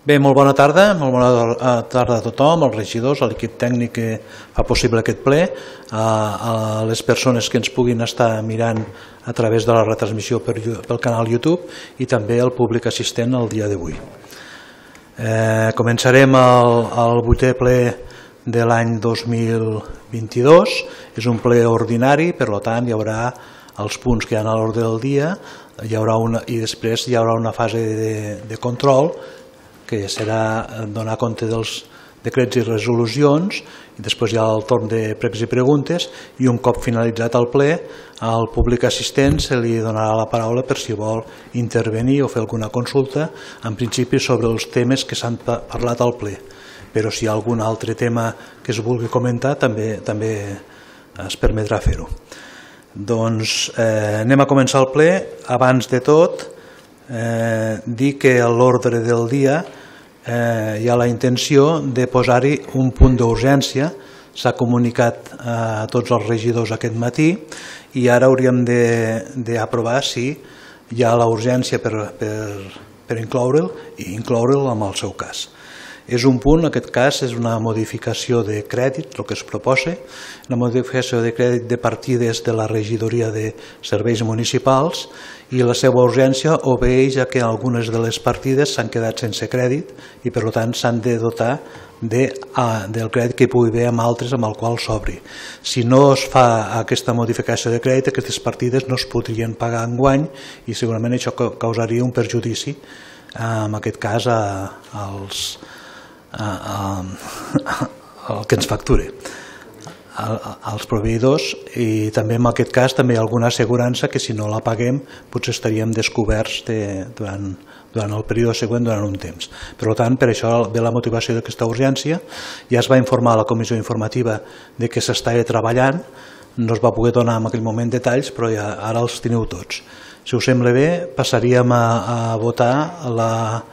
Bé, molt bona tarda a tothom, als regidors, a l'equip tècnic que fa possible aquest ple, a les persones que ens puguin estar mirant a través de la retransmissió pel canal YouTube i també al públic assistent el dia d'avui. Començarem el 8è ple de l'any 2022, és un ple ordinari, per tant hi haurà els punts que hi ha a l'ordre del dia i després hi haurà una fase de control que serà donar compte dels decrets i resolucions, i després hi ha el torn de pregs i preguntes, i un cop finalitzat el ple, al públic assistent se li donarà la paraula per si vol intervenir o fer alguna consulta, en principi sobre els temes que s'han parlat al ple. Però si hi ha algun altre tema que es vulgui comentar, també es permetrà fer-ho. Doncs anem a començar el ple. Abans de tot, dir que a l'ordre del dia hi ha la intenció de posar-hi un punt d'urgència. S'ha comunicat a tots els regidors aquest matí i ara hauríem d'aprovar si hi ha la urgència per incloure'l i incloure'l en el seu cas. És un punt, en aquest cas, és una modificació de crèdit, el que es proposa, una modificació de crèdit de partides de la regidoria de serveis municipals, i la seva urgència obeeix a que algunes de les partides s'han quedat sense crèdit i per tant s'han de dotar del crèdit que hi pugui haver amb altres amb el qual s'obri. Si no es fa aquesta modificació de crèdit, aquestes partides no es podrien pagar enguany i segurament això causaria un perjudici, en aquest cas el que ens facture als proveïdors, i també en aquest cas també hi ha alguna assegurança que si no la paguem potser estaríem descoberts durant el període següent, durant un temps. Per tant, per això ve la motivació d'aquesta urgència. Ja es va informar a la comissió informativa de que s'estava treballant, no es va poder donar en aquell moment detalls, però ja ara els teniu tots. Si us sembla bé, passaríem a votar la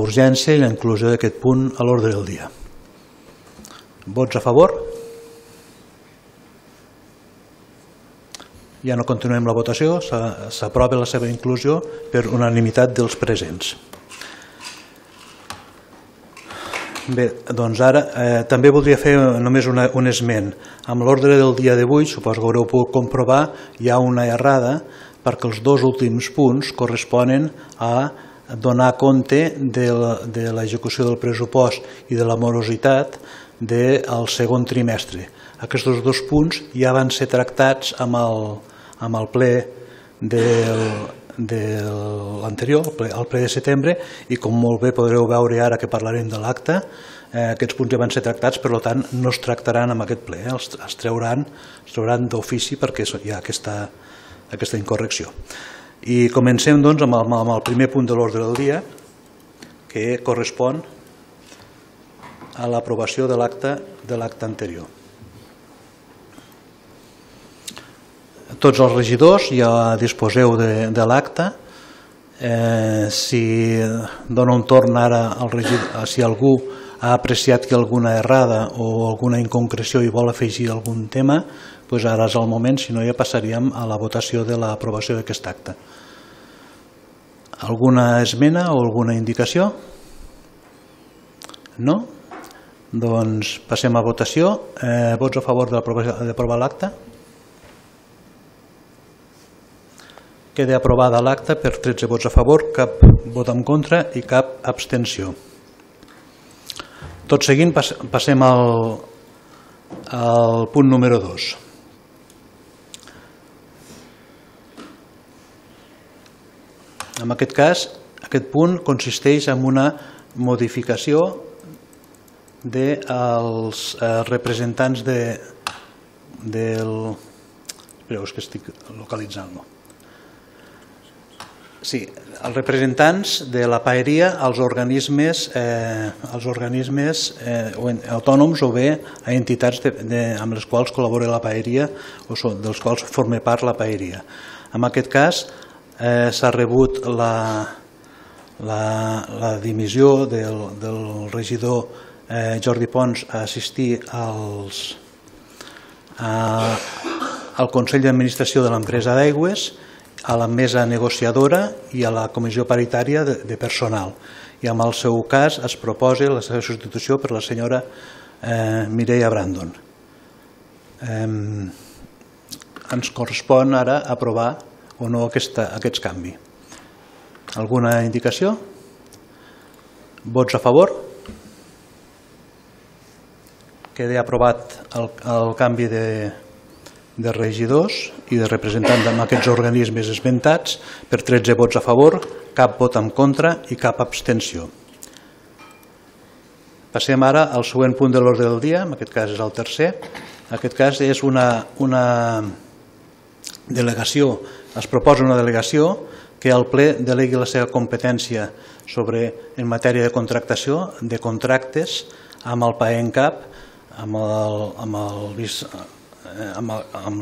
urgència i la inclusió d'aquest punt a l'ordre del dia. Vots a favor? Ja no continuem la votació, s'aprova la seva inclusió per unanimitat dels presents. Bé, doncs ara també voldria fer només un esment. Amb l'ordre del dia d'avui, suposo que haureu pogut comprovar, hi ha una errada perquè els dos últims punts corresponen a donar compte de l'execució del pressupost i de la morositat del segon trimestre. Aquests dos punts ja van ser tractats amb el ple de l'anterior, el ple de setembre, i com molt bé podreu veure ara que parlarem de l'acte, aquests punts ja van ser tractats, per tant no es tractaran en aquest ple, es trauran d'ofici perquè hi ha aquesta incorrecció. I comencem doncs amb el primer punt de l'ordre del dia, que correspon a l'aprovació de l'acte anterior. Tots els regidors ja disposeu de l'acte. Si dona un torn ara al regidor, si algú ha apreciat que alguna errada o alguna inconcreció i vol afegir algun tema, doncs ara és el moment, si no ja passaríem a la votació de l'aprovació d'aquest acte. Alguna esmena o alguna indicació? No? Doncs passem a votació. Vots a favor d'aprovar l'acte? Queda aprovada l'acte per 13 vots a favor, cap vot en contra i cap abstenció. Tot seguint passem al punt número 2. En aquest cas, aquest punt consisteix en una modificació dels representants Espereu, és que estic localitzant-lo. Sí, els representants de la paeria als organismes autònoms o bé a entitats amb les quals col·labora la paeria o dels quals forma part la paeria. En aquest cas s'ha rebut la dimissió del regidor Jordi Pons a assistir al Consell d'Administració de l'empresa d'aigües, a la mesa negociadora i a la comissió paritària de personal. I en el seu cas es proposa la seva substitució per la senyora Mireia Brandon. Ens correspon ara aprovar o no aquests canvis. Alguna indicació? Vots a favor? Queda aprovat el canvi de regidors i de representants en aquests organismes esmentats per 13 vots a favor, cap vot en contra i cap abstenció. Passem ara al següent punt de l'ordre del dia, en aquest cas és el tercer. En aquest cas és una delegació, es proposa una delegació que el ple delegui la seva competència en matèria de contractació, de contractes, amb el PAENCAP, amb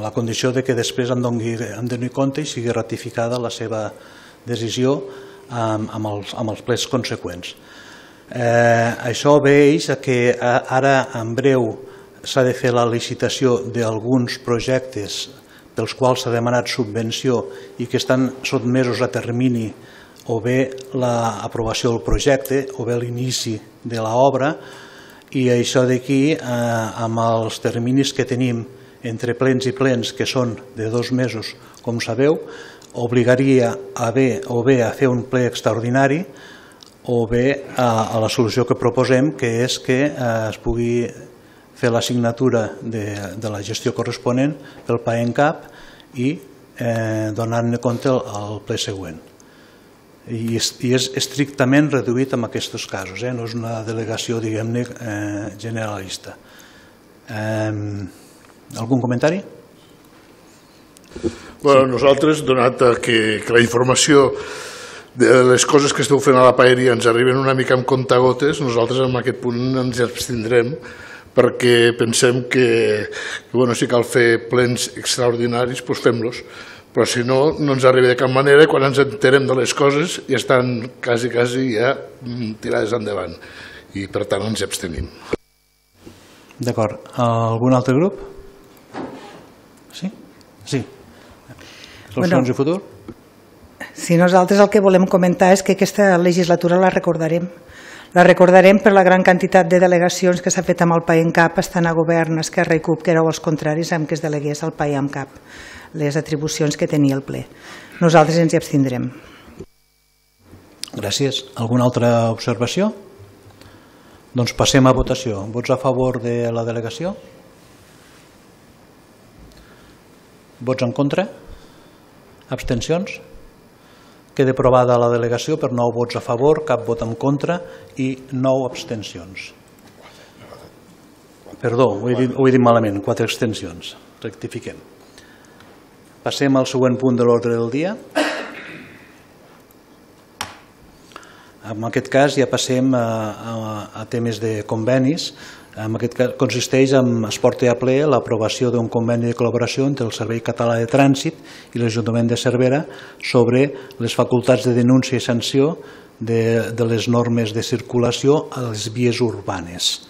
la condició que després en doni compte i sigui ratificada la seva decisió amb els plens conseqüents. Això obeix que ara en breu s'ha de fer la licitació d'alguns projectes pels quals s'ha demanat subvenció i que estan sotmesos a termini o bé l'aprovació del projecte o bé l'inici de l'obra, i això d'aquí, amb els terminis que tenim entre plens i plens, que són de 2 mesos, com sabeu, obligaria o bé a fer un ple extraordinari o bé a la solució que proposem, que és que es pugui fer la signatura de la gestió corresponent pel PAENCAP i donar-ne compte al ple següent. I és estrictament reduït en aquests casos, no és una delegació, diguem-ne, generalista. Algun comentari? Nosaltres, donat que la informació de les coses que esteu fent a la paeria ens arriben una mica amb comptagotes, nosaltres en aquest punt ens abstindrem perquè pensem que si cal fer plens extraordinaris, doncs fem-los, però si no, no ens arriba de cap manera i quan ens enterem de les coses ja estan quasi ja tirades endavant i per tant ens abstenim. D'acord. Algun altre grup? Sí? Sí. Solucions i futur? Sí, nosaltres el que volem comentar és que aquesta legislatura la recordarem. La recordarem per la gran quantitat de delegacions que s'ha fet amb el PAENCAP estant a govern Esquerra i CUP, que éreu els contraris amb que es delegués al PAENCAP les atribucions que tenia el ple. Nosaltres ens hi abstindrem. Gràcies. Alguna altra observació? Doncs passem a votació. Vots a favor de la delegació? Vots en contra? Abstencions? Queda aprovada la delegació per 9 vots a favor, cap vot en contra i 9 abstencions. Perdó, ho he dit malament, 4 abstencions. Rectifiquem. Passem al següent punt de l'ordre del dia. En aquest cas ja passem a temes de convenis. En aquest cas consisteix en es porta a ple l'aprovació d'un conveni de col·laboració entre el Servei Català de Trànsit i l'Ajuntament de Cervera sobre les facultats de denúncia i sanció de les normes de circulació a les vies urbanes.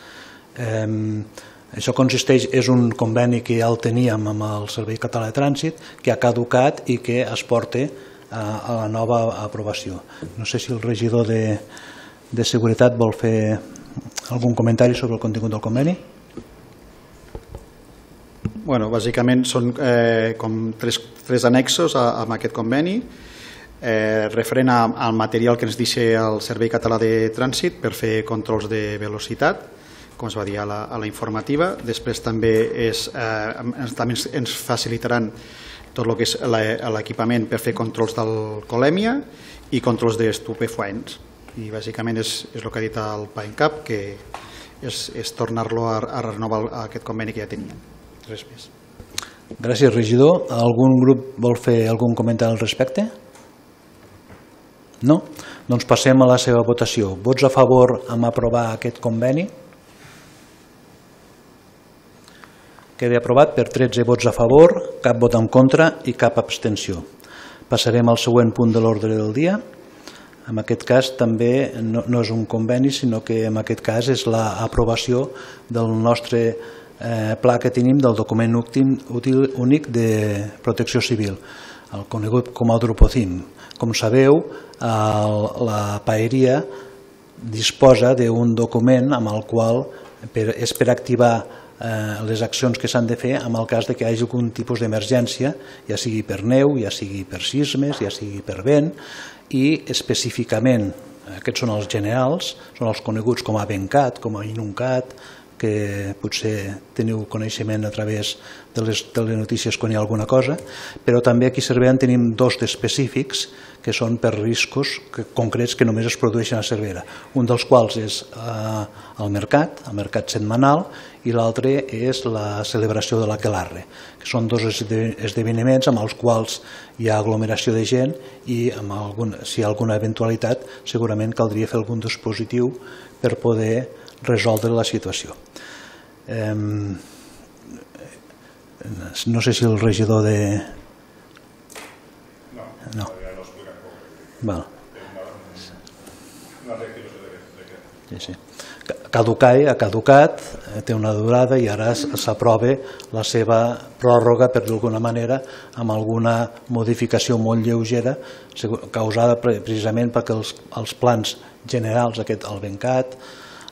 Això consisteix, és un conveni que ja el teníem amb el Servei Català de Trànsit, que ha caducat i que es porta a la nova aprovació. No sé si el regidor de Seguretat vol fer algun comentari sobre el contingut del conveni? Bàsicament són com tres annexos amb aquest conveni referent al material que ens deixa el Servei Català de Trànsit per fer controls de velocitat, com es va dir a la informativa. Després també ens facilitaran tot el que és l'equipament per fer controls d'alcoholèmia i controls d'estupefaents. I bàsicament és el que ha dit el PAENCAP, que és tornar-lo a renovar aquest conveni que ja teníem. Res més. Gràcies, regidor. Algun grup vol fer algun comentari al respecte? No? Doncs passem a la seva votació. Vots a favor en aprovar aquest conveni? Queda aprovat per 13 vots a favor, cap vot en contra i cap abstenció. Passarem al següent punt de l'ordre del dia. En aquest cas també no és un conveni, sinó que en aquest cas és l'aprovació del nostre pla que tenim del document útil únic de protecció civil. el conegut com a Drupocim. Com sabeu, la paeria disposa d'un document amb el qual és per activar les accions que s'han de fer en el cas que hi hagi algun tipus d'emergència, ja sigui per neu, ja sigui per sismes, ja sigui per vent, i específicament, aquests són els generals, són els coneguts com a Bencat, com a Inuncat, que potser teniu coneixement a través de les notícies quan hi ha alguna cosa, però també aquí a Cervera en tenim dos d'específics que són per riscos concrets que només es produeixen a Cervera. Un dels quals és el mercat setmanal, i l'altre és la celebració de l'Aquelarre, que són dos esdeveniments amb els quals hi ha aglomeració de gent i si hi ha alguna eventualitat segurament caldria fer algun dispositiu per poder resoldre la situació. No sé si el regidor de... No. Val. Sí. Ha caducat, té una durada i ara s'aprova la seva pròrroga per d'alguna manera amb alguna modificació molt lleugera causada precisament perquè els plans generals, el Bencat,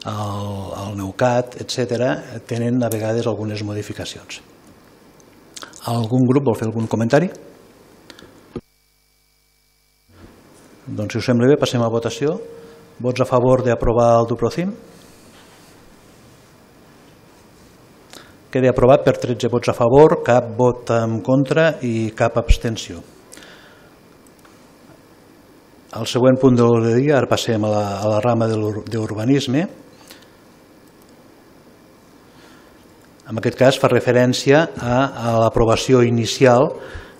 el Neucat, etc., tenen a vegades algunes modificacions. Algun grup vol fer algun comentari? Doncs si us sembla bé passem a votació. Vots a favor d'aprovar el Drupocim? Queda aprovat per 13 vots a favor, cap vot en contra i cap abstenció. Al següent punt de l'ordre del dia, ara passem a la rama d'urbanisme. En aquest cas fa referència a l'aprovació inicial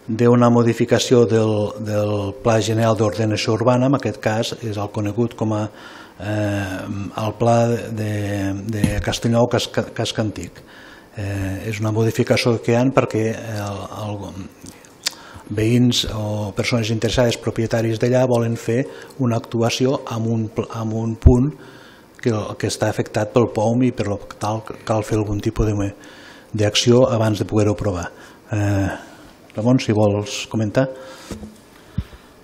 d'una modificació del Pla General d'Ordenació Urbana, en aquest cas és el conegut com el Pla de Castellnou-Cascantic. És una modificació que hi ha perquè veïns o persones interessades, propietaris d'allà, volen fer una actuació en un punt que està afectat pel POUM i per tal cal fer algun tipus d'acció abans de poder-ho aprovar. Ramon, si vols comentar.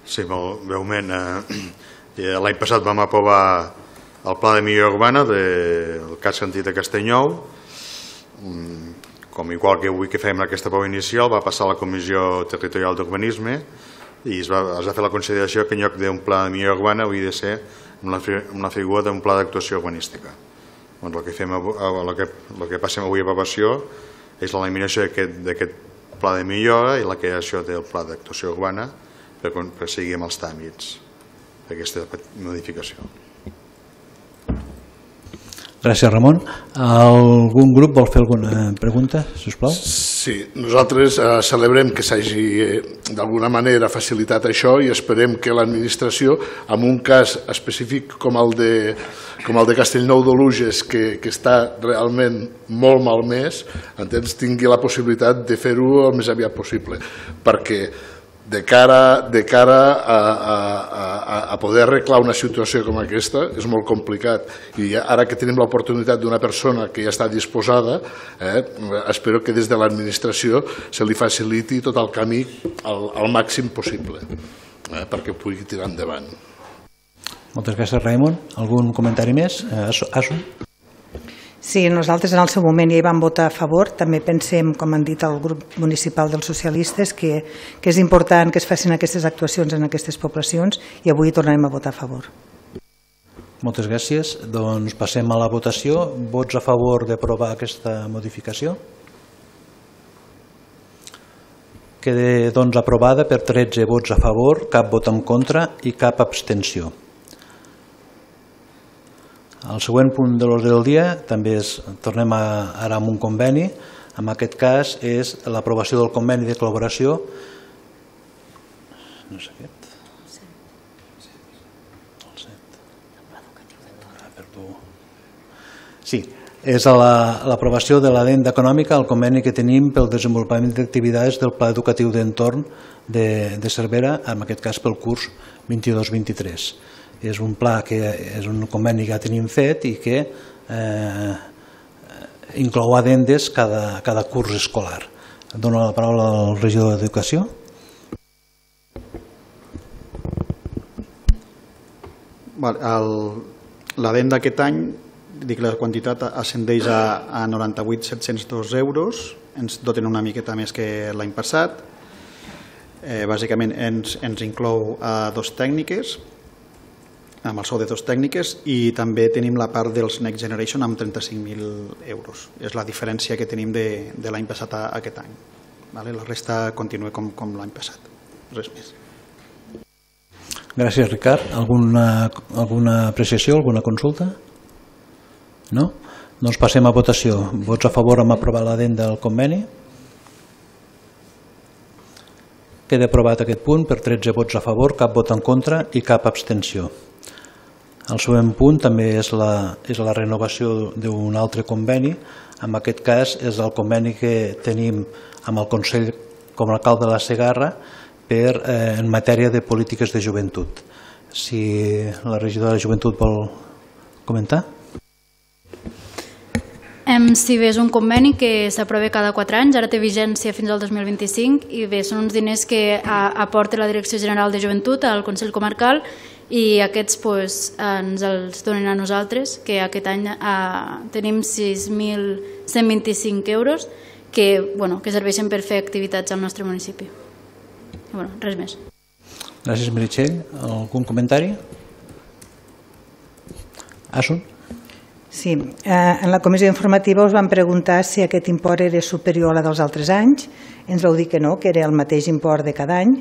Sí, molt breument. L'any passat vam aprovar el Pla de Millora Urbana del Cascantic de Castellnou. Com igual que avui que fem aquesta prova inicial, va passar a la Comissió Territorial d'Urbanisme i es va fer la consideració que en lloc d'un pla de millora urbana hauria de ser una figura d'un pla d'actuació urbanística. El que passem avui a aprovació és l'eliminació d'aquest pla de millora i la creació del pla d'actuació urbana per seguir amb els tràmits d'aquesta modificació. Gràcies, Ramon. Algun grup vol fer alguna pregunta, sisplau? Sí, nosaltres celebrem que s'hagi d'alguna manera facilitat això i esperem que l'administració, en un cas específic com el de Castellnou d'Oluges, que està realment molt malmès, tingui la possibilitat de fer-ho el més aviat possible, perquè de cara a poder arreglar una situació com aquesta és molt complicat i ara que tenim l'oportunitat d'una persona que ja està disposada, espero que des de l'administració se li faciliti tot el camí al màxim possible perquè pugui tirar endavant. Moltes gràcies, Raimon. Algun comentari més? Asun? Sí, nosaltres en el seu moment ja hi vam votar a favor. També pensem, com han dit el grup municipal dels socialistes, que és important que es facin aquestes actuacions en aquestes poblacions i avui tornarem a votar a favor. Moltes gràcies. Doncs passem a la votació. Vots a favor d'aprovar aquesta modificació? Queda doncs aprovada per 13 vots a favor, cap vot en contra i cap abstenció. El següent punt de l'ordre del dia també tornem ara amb un conveni. En aquest cas és l'aprovació del conveni de col·laboració. No sé aquest. Sí, és l'aprovació de l'adenda econòmica, el conveni que tenim pel desenvolupament d'activitats del Pla Educatiu d'Entorn de Cervera, en aquest cas pel curs 22-23. És un pla que és un conveni que ja tenim fet i que inclou addendes cada curs escolar. Dono la paraula al regidor d'Educació. L'adent d'aquest any, dic, la quantitat ascendeix a 98.702 euros, ens doten una miqueta més que l'any passat. Bàsicament ens inclou dos tècniques, amb el sou de dos tècniques, i també tenim la part dels Next Generation amb 35.000 euros. És la diferència que tenim de l'any passat a aquest any. La resta continua com l'any passat. Res més. Gràcies, Ricard. Alguna apreciació, alguna consulta? No? Doncs passem a votació. Vots a favor amb aprovar l'adent del conveni? Queda aprovat aquest punt per 13 vots a favor, cap vot en contra i cap abstenció. El següent punt també és la renovació d'un altre conveni. En aquest cas és el conveni que tenim amb el Consell Comarcal de la Segarra en matèria de polítiques de joventut. Si la regidora de joventut vol comentar. Sí, bé, és un conveni que s'aprova cada 4 anys, ara té vigència fins al 2025 i bé, són uns diners que aporta la Direcció General de Joventut al Consell Comarcal i aquests ens els donen a nosaltres, que aquest any tenim 6.125 euros que serveixen per fer activitats al nostre municipi. Res més. Gràcies, Meritxell. Algun comentari? Asun? Sí, en la comissió informativa us van preguntar si aquest import era superior a la dels altres anys. Ens vau dir que no, que era el mateix import de cada any.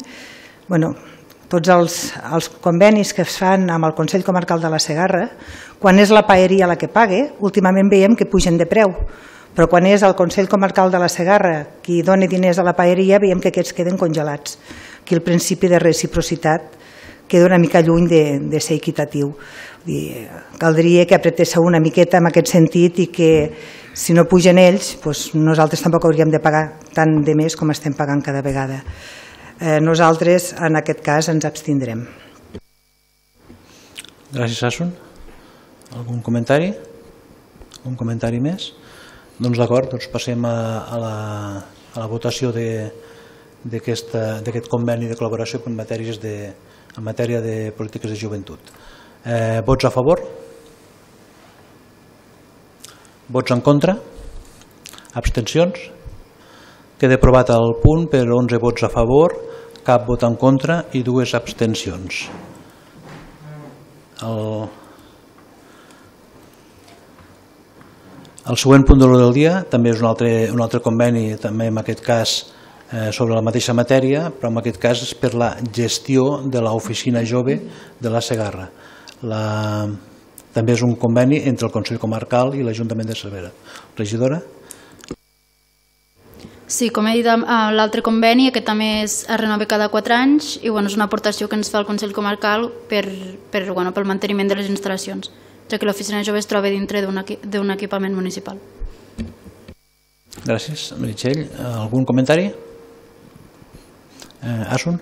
Tots els convenis que es fan amb el Consell Comarcal de la Segarra, quan és la paeria la que pague, últimament veiem que pugen de preu, però quan és el Consell Comarcal de la Segarra qui dona diners a la paeria, veiem que aquests queden congelats. Aquí el principi de reciprocitat queda una mica lluny de ser equitatiu. Caldria que apretéssiu una miqueta en aquest sentit i que si no pugen ells, nosaltres tampoc hauríem de pagar tant de més com estem pagant cada vegada. Nosaltres en aquest cas ens abstindrem. Gràcies, Asun. Algun comentari? Un comentari més? Doncs d'acord, passem a la votació d'aquest conveni de col·laboració en matèria de polítiques de joventut. Vots a favor? Vots en contra? Abstencions? Queda aprovat el punt per 11 vots a favor, cap vot en contra i 2 abstencions. El següent punt de l'ordre del dia també és un altre conveni, també en aquest cas sobre la mateixa matèria, però en aquest cas és per la gestió de l'oficina jove de la Segarra. També és un conveni entre el Consell Comarcal i l'Ajuntament de Cervera. Regidora? Sí, com he dit, l'altre conveni, aquest també es renova cada 4 anys i és una aportació que ens fa el Consell Comarcal pel manteniment de les instal·lacions, ja que l'oficina jove es troba dintre d'un equipament municipal. Gràcies. Meritxell, algun comentari? Asun?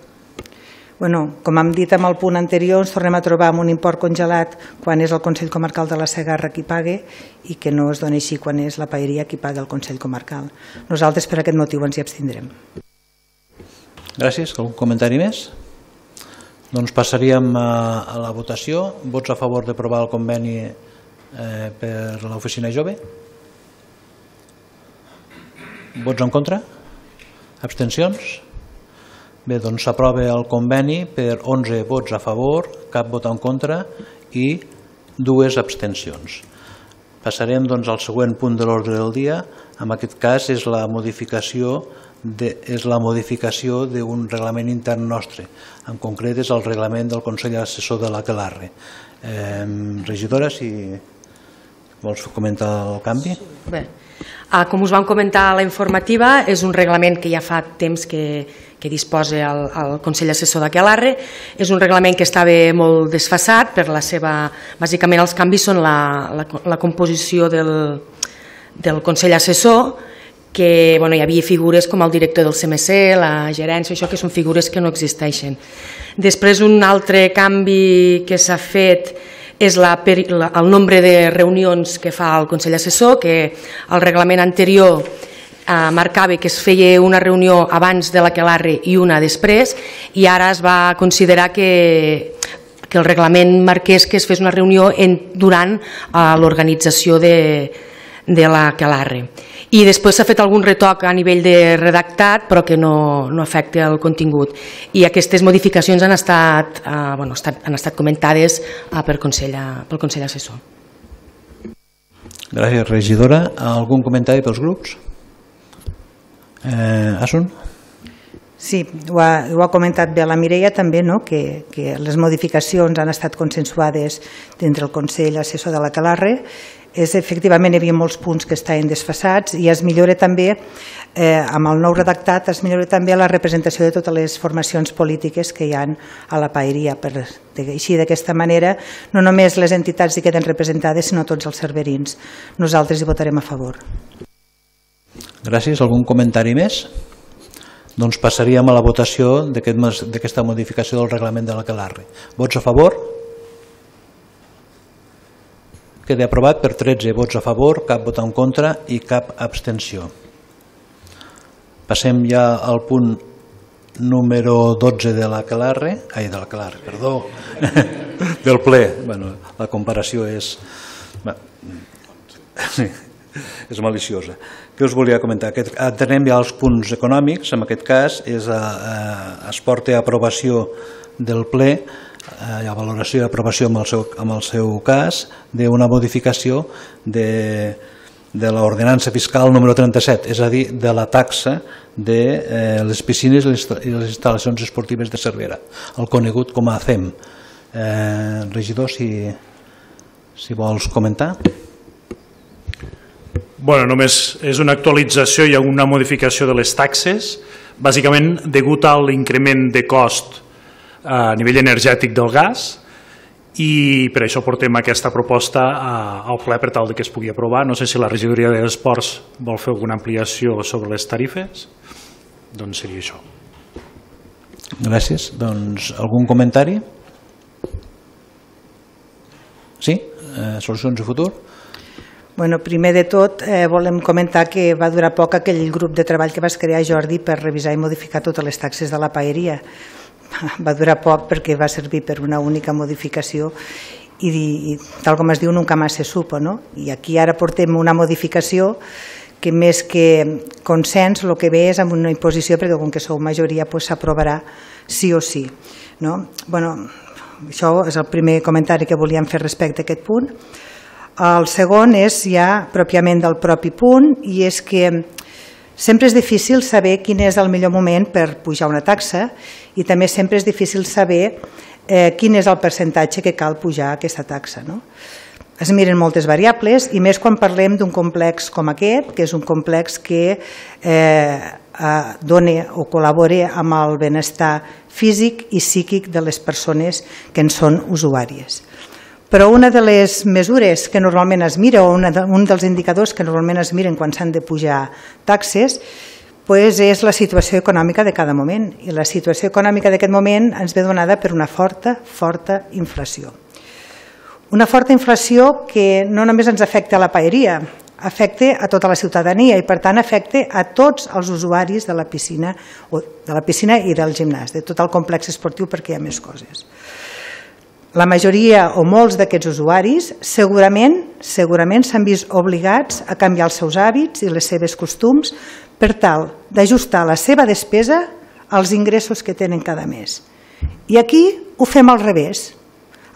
Com hem dit amb el punt anterior, ens tornem a trobar amb un import congelat quan és el Consell Comarcal de la Segarra qui pague i que no es doni així quan és la paeria qui paga el Consell Comarcal. Nosaltres per aquest motiu ens hi abstindrem. Gràcies. Algun comentari més? Doncs passaríem a la votació. Vots a favor d'aprovar el conveni per l'oficina jove? Vots en contra? Abstencions? Bé, doncs s'aprova el conveni per 11 vots a favor, cap vot en contra i 2 abstencions. Passarem al següent punt de l'ordre del dia. En aquest cas és la modificació d'un reglament intern nostre. En concret és el reglament del Consell Assessor de l'Aquelarre. Regidora, si vols comentar el canvi? Bé, com us vam comentar a la informativa, és un reglament que ja fa temps que disposa el Consell Assessor d'Aquelarre. És un reglament que estava molt desfasat per la seva... Bàsicament els canvis són la composició del Consell Assessor, que hi havia figures com el director del CMC, la gerència, això que són figures que no existeixen. Després un altre canvi que s'ha fet és el nombre de reunions que fa el Consell Assessor, que el reglament anterior marcava que es feia una reunió abans de l'Aquelarre i una després, i ara es va considerar que que el reglament marqués que es fes una reunió durant l'organització de l'Aquelarre. I després s'ha fet algun retoc a nivell de redactat, però que no afecta el contingut. I aquestes modificacions han estat comentades pel Consell Assessor. Gràcies, regidora. Algun comentari pels grups? Asun? Sí, ho ha comentat bé la Mireia també, que les modificacions han estat consensuades dintre el Consell Assessor de l'Aquelarre. Efectivament hi havia molts punts que estaven desfasats i es millora també, amb el nou redactat, es millora també la representació de totes les formacions polítiques que hi ha a la paeria. Així, d'aquesta manera, no només les entitats hi queden representades, sinó tots els cerverins. Nosaltres hi votarem a favor. Gràcies. Algun comentari més? Doncs passaríem a la votació d'aquesta modificació del reglament de l'Aquelarre. Vots a favor? Queda aprovat per 13 vots a favor, cap vot en contra i cap abstenció. Passem ja al punt número 12 de l'Aquelarre, perdó, del ple. La comparació és maliciosa. Què us volia comentar? Atenem ja als punts econòmics. En aquest cas es porta a aprovació del ple, a valoració i aprovació en el seu cas, d'una modificació de l'ordenança fiscal número 37, és a dir, de la taxa de les piscines i les instal·lacions esportives de Cervera, el conegut com a CEM. Regidor, si vols comentar. Només és una actualització i una modificació de les taxes, bàsicament degut a l'increment de cost a nivell energètic del gas, i per això portem aquesta proposta al ple per tal que es pugui aprovar. No sé si la regidoria d'Esports vol fer alguna ampliació sobre les tarifes, doncs seria això. Gràcies. Doncs algun comentari? Sí? Solucions i futur? Primer de tot, volem comentar que va durar poc aquell grup de treball que vas crear, Jordi, per revisar i modificar totes les taxes de la paeria. Va durar poc perquè va servir per una única modificació i tal com es diu, nunca más se supo. I aquí ara portem una modificació que més que consens el que ve és amb una imposició, perquè com que sou majoria s'aprovarà sí o sí. Això és el primer comentari que volíem fer respecte a aquest punt. El segon és ja pròpiament del propi punt, i és que sempre és difícil saber quin és el millor moment per pujar una taxa i també sempre és difícil saber quin és el percentatge que cal pujar aquesta taxa. Es miren moltes variables i més quan parlem d'un complex com aquest, que és un complex que dona o col·labora amb el benestar físic i psíquic de les persones que en són usuàries. Però una de les mesures que normalment es mira, o un dels indicadors que normalment es miren quan s'han de pujar taxes, és la situació econòmica de cada moment. I la situació econòmica d'aquest moment ens ve donada per una forta inflació. Una forta inflació que no només ens afecta a la paeria, afecta a tota la ciutadania i per tant afecta a tots els usuaris de la piscina i del gimnàs, de tot el complex esportiu, perquè hi ha més coses. La majoria o molts d'aquests usuaris segurament s'han vist obligats a canviar els seus hàbits i les seves costums per tal d'ajustar la seva despesa als ingressos que tenen cada mes. I aquí ho fem al revés.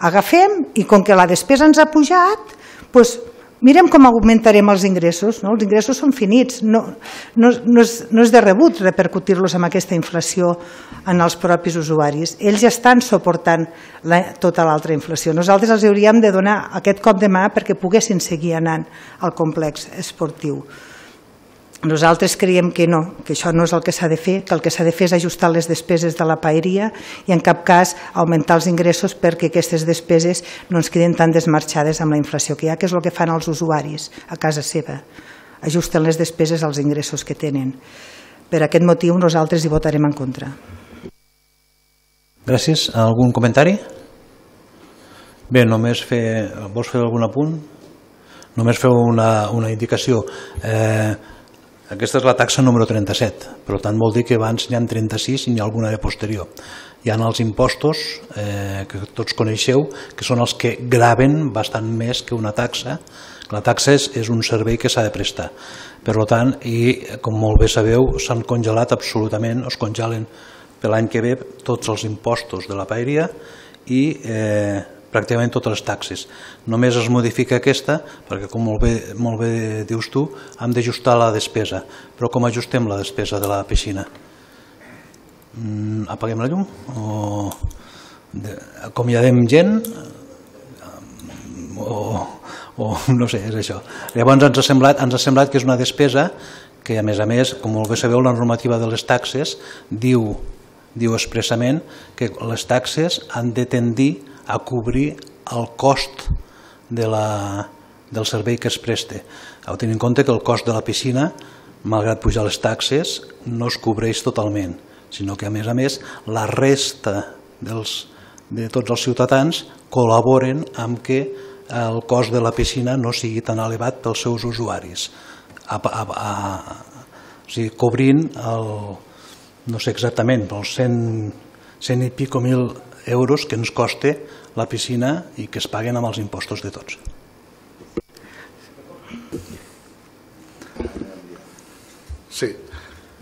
Agafem i com que la despesa ens ha pujat, doncs mirem com augmentarem els ingressos. Els ingressos són finits, no és de rebut repercutir-los amb aquesta inflació en els propis usuaris. Ells ja estan suportant tota l'altra inflació. Nosaltres els hauríem de donar aquest cop de mà perquè poguessin seguir anant al complex esportiu. Nosaltres creiem que no, que això no és el que s'ha de fer, que el que s'ha de fer és ajustar les despeses de la paeria i en cap cas augmentar els ingressos perquè aquestes despeses no ens queden tan desmarxades amb la inflació que hi ha, que és el que fan els usuaris a casa seva. Ajusten les despeses als ingressos que tenen. Per aquest motiu nosaltres hi votarem en contra. Gràcies. Algun comentari? Bé, només vols fer algun apunt? Només feu una indicació. Aquesta és la taxa número 37, per tant vol dir que abans n'hi ha 36 i n'hi ha alguna de posterior. Hi ha els impostos que tots coneixeu, que són els que graven bastant més que una taxa. La taxa és un servei que s'ha de prestar. Per tant, i com molt bé sabeu, s'han congelat absolutament, es congelen per l'any que ve tots els impostos de la paeria i pràcticament totes les taxes. Només es modifica aquesta, perquè com molt bé dius tu, hem d'ajustar la despesa. Però com ajustem la despesa de la piscina? Apaguem la llum? O acomiadem gent? O no sé, és això. Llavors ens ha semblat que és una despesa que, a més, com molt bé sabeu, la normativa de les taxes diu expressament que les taxes han de tendir a cobrir el cost del servei que es presta. Heu de tenir en compte que el cost de la piscina, malgrat pujar les taxes, no es cobreix totalment, sinó que, a més, la resta de tots els ciutadans col·laboren amb que el cost de la piscina no sigui tan elevat pels seus usuaris, cobrint no sé exactament, els 100 i pico mil euros que ens costa la piscina i que es paguen amb els impostos de tots. Sí,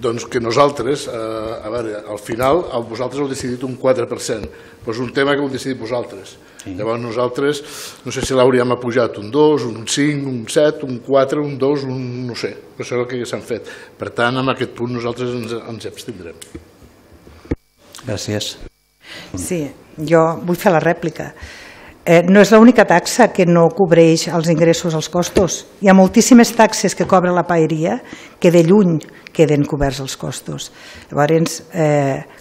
doncs que nosaltres, a veure, al final vosaltres heu decidit un 4%, però és un tema que heu decidit vosaltres. Llavors nosaltres, no sé si l'hauríem apujat un 2, un 5, un 7, un 4, un 2, no sé, però això és el que s'han fet. Per tant, en aquest punt nosaltres ens abstindrem. Gràcies. Sí, jo vull fer la rèplica. No és l'única taxa que no cobreix els ingressos als costos. Hi ha moltíssimes taxes que cobra la paeria que de lluny queden coberts els costos. Llavors,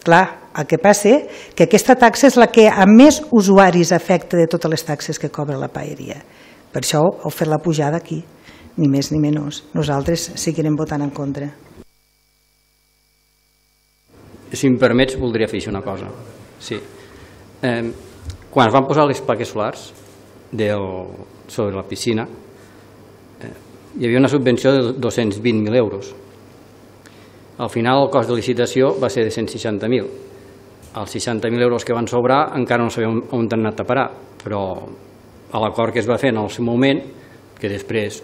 clar, el que passa és que aquesta taxa és la que a més usuaris afecta de totes les taxes que cobra la paeria. Per això heu fet la pujada aquí, ni més ni menys. Nosaltres seguirem votant en contra. Si em permets, voldria fer una cosa. Sí. Quan es van posar les plaques solars sobre la piscina, hi havia una subvenció de 220.000 euros. Al final el cost de licitació va ser de 160.000. Els 60.000 euros que van sobrar encara no sabem on han anat a parar, però a l'acord que es va fer en el seu moment, que després,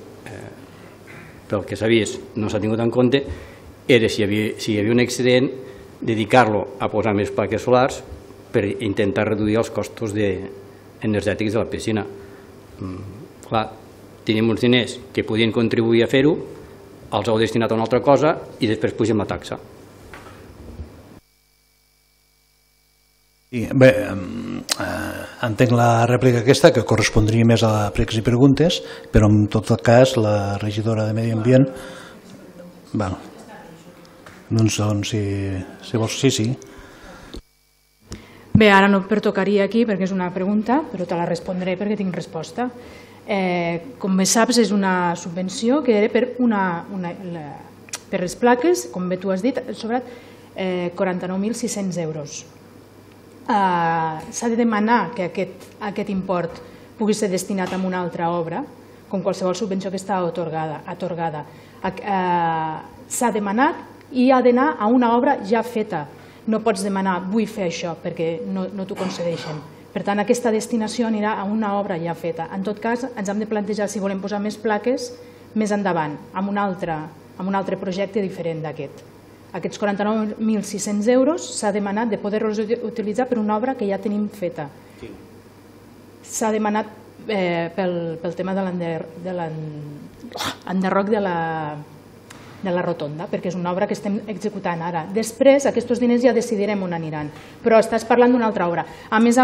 pel que s'ha vist, no s'ha tingut en compte, era si hi havia un excedent, dedicar-lo a posar més plaques solars per intentar reduir els costos energètics de la piscina. Clar, tenim uns diners que podien contribuir a fer-ho, els heu destinat a una altra cosa i després pugem la taxa. Bé, entenc la rèplica aquesta, que correspondria més a pregs i preguntes, però en tot cas la regidora de Medi Ambient... Doncs si vols, sí. Bé, ara no pertocaria aquí perquè és una pregunta, però te la respondré perquè tinc resposta. Com bé saps, és una subvenció que era per les plaques, com bé tu has dit, sobre 49.600 euros. S'ha de demanar que aquest import pugui ser destinat a una altra obra, com qualsevol subvenció que està atorgada. S'ha demanat i ha d'anar a una obra ja feta. No pots demanar, vull fer això, perquè no t'ho concedeixen. Per tant, aquesta destinació anirà a una obra ja feta. En tot cas, ens hem de plantejar si volem posar més plaques més endavant, amb un altre projecte diferent d'aquest. Aquests 49.600 euros s'ha demanat de poder-los utilitzar per una obra que ja tenim feta. S'ha demanat pel tema de l'enderroc de la rotonda, perquè és una obra que estem executant ara. Després, aquests diners ja decidirem on aniran, però estàs parlant d'una altra obra. A més,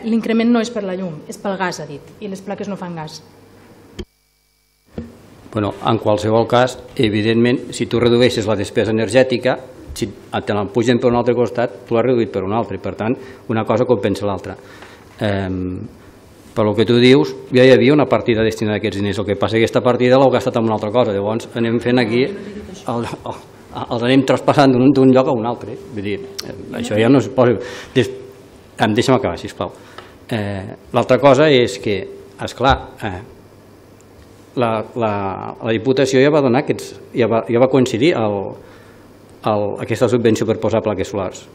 l'increment no és per la llum, és pel gas, ha dit, i les plaques no fan gas. En qualsevol cas, evidentment, si tu redueixes la despesa energètica, si te la pugen per un altre costat, tu l'has reduït per un altre, per tant, una cosa compensa l'altra. Per el que tu dius, ja hi havia una partida destinada a aquests diners, el que passa que aquesta partida l'heu gastat en una altra cosa, llavors anem fent aquí, els anem traspassant d'un lloc a un altre. Vull dir, això ja no es posa... Deixa'm acabar, sisplau. L'altra cosa és que, esclar, la Diputació ja va donar ja va coincidir aquesta subvenció per posar plaques solars.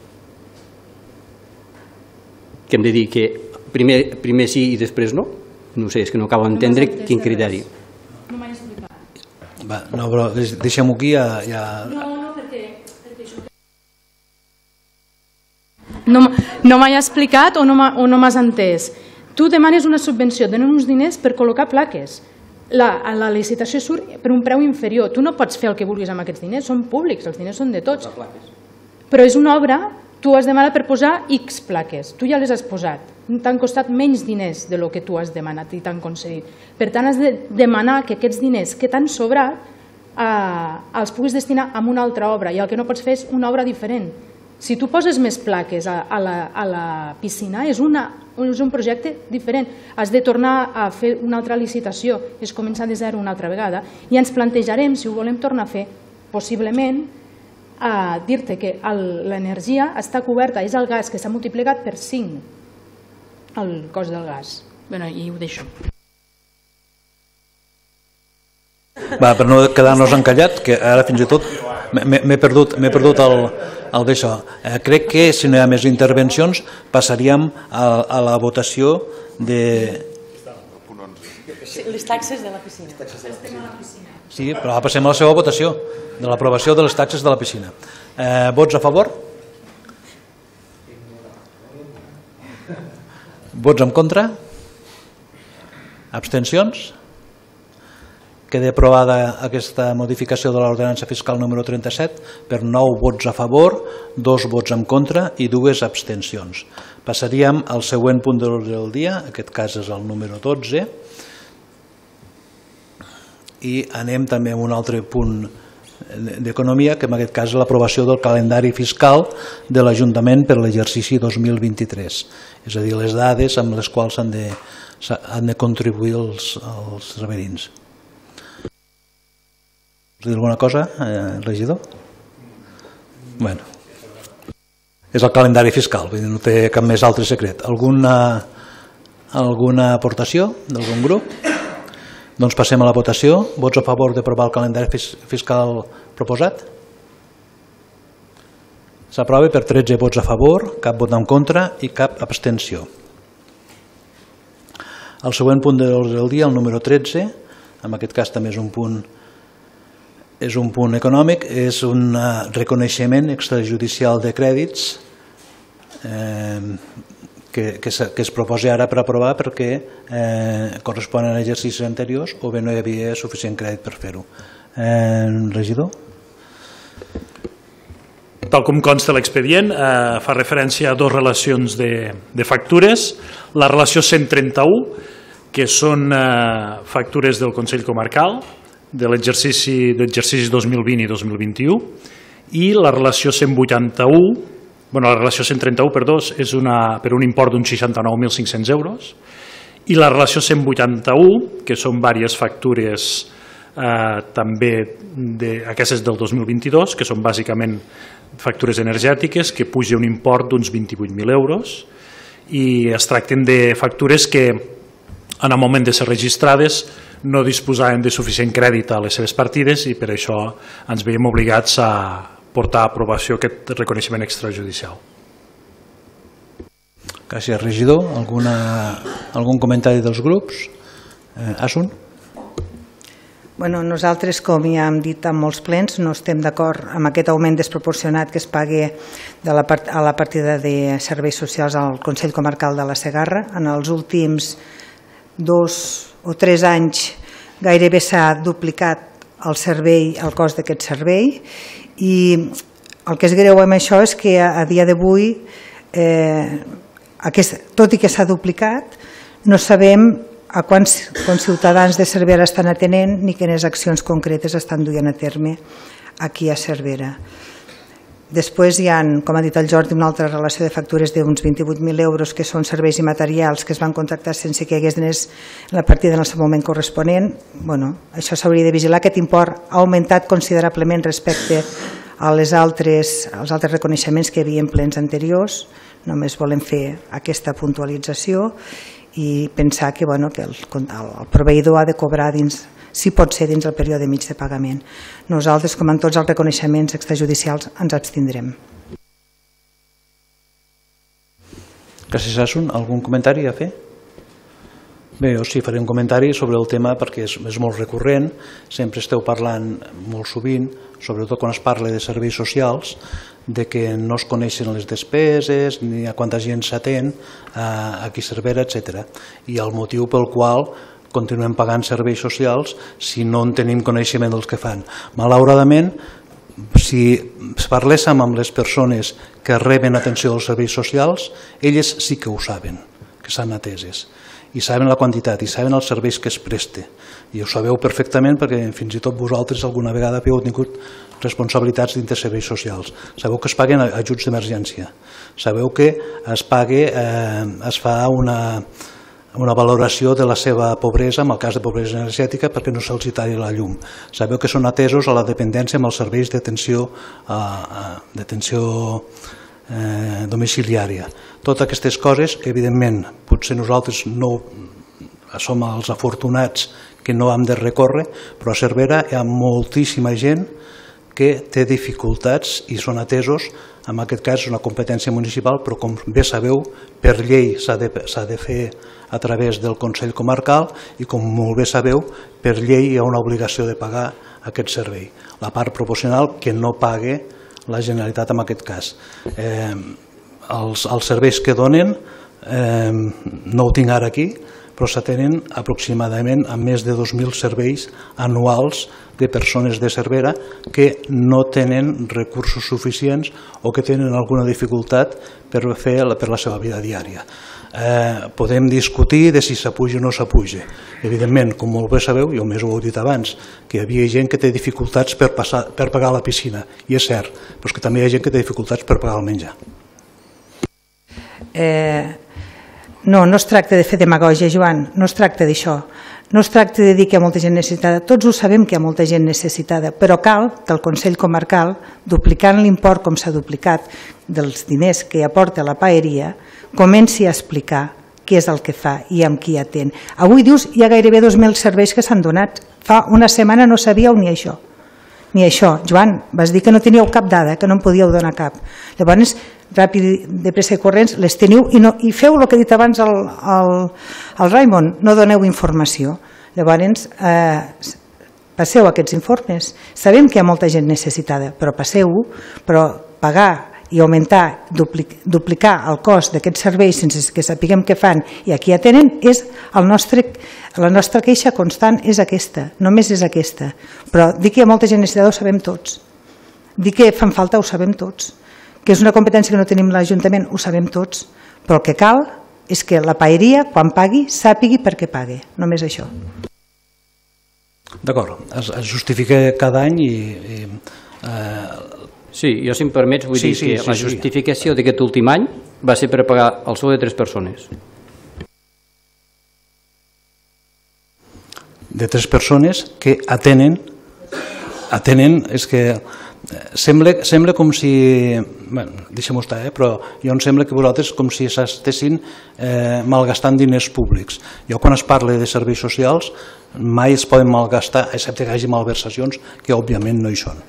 Que hem de dir que primer sí i després no? No sé, és que no acabo d'entendre quin criteri. No m'ha explicat. No, però deixem-ho aquí. No, perquè això... No m'ha explicat o no m'has entès. Tu demanes una subvenció, donen uns diners per col·locar plaques. La licitació surt per un preu inferior. Tu no pots fer el que vulguis amb aquests diners, són públics, els diners són de tots. Però és una obra, tu has demanat per posar X plaques, tu ja les has posat. T'han costat menys diners del que tu has demanat i t'han concedit. Per tant, has de demanar que aquests diners que t'han sobrat els puguis destinar a una altra obra, i el que no pots fer és una obra diferent. Si tu poses més plaques a la piscina, és un projecte diferent. Has de tornar a fer una altra licitació, és començar de zero una altra vegada, i ens plantejarem, si ho volem tornar a fer, possiblement, a dir-te que l'energia està coberta, és el gas que s'ha multiplicat per 5, el cost del gas. Bé, i ho deixo. Va, per no quedar-nos encallat, que ara fins i tot m'he perdut el d'això. Crec que si no hi ha més intervencions passaríem a la votació de... Les taxes de la piscina. Sí, però passem a la seva votació, de l'aprovació de les taxes de la piscina. Vots a favor? Vots en contra? Abstencions? Queda aprovada aquesta modificació de l'ordenança fiscal número 37 per 9 vots a favor, 2 vots en contra i 2 abstencions. Passaríem al següent punt de l'ordre del dia, en aquest cas és el número 12, i anem també a un altre punt d'economia, que en aquest cas és l'aprovació del calendari fiscal de l'Ajuntament per l'exercici 2023, és a dir, les dades amb les quals han de contribuir els reverins. Vols dir alguna cosa, regidor? Bueno, és el calendari fiscal, vull dir, no té cap més altre secret. Alguna aportació d'algun grup? Doncs passem a la votació. Vots a favor d'aprovar el calendari fiscal proposat? S'aprova per 13 vots a favor, cap vot en contra i cap abstenció. El següent punt de l'ordre del dia, el número 13, en aquest cas també és un punt econòmic, és un reconeixement extrajudicial de crèdits que es proposa ara per aprovar perquè corresponen a exercicis anteriors o bé no hi havia suficient crèdit per fer-ho. Regidor? Tal com consta l'expedient, fa referència a dues relacions de factures. La relació 131, que són factures del Consell Comarcal, de l'exercici 2020 i 2021, i la relació 131, perdó, és per un import d'uns 69.500 euros, i la relació 181, que són diverses factures també aquestes del 2022, que són bàsicament factures energètiques, que puja un import d'uns 28.000 euros, i es tracten de factures que en el moment de ser registrades no disposaven de suficient crèdit a les seves partides i per això ens veiem obligats a portar a aprovació aquest reconeixement extrajudicial. Gràcies, regidor. Algun comentari dels grups? Asun? Nosaltres, com ja hem dit en molts plens, no estem d'acord amb aquest augment desproporcionat que es pagui a la partida de serveis socials al Consell Comarcal de la Segarra. En els últims 2 o 3 anys gairebé s'ha duplicat el cost d'aquest servei, i el que és greu amb això és que a dia d'avui, tot i que s'ha duplicat, no sabem a quants ciutadans de Cervera estan atenent ni quines accions concretes estan duent a terme aquí a Cervera. Després hi ha, com ha dit el Jordi, una altra relació de factures d'uns 28.000 euros que són serveis i materials que es van contractar sense que hi hagués diners en la partida en el seu moment corresponent. Això s'hauria de vigilar. Aquest import ha augmentat considerablement respecte als altres reconeixements que hi havia en plens anteriors. Només volem fer aquesta puntualització i pensar que el proveïdor ha de cobrar dins si pot ser dins el període mig de pagament. Nosaltres, com en tots els reconeixements extrajudicials, ens abstindrem. Gràcies, Asun. Algun comentari a fer? Bé, jo sí faré un comentari sobre el tema perquè és molt recurrent, sempre esteu parlant molt sovint, sobretot quan es parla de serveis socials, de que no es coneixen les despeses ni a quanta gent s'atén, a qui Cervera, etc. I el motiu pel qual continuem pagant serveis socials si no en tenim coneixement dels que fan. Malauradament, si parléssim amb les persones que reben atenció dels serveis socials, elles sí que ho saben, que estan ateses, i saben la quantitat, i saben els serveis que es preste. I ho sabeu perfectament perquè fins i tot vosaltres alguna vegada heu tingut responsabilitats dins de serveis socials. Sabeu que es paguen ajuts d'emergència. Sabeu que es fa una valoració de la seva pobresa, en el cas de pobresa energètica, perquè no se'ls talli la llum. Sabeu que són atesos a la dependència amb els serveis d'atenció domiciliària. Totes aquestes coses, evidentment, potser nosaltres no som els afortunats que no hem de recórrer, però a Cervera hi ha moltíssima gent que té dificultats i són atesos. En aquest cas és una competència municipal, però com bé sabeu, per llei s'ha de fer a través del Consell Comarcal i com molt bé sabeu, per llei hi ha una obligació de pagar aquest servei. La part proporcional que no pague la Generalitat en aquest cas. Els serveis que donen, no ho tinc ara aquí, però s'atenen aproximadament a més de 2.000 serveis anuals de persones de Cervera que no tenen recursos suficients o que tenen alguna dificultat per fer per la seva vida diària. Podem discutir de si s'apuja o no s'apuja. Evidentment, com molt bé sabeu, jo més ho heu dit abans, que hi havia gent que té dificultats per pagar la piscina, i és cert, però és que també hi ha gent que té dificultats per pagar el menjar. No es tracta de fer demagògia, Joan, no es tracta d'això. No es tracta de dir que hi ha molta gent necessitada, tots ho sabem que hi ha molta gent necessitada, però cal que el Consell Comarcal, duplicant l'import com s'ha duplicat dels diners que aporta la paeria, comenci a explicar què és el que fa i amb qui atén. Avui dius hi ha gairebé 2.000 serveis que s'han donat. Fa una setmana no sabíeu ni això. Ni això. Joan, vas dir que no teníeu cap dada, que no en podíeu donar cap. Llavors, ràpid, de pressa i corrents, les teniu i feu el que ha dit abans el Raimon, no doneu informació. Llavors, passeu aquests informes. Sabem que hi ha molta gent necessitada, però passeu-ho, però pagar i augmentar, duplicar el cost d'aquests serveis sense que sapiguem què fan i a qui atenen, la nostra queixa constant és aquesta, només és aquesta. Però dir que hi ha molta gent necessitada ho sabem tots. Dir que fan falta ho sabem tots. Que és una competència que no tenim l'Ajuntament ho sabem tots. Però el que cal és que la paeria, quan pagui, sàpigui per què pague. Només això. D'acord, es justifica cada any i... Sí, jo si em permets vull dir que la justificació d'aquest últim any va ser per pagar el sou de 3 persones. De 3 persones que atenen, és que sembla com si, deixem-ho estar, però jo em sembla que vosaltres com si s'estessin malgastant diners públics. Jo quan es parla de serveis socials mai es poden malgastar, excepte que hi hagi malversacions, que òbviament no hi són.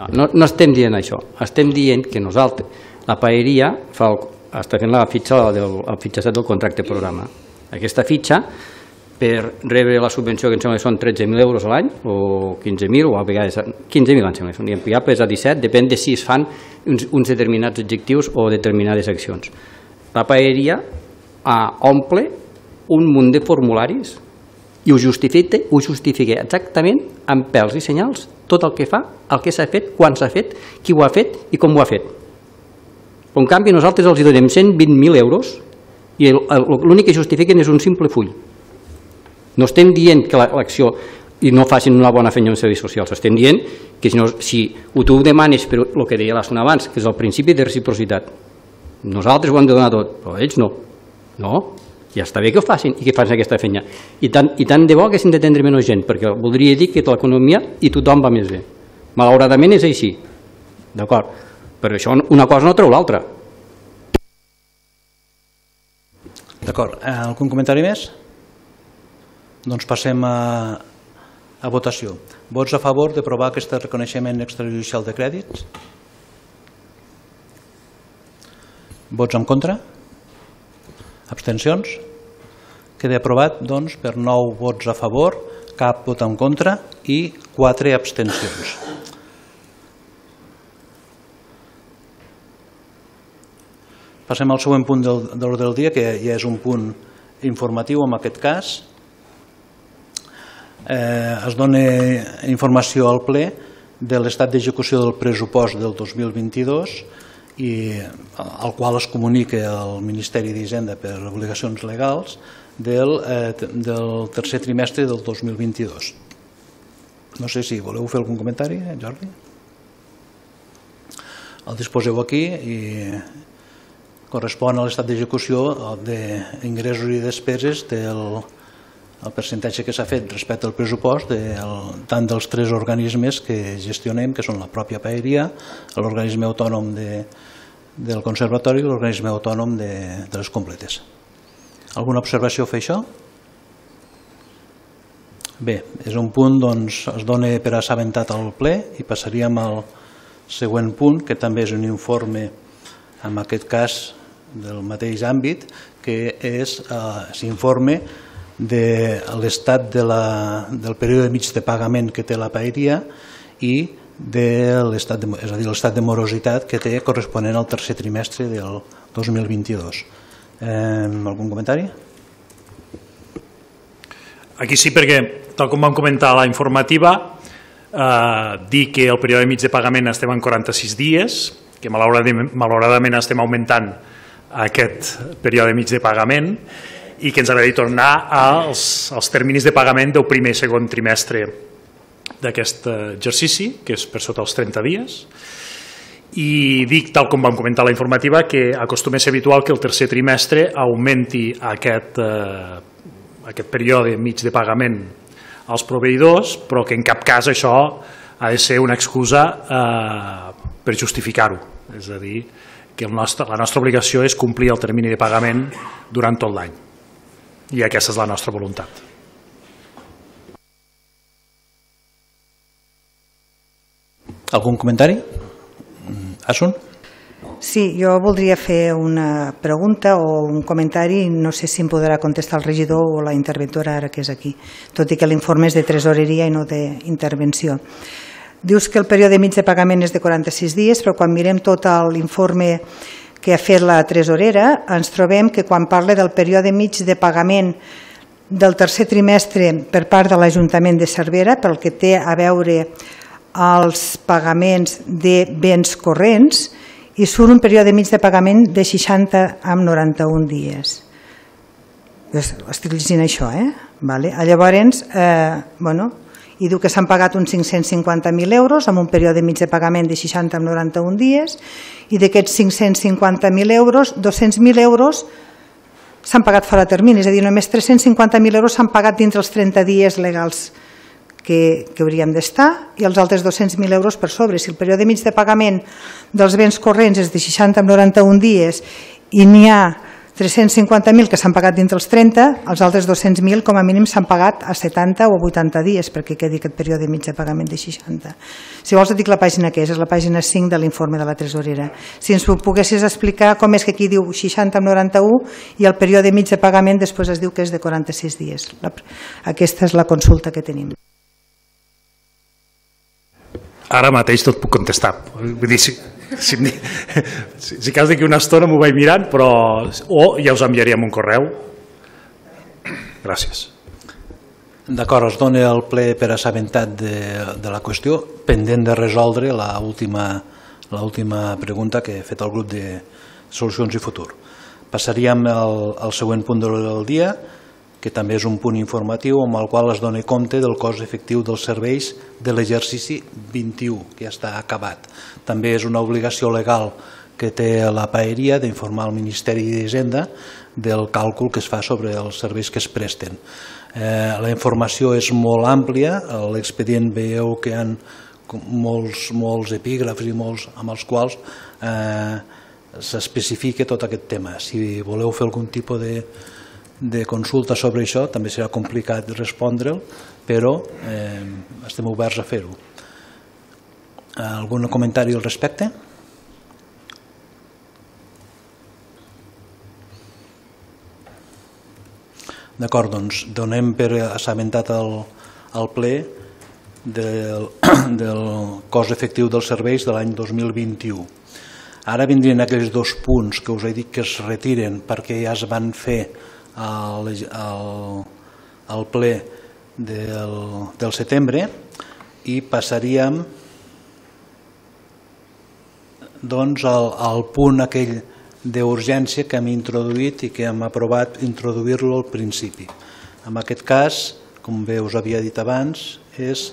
No estem dient això, estem dient que nosaltres, la paeria està fent el fitxatge del contracte programa. Aquesta fitxa, per rebre la subvenció que em sembla que són 13.000 euros a l'any, o 15.000, o a vegades 15.000 em sembla, i ampliables a 17, depèn de si es fan uns determinats objectius o determinades accions. La paeria omple un munt de formularis i ho justifica exactament amb pèls i senyals tot el que fa, el que s'ha fet, quan s'ha fet, qui ho ha fet i com ho ha fet. Però en canvi nosaltres els donem 120.000 euros i l'únic que justifiquen és un simple full. No estem dient que l'acció i no facin una bona feina en serveis socials, estem dient que si tu ho demanes per el que deia l'Asun abans, que és el principi de reciprocitat, nosaltres ho hem de donar tot, però ells no. No, ja està bé que ho facin i que facin aquesta feina. I tant de bo que s'han d'atendre menys gent, perquè voldria dir que l'economia i tothom va més bé. Malauradament és així, d'acord? Però això una cosa no treu l'altra. D'acord, algun comentari més? Doncs passem a votació. Vots a favor d'aprovar aquest reconeixement extrajudicial de crèdits? Vots en contra? Abstencions? Queda aprovat, doncs, per 9 vots a favor, cap vot en contra i 4 abstencions. Passem al següent punt de l'ordre del dia, que ja és un punt informatiu en aquest cas. Es dona informació al ple de l'estat d'execució del pressupost del 2022 i al qual es comunica al Ministeri d'Hisenda per obligacions legals del tercer trimestre del 2022. No sé si voleu fer algun comentari, Jordi? El disposeu aquí i correspon a l'estat d'execució d'ingressos i despeses del percentatge que s'ha fet respecte al pressupost tant dels 3 organismes que gestionem, que són la pròpia paeria, l'organisme autònom del conservatori i l'organisme autònom de les completes. Alguna observació a fer això? Bé, és un punt, doncs, es dona per assabentat al ple i passaríem al següent punt, que també és un informe, en aquest cas, del mateix àmbit, que és l'informe de l'estat del període mig de pagament que té la paeria i de l'estat de morositat que té corresponent al tercer trimestre del 2022. Algun comentari? Aquí sí, perquè, tal com vam comentar a la informativa, dir que el període mig de pagament estem en 46 dies, que malauradament estem augmentant aquest període mig de pagament i que ens agradaria tornar als terminis de pagament del primer i segon trimestre d'aquest exercici, que és per sota els 30 dies. I dic, tal com vam comentar a la informativa, que acostuma a ser habitual que el tercer trimestre augmenti aquest període mig de pagament als proveïdors, però que en cap cas això ha de ser una excusa per justificar-ho. És a dir, que la nostra obligació és complir el termini de pagament durant tot l'any. I aquesta és la nostra voluntat. Algun comentari? Asun? Sí, jo voldria fer una pregunta o un comentari, no sé si em podrà contestar el regidor o la interventora ara que és aquí, tot i que l'informe és de tresoreria i no d'intervenció. Dius que el període mig de pagament és de 46 dies, però quan mirem tot l'informe que ha fet la tresorera, ens trobem que quan parla del període mig de pagament del tercer trimestre per part de l'Ajuntament de Cervera, pel que té a veure els pagaments de béns corrents, i surt un període mig de pagament de 60 amb 91 dies. Estic llegint això, Llavors, i diu que s'han pagat uns 550.000 euros amb un període mig de pagament de 60 amb 91 dies i d'aquests 550.000 euros, 200.000 euros s'han pagat fora de termini, és a dir, només 350.000 euros s'han pagat dintre els 30 dies legals que hauríem d'estar i els altres 200.000 euros per sobre. Si el període mig de pagament dels béns corrents és de 60 amb 91 dies i n'hi ha 350.000 que s'han pagat dintre els 30, els altres 200.000 com a mínim s'han pagat a 70 o a 80 dies perquè quedi aquest període mig de pagament de 60. Si vols et dic la pàgina que és la pàgina 5 de l'informe de la tresorera. Si ens ho poguessis explicar com és que aquí diu 60 amb 91 i el període mig de pagament després es diu que és de 46 dies. Aquesta és la consulta que tenim. Ara mateix no et puc contestar. Vull dir, si cas d'aquí una estona m'ho vaig mirant, però ja us enviaríem un correu. Gràcies. D'acord, es dona el ple per assabentat de la qüestió, pendent de resoldre l'última pregunta que ha fet el grup de Solucions i Futur. Passaríem al següent punt del dia, que també és un punt informatiu amb el qual es dona compte del cost efectiu dels serveis de l'exercici 21, que ja està acabat. També és una obligació legal que té la paeria d'informar al Ministeri d'Hisenda del càlcul que es fa sobre els serveis que es presten. La informació és molt àmplia, a l'expedient veieu que hi ha molts epígrafs i molts amb els quals s'especifica tot aquest tema. Si voleu fer algun tipus de consulta sobre això, també serà complicat respondre'l, però estem oberts a fer-ho. Algun comentari al respecte? D'acord, doncs donem per assabentat al ple del cost efectiu dels serveis de l'any 2021. Ara vindrien aquells dos punts que us he dit que es retiren perquè ja es van fer al ple del setembre i passaríem doncs al punt aquell d'urgència que hem introduït i que hem aprovat introduir-lo al principi. En aquest cas, com bé us havia dit abans, és...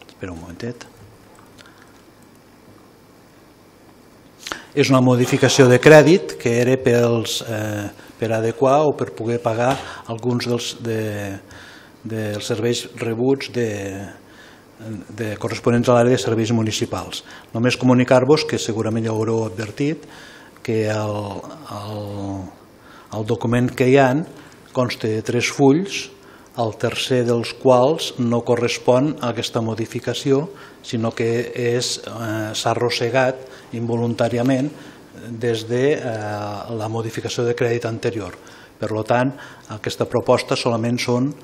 Espera un momentet. És una modificació de crèdit que era per adequar o per poder pagar alguns dels serveis rebuts corresponents a l'àrea de serveis municipals. Només comunicar-vos, que segurament ja ho haureu advertit, que el document que hi ha consta de 3 fulls, el tercer dels quals no correspon a aquesta modificació, sinó que s'ha arrossegat involuntàriament des de la modificació de crèdit anterior. Per tant, aquesta proposta solament són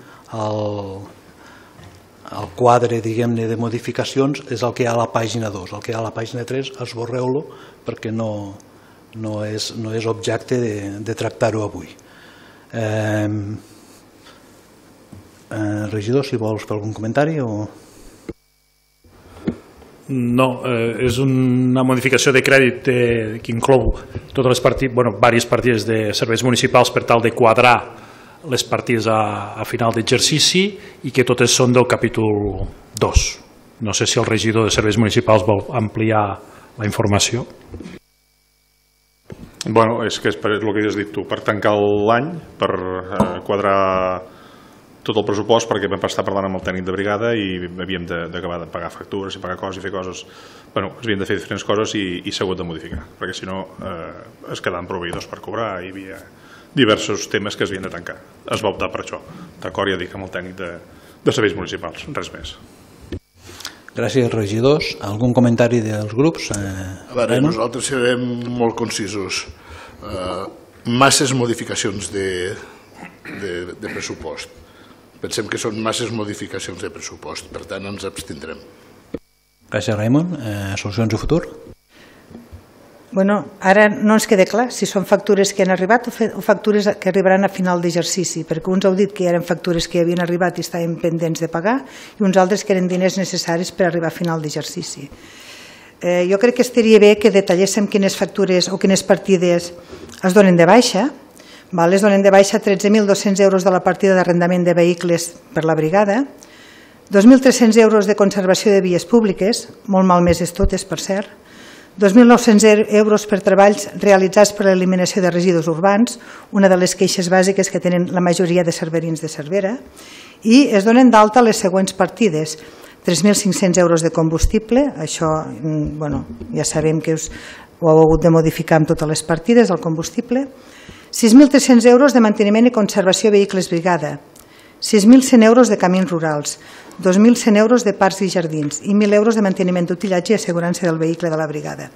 el quadre, diguem-ne, de modificacions és el que hi ha a la pàgina 2. El que hi ha a la pàgina 3 esborreu-lo perquè no és objecte de tractar-ho avui. Regidor, si vols fer algun comentari o... No, és una modificació de crèdit que inclou totes les diverses partides de serveis municipals per tal de quadrar les partides a final d'exercici i que totes són del capítol 2. No sé si el regidor de serveis municipals vol ampliar la informació. Bueno, és que és el que has dit tu, per tancar l'any, per quadrar tot el pressupost, perquè vam estar parlant amb el tècnic de brigada i havíem d'acabar de pagar factures i pagar coses i fer coses. Bueno, havíem de fer diferents coses i s'ha hagut de modificar, perquè si no es quedaven proveïdors per cobrar i hi havia diversos temes que es havien de tancar. Es va optar per això. D'acord, ja dic, amb el tècnic de serveis municipals, res més. Gràcies, regidors. Algun comentari dels grups? A veure, nosaltres serem molt concisos. Masses modificacions de pressupost. Pensem que són masses modificacions de pressupost, per tant ens abstindrem. Gràcies, Raimon. Solucions de futur? Bueno, ara no ens queda clar si són factures que han arribat o factures que arribaran a final d'exercici, perquè uns heu dit que eren factures que havien arribat i estaven pendents de pagar i uns altres que eren diners necessaris per arribar a final d'exercici. Jo crec que estaria bé que detalléssim quines factures o quines partides es donen de baixa. Es donen de baixa 13.200 euros de la partida d'arrendament de vehicles per la brigada, 2.300 euros de conservació de vies públiques, molt malmeses totes, per cert, 2.900 euros per treballs realitzats per l'eliminació de residus urbans, una de les queixes bàsiques que tenen la majoria de cerverins de Cervera, i es donen d'alta les següents partides: 3.500 euros de combustible, això ja sabem que ho heu hagut de modificar amb totes les partides, el combustible, 6.300 euros de manteniment i conservació de vehicles brigada, 6.100 euros de camins rurals, 2.100 euros de parcs i jardins i 1.000 euros de manteniment d'utillatge i assegurança del vehicle de la brigada.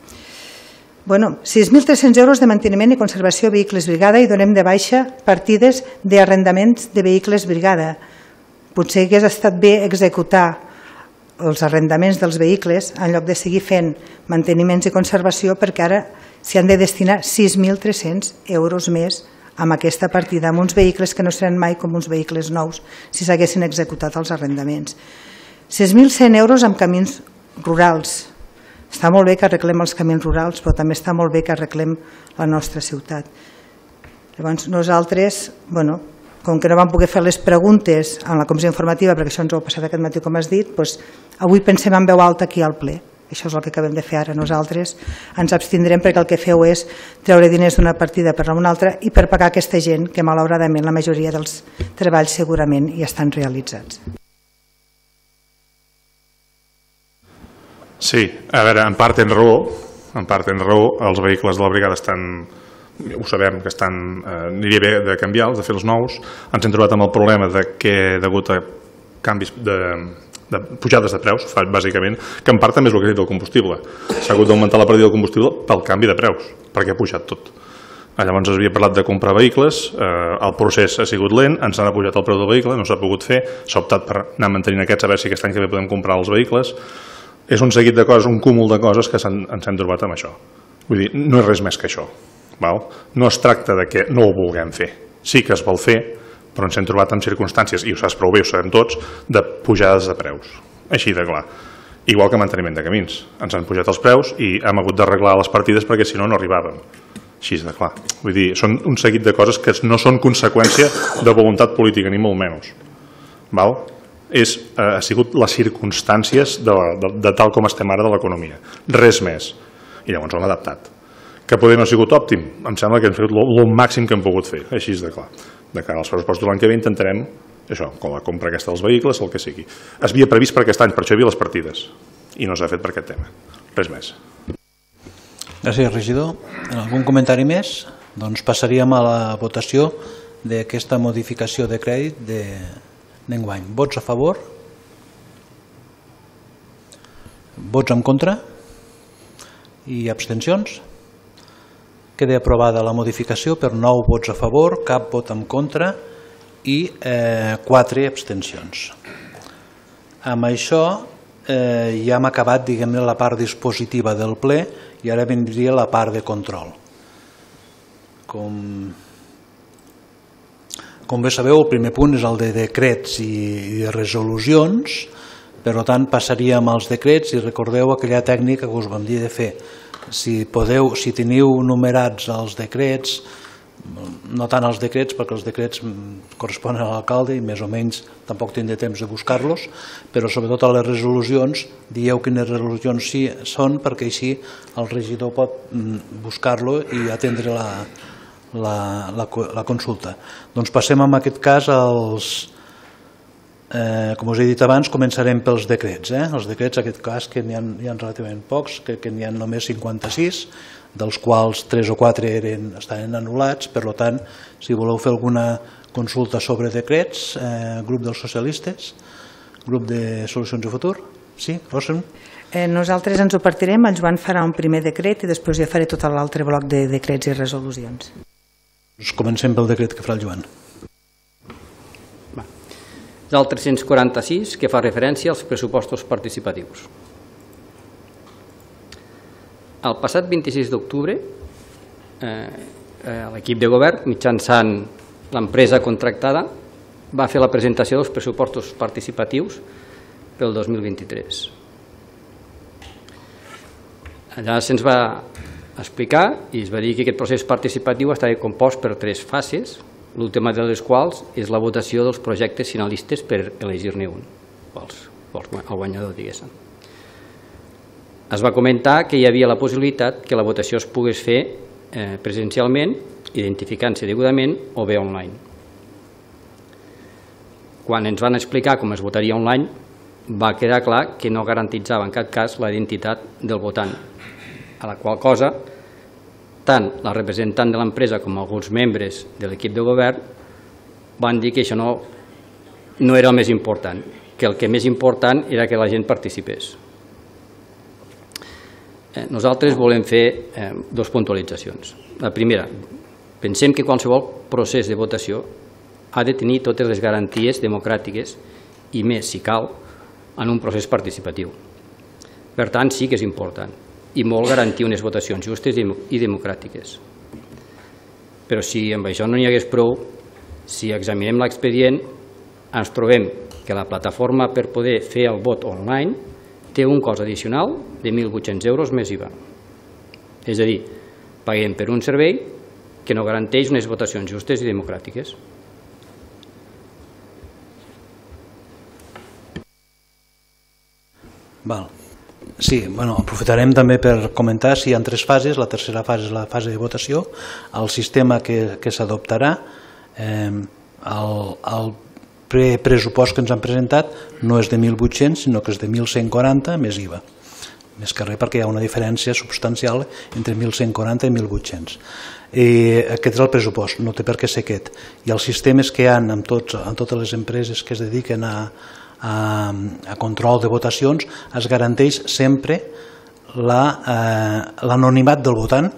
6.300 euros de manteniment i conservació de vehicles brigada i donem de baixa partides d'arrendaments de vehicles brigada. Potser hagués estat bé executar els arrendaments dels vehicles en lloc de seguir fent manteniments i conservació, perquè ara s'hi han de destinar 6.300 euros més amb aquesta partida, amb uns vehicles que no seran mai com uns vehicles nous si s'haguessin executat els arrendaments. 6.100 euros amb camins rurals. Està molt bé que arreglem els camins rurals, però també està molt bé que arreglem la nostra ciutat. Llavors nosaltres, com que no vam poder fer les preguntes en la comissió informativa, perquè això ens ho ha passat aquest matí com has dit, avui pensem en veu alta aquí al ple. Això és el que acabem de fer ara. Nosaltres ens abstindrem perquè el que feu és treure diners d'una partida per a una altra i per pagar aquesta gent que malauradament la majoria dels treballs segurament ja estan realitzats. Sí, a veure, en part tens raó, els vehicles de la brigada estan ho sabem que aniria bé de canviar-los, de fer els nous. Ens hem trobat amb el problema que degut a canvis de pujades de preus, bàsicament, que en part també és el que ha dit el combustible. S'ha hagut d'augmentar la partida del combustible pel canvi de preus, perquè ha pujat tot. Llavors es havia parlat de comprar vehicles, el procés ha sigut lent, ens han pujat el preu del vehicle, no s'ha pogut fer, s'ha optat per anar mantenint aquests, a veure si aquest any que ve podem comprar els vehicles. És un seguit de coses, un cúmul de coses que ens hem trobat amb això. Vull dir, no és res més que això. No es tracta de que no ho vulguem fer. Sí que es vol fer, però ens hem trobat en circumstàncies, i ho saps prou bé, ho sabem tots, de pujades de preus. Així de clar. Igual que manteniment de camins. Ens han pujat els preus i hem hagut d'arreglar les partides perquè si no, no arribàvem. Així de clar. Vull dir, són un seguit de coses que no són conseqüència de voluntat política, ni molt menys. Ha sigut les circumstàncies de tal com estem ara de l'economia. Res més. I llavors ho hem adaptat. Que poder no ha sigut òptim? Em sembla que hem fet el màxim que hem pogut fer. Així de clar. De cara als pressupostos de l'any que ve intentarem això, com la compra aquesta dels vehicles, el que sigui. Es havia previst per aquest any, per això hi havia les partides, i no s'ha fet per aquest tema. Res més. Gràcies, regidor. Algun comentari més? Doncs passaríem a la votació d'aquesta modificació de crèdit d'enguany. Vots a favor? Vots en contra? I abstencions? Queda aprovada la modificació per 9 vots a favor, cap vot en contra i 4 abstencions. Amb això ja hem acabat, diguem-ne, la part dispositiva del ple i ara vindria la part de control. Com bé sabeu, el primer punt és el de decrets i de resolucions, per tant passaríem als decrets i recordeu aquella tècnica que us vam dir de fer. Si teniu numerats els decrets, no tant els decrets, perquè els decrets corresponen a l'alcalde i més o menys tampoc tindré temps de buscar-los, però sobretot a les resolucions, dieu quines resolucions són, perquè així el regidor pot buscar-lo i atendre la consulta. Doncs passem en aquest cas als... Com us he dit abans, començarem pels decrets. Els decrets, en aquest cas, que n'hi ha relativament pocs, que n'hi ha només 56, dels quals 3 o 4 estaven anul·lats. Per tant, si voleu fer alguna consulta sobre decrets, grup dels socialistes, grup de Solucions i Futur. Sí, Rosen? Nosaltres ens ho partirem, en Joan farà un primer decret i després ja faré tot l'altre bloc de decrets i resolucions. Comencem pel decret que farà el Joan. Del 346, que fa referència als pressupostos participatius. El passat 26 d'octubre, l'equip de govern, mitjançant l'empresa contractada, va fer la presentació dels pressupostos participatius pel 2023. Allà se'ns va explicar i es va dir que aquest procés participatiu estava compost per 3 fases, l'última de les quals és la votació dels projectes finalistes per elegir-ne un, el guanyador, diguéssim. Es va comentar que hi havia la possibilitat que la votació es pogués fer presencialment, identificant-se degudament, o bé online. Quan ens van explicar com es votaria online, va quedar clar que no garantitzava en cap cas la identitat del votant, a la qual cosa tant la representant de l'empresa com alguns membres de l'equip de govern van dir que això no era el més important, que el que més important era que la gent participés. Nosaltres volem fer 2 puntualitzacions. La primera, pensem que qualsevol procés de votació ha de tenir totes les garanties democràtiques i més, si cal, en un procés participatiu. Per tant, sí que és important i molt garantir unes votacions justes i democràtiques. Però si amb això no n'hi hagués prou, si examinem l'expedient, ens trobem que la plataforma per poder fer el vot online té un cost addicional de 1.800 euros més IVA. És a dir, paguem per un servei que no garanteix unes votacions justes i democràtiques. Val. Sí, aprofitarem també per comentar si hi ha 3 fases. La tercera fase és la fase de votació. El sistema que s'adoptarà, el pressupost que ens han presentat no és de 1.800, sinó que és de 1.140 més IVA. més que res perquè hi ha una diferència substancial entre 1.140 i 1.800. Aquest és el pressupost, no té per què ser aquest. I els sistemes que hi ha en totes les empreses que es dediquen a control de votacions es garanteix sempre l'anonimat del votant.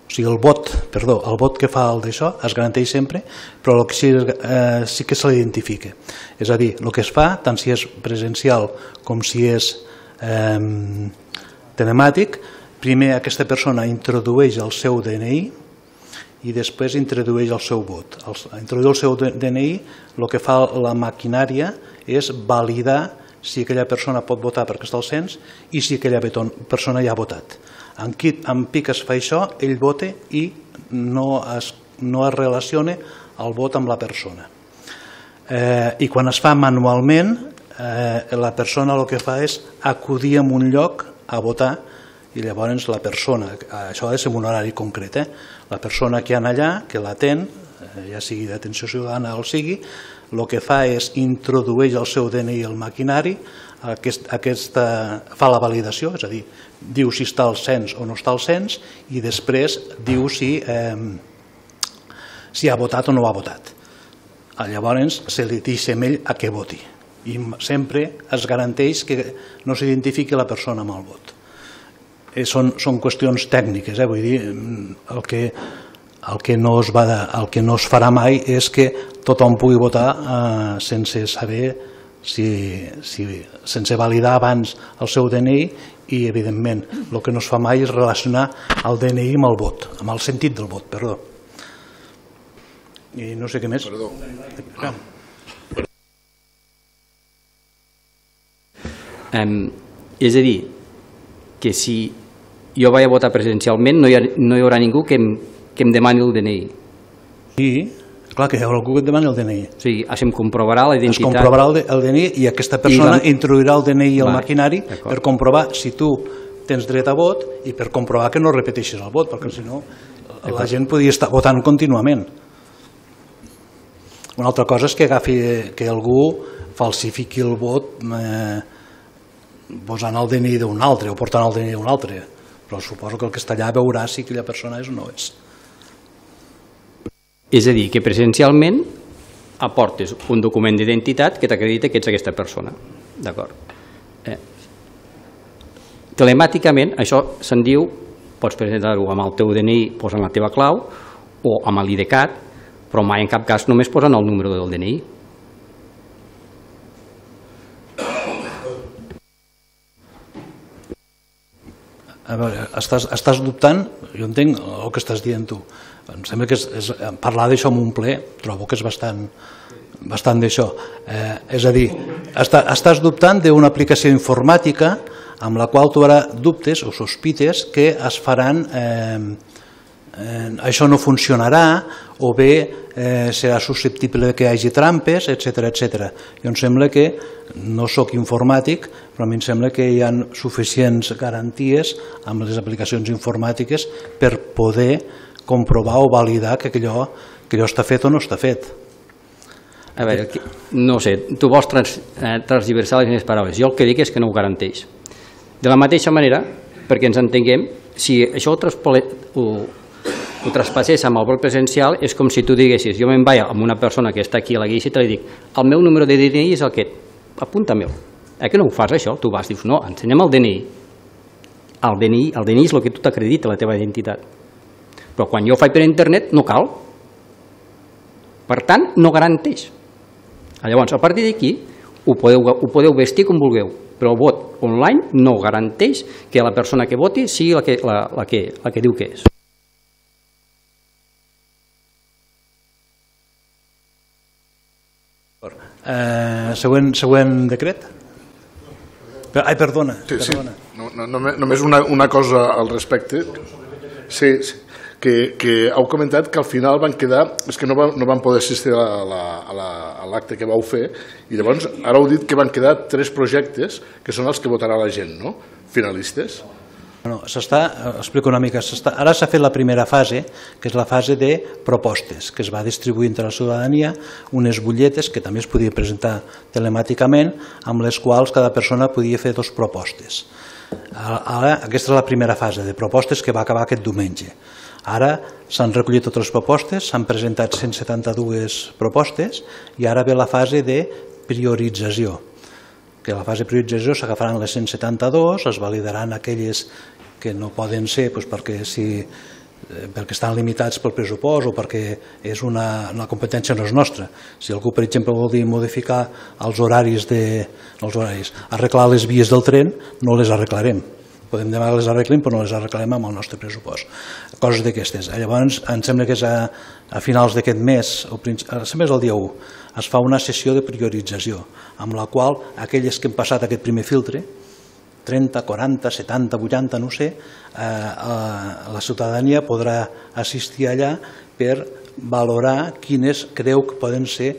O sigui, el vot que fa el d'això es garanteix sempre, però el que sí que se l'identifica. És a dir, el que es fa, tant si és presencial com si és telemàtic, primer aquesta persona introdueix el seu DNI i després introdueix el seu vot. Introduir el seu DNI, el que fa la maquinària és validar si aquella persona pot votar perquè està al cens i si aquella persona ja ha votat. En PIC es fa això, ell vota i no es relaciona el vot amb la persona. I quan es fa manualment, la persona el que fa és acudir a un lloc a votar i llavors la persona, això ha de ser en un horari concret, la persona que hi ha allà, que l'atén, ja sigui d'atenció ciutadana o sigui, el que fa és introdueix el seu DNI al maquinari, fa la validació, és a dir, diu si està al cens o no està al cens i després diu si ha votat o no ha votat. Llavors se li deixa a ell a què voti i sempre es garanteix que no s'identifiqui la persona amb el vot. Són qüestions tècniques, vull dir, el que no es farà mai és que tothom pugui votar sense saber, sense validar abans el seu DNI i, evidentment, el que no es fa mai és relacionar el DNI amb el vot, amb el sentit del vot, perdó. I no sé què més. És a dir, que si jo vaig a votar presencialment no hi haurà ningú que em demani el DNI. Sí, clar que hi haurà algú que et demani el DNI. O sigui, em comprovarà la identitat. Es comprovarà el DNI i aquesta persona introduirà el DNI al maquinari per comprovar si tu tens dret a vot i per comprovar que no repeteixis el vot, perquè si no la gent podria estar votant contínuament. Una altra cosa és que algú falsifiqui el vot posant el DNI d'un altre o portant el DNI d'un altre, però suposo que el que està allà veurà si aquella persona és o no és. És a dir, que presencialment aportes un document d'identitat que t'acredita que ets aquesta persona. D'acord. Telemàticament, això se'n diu, pots presentar-ho amb el teu DNI posant la teva clau o amb l'IDCAT, però mai en cap cas només posant el número del DNI. A veure, estàs dubtant? Jo entenc el que estàs dient tu. Em sembla que parlar d'això en un ple trobo que és bastant d'això. És a dir, estàs dubtant d'una aplicació informàtica amb la qual tu ara dubtes o sospites que es faran, això no funcionarà o bé serà susceptible que hi hagi trampes, etc. Jo em sembla que, no sóc informàtic, però a mi em sembla que hi ha suficients garanties amb les aplicacions informàtiques per poder comprovar o validar que allò està fet o no està fet. A veure, no sé, tu vols transversar les meves paraules. Jo el que dic és que no ho garanteix. De la mateixa manera, perquè ens entenguem, si això ho traspassés amb el vot presencial és com si tu diguessis, jo me'n vaig amb una persona que està aquí a la guixa i te li dic, el meu número de DNI és el que, apunta-me'l. Que no ho fas això? Tu vas, dius, no, ensenya'm el DNI. El DNI és el que tu t'acredita, la teva identitat. Però quan jo ho faig per internet no cal. Per tant, no garanteix. Llavors, a partir d'aquí, ho podeu vestir com vulgueu, però el vot online no garanteix que la persona que voti sigui la que diu que és. Següent decret? Ai, perdona. Només una cosa al respecte. Sí, que heu comentat que al final van quedar, és que no van poder assistir a l'acte que vau fer i llavors ara heu dit que van quedar 3 projectes que són els que votarà la gent, no? Finalistes. Explico una mica. Ara s'ha fet la primera fase, que és la fase de propostes, que es va distribuir entre la ciutadania unes butlletes que també es podia presentar telemàticament, amb les quals cada persona podia fer 2 propostes. Ara, aquesta és la primera fase de propostes que va acabar aquest diumenge. Ara s'han recollit totes les propostes, s'han presentat 172 propostes i ara ve la fase de priorització. Que a la fase de priorització s'agafaran les 172, es validaran aquelles que no poden ser perquè estan limitats pel pressupost o perquè la competència no és nostra. Si algú, per exemple, vol dir modificar els horaris, arreglar les vies del tren, no les arreglarem. Podem demanar que les arreglem, però no les arreglarem amb el nostre pressupost. Coses d'aquestes. Llavors, em sembla que és a finals d'aquest mes, sempre és el dia 1, es fa una sessió de priorització, amb la qual aquelles que han passat aquest primer filtre, 30, 40, 70, 80, no sé, la ciutadania podrà assistir allà per valorar quines creu que poden ser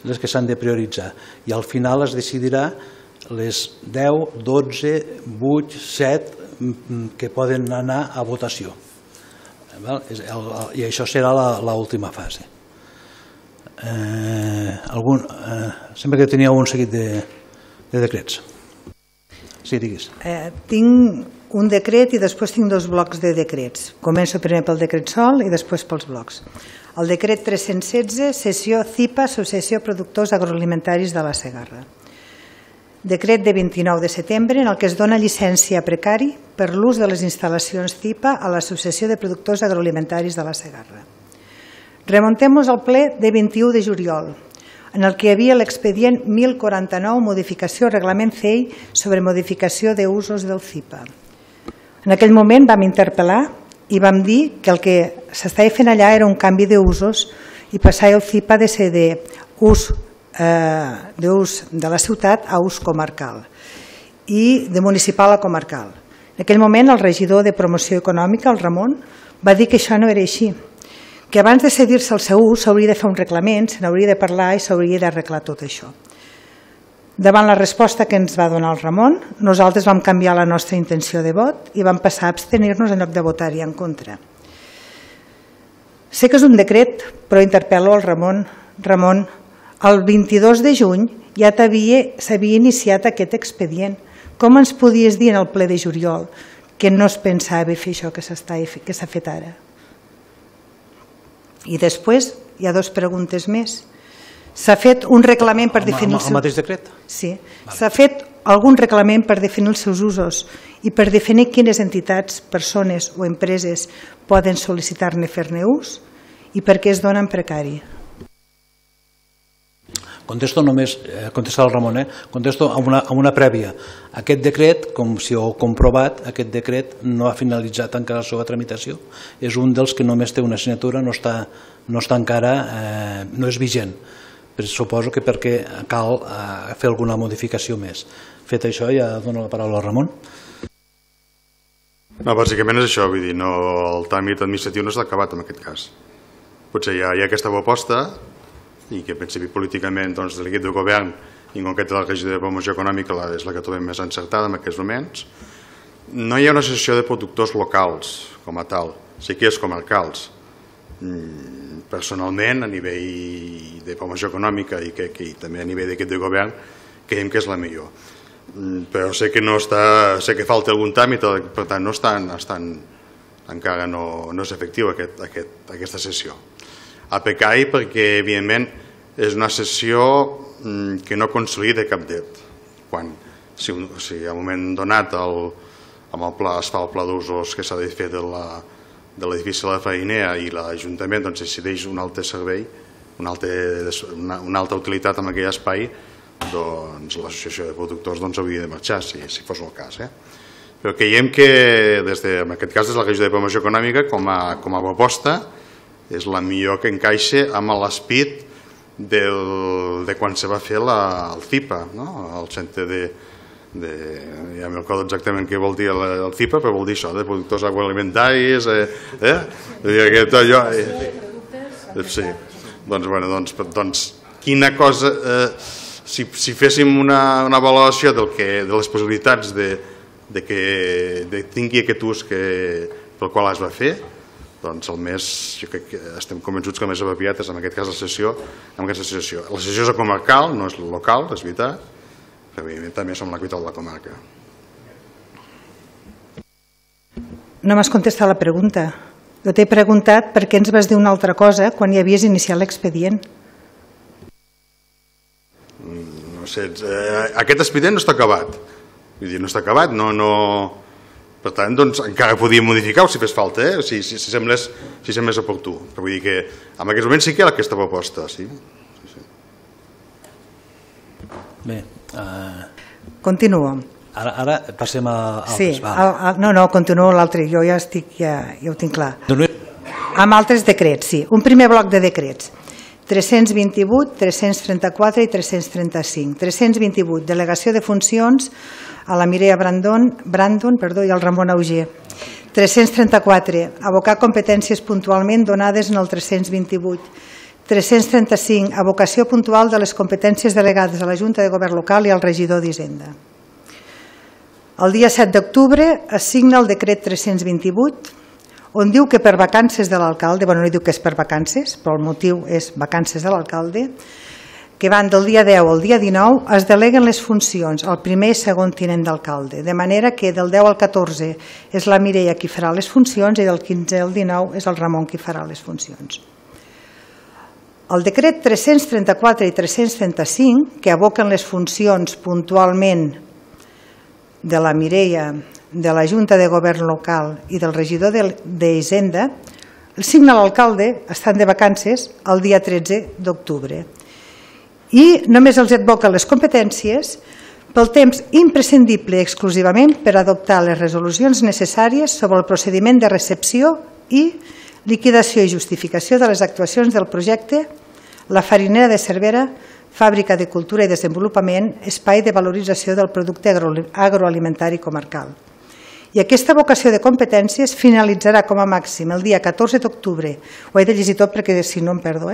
les que s'han de prioritzar. I al final es decidirà les 10, 12, 8, 7 que poden anar a votació. I això serà l'última fase. Sempre que tenia un seguit de decrets. Sí, digues. Tinc un decret i després tinc dos blocs de decrets. Començo primer pel decret sol i després pels blocs. El decret 316, sessió CIPA, Associació Productors Agroalimentaris de la Segarra. Decret de 29 de setembre en el que es dona llicència a precari per l'ús de les instal·lacions CIPA a l'Associació de Productors Agroalimentaris de la Segarra. Remontem-nos al ple de 21 de juliol, en el que hi havia l'expedient 1049, modificació reglament CEI sobre modificació d'usos del CIPA. En aquell moment vam interpel·lar i vam dir que el que s'estava fent allà era un canvi d'usos i passar el CIPA de ser d'ús de la ciutat a ús comarcal i de municipal a comarcal. En aquell moment el regidor de promoció econòmica, el Ramon, va dir que això no era així, que abans de cedir-se el seu ús s'hauria de fer un reglament, se n'hauria de parlar i s'hauria d'arreglar tot això. Davant la resposta que ens va donar el Ramon, nosaltres vam canviar la nostra intenció de vot i vam passar a abstenir-nos en lloc de votar-hi en contra. Sé que és un decret, però interpel·lo al Ramon. Ramon, el 22 de juny ja s'havia iniciat aquest expedient. Com ens podies dir en el ple de juliol que no es pensava fer això que s'ha fet ara? I després hi ha dues preguntes més. S'ha fet un reglament per definir... El mateix decret? Sí. S'ha fet algun reglament per definir els seus usos i per definir quines entitats, persones o empreses poden sol·licitar-ne fer-ne ús i per què es dona en precari. Contesto només, contesta el Ramon, contesto amb una prèvia. Aquest decret, com si ho heu comprovat, aquest decret no ha finalitzat encara la seva tramitació. És un dels que només té una assignatura, no està encara, no és vigent. Però suposo que perquè cal fer alguna modificació més. Fet això, ja dono la paraula al Ramon. No, bàsicament és això, vull dir, el tràmit administratiu no s'ha acabat en aquest cas. Potser hi ha aquesta proposta i que en principi políticament de l'equip de govern i en concret de la regió de promoció econòmica és la que trobem més encertada en aquests moments. No hi ha una associació de productors locals com a tal, sí que és comarcals. Personalment, a nivell de promoció econòmica i també a nivell d'equip de govern, creiem que és la millor. Però sé que falta algun tràmit, per tant encara no és efectiu aquesta sessió. A precari perquè, evidentment, és una sessió que no consolida cap dret. Si a un moment donat amb el pla es fa el pla d'usos que s'ha de fer de l'edifici de la Farinera i l'Ajuntament decideix un altre servei, una altra utilitat en aquell espai, doncs l'associació de productors hauria de marxar, si fos el cas. Però creiem que, en aquest cas, des de la regió de promoció econòmica, com a proposta, és la millor que encaixa amb l'esperit de quan se va fer el CIPA, el centre ja m'ho recordo exactament què vol dir el CIPA, però vol dir això, de productors agroalimentaris, sí. Doncs quina cosa, si féssim una valoració de les possibilitats de que tingui aquest ús pel qual es va fer, doncs jo crec que estem convençuts que el més apropiat és en aquest cas la sessió. La sessió és comarcal, no és local, és veritat, però evidentment també som la capital de la comarca. No m'has contestat la pregunta. Jo t'he preguntat per què ens vas dir una altra cosa quan ja havies iniciat l'expedient. No sé, aquest expedient no està acabat. Vull dir, no està acabat, no... Per tant, doncs, encara podíem modificar-ho si fes falta, si semblés oportú. Però vull dir que en aquests moments sí que hi ha aquesta proposta, sí. Bé. Continuo. Ara passem a altres. Sí, no, continuo l'altre, jo ja ho tinc clar. Amb altres decrets, sí. Un primer bloc de decrets. 328, 334 i 335. 328, delegació de funcions a la Mireia Brandon i al Ramon Auger. 334, abocar competències puntualment donades en el 328. 335, abocació puntual de les competències delegades a la Junta de Govern Local i al regidor d'Hisenda. El dia 7 d'octubre es signa el decret 328, on diu que per vacances de l'alcalde, no diu que és per vacances, però el motiu és vacances de l'alcalde, que van del dia 10 al dia 19, es deleguen les funcions al primer i segon tinent d'alcalde, de manera que del 10 al 14 és la Mireia qui farà les funcions i del 15 al 19 és el Ramon qui farà les funcions. El decret 334 i 335, que aboquen les funcions puntualment de la Mireia, de la Junta de Govern Local i del regidor d'Hisenda, el signa l'alcalde, estan de vacances, el dia 13 d'octubre. I només els advoca les competències pel temps imprescindible exclusivament per adoptar les resolucions necessàries sobre el procediment de recepció i liquidació i justificació de les actuacions del projecte La Farinera de Cervera, Fàbrica de Cultura i Desenvolupament, espai de valorització del producte agroalimentari comarcal. I aquesta vocació de competències finalitzarà com a màxim el dia 14 d'octubre, ho he de llegir tot perquè si no em perdo,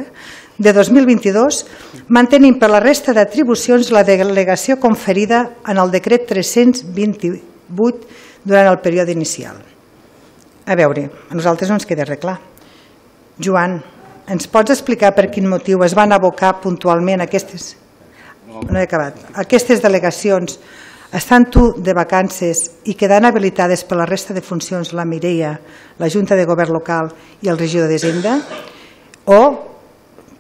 de 2022, mantenint per la resta d'atribucions la delegació conferida en el decret 328 durant el període inicial. A veure, a nosaltres no ens queda res clar. Joan, ens pots explicar per quin motiu es van abocar puntualment aquestes delegacions, estan tu de vacances i quedant habilitades per la resta de funcions la Mireia, la Junta de Govern Local i el regidor d'Hisenda? O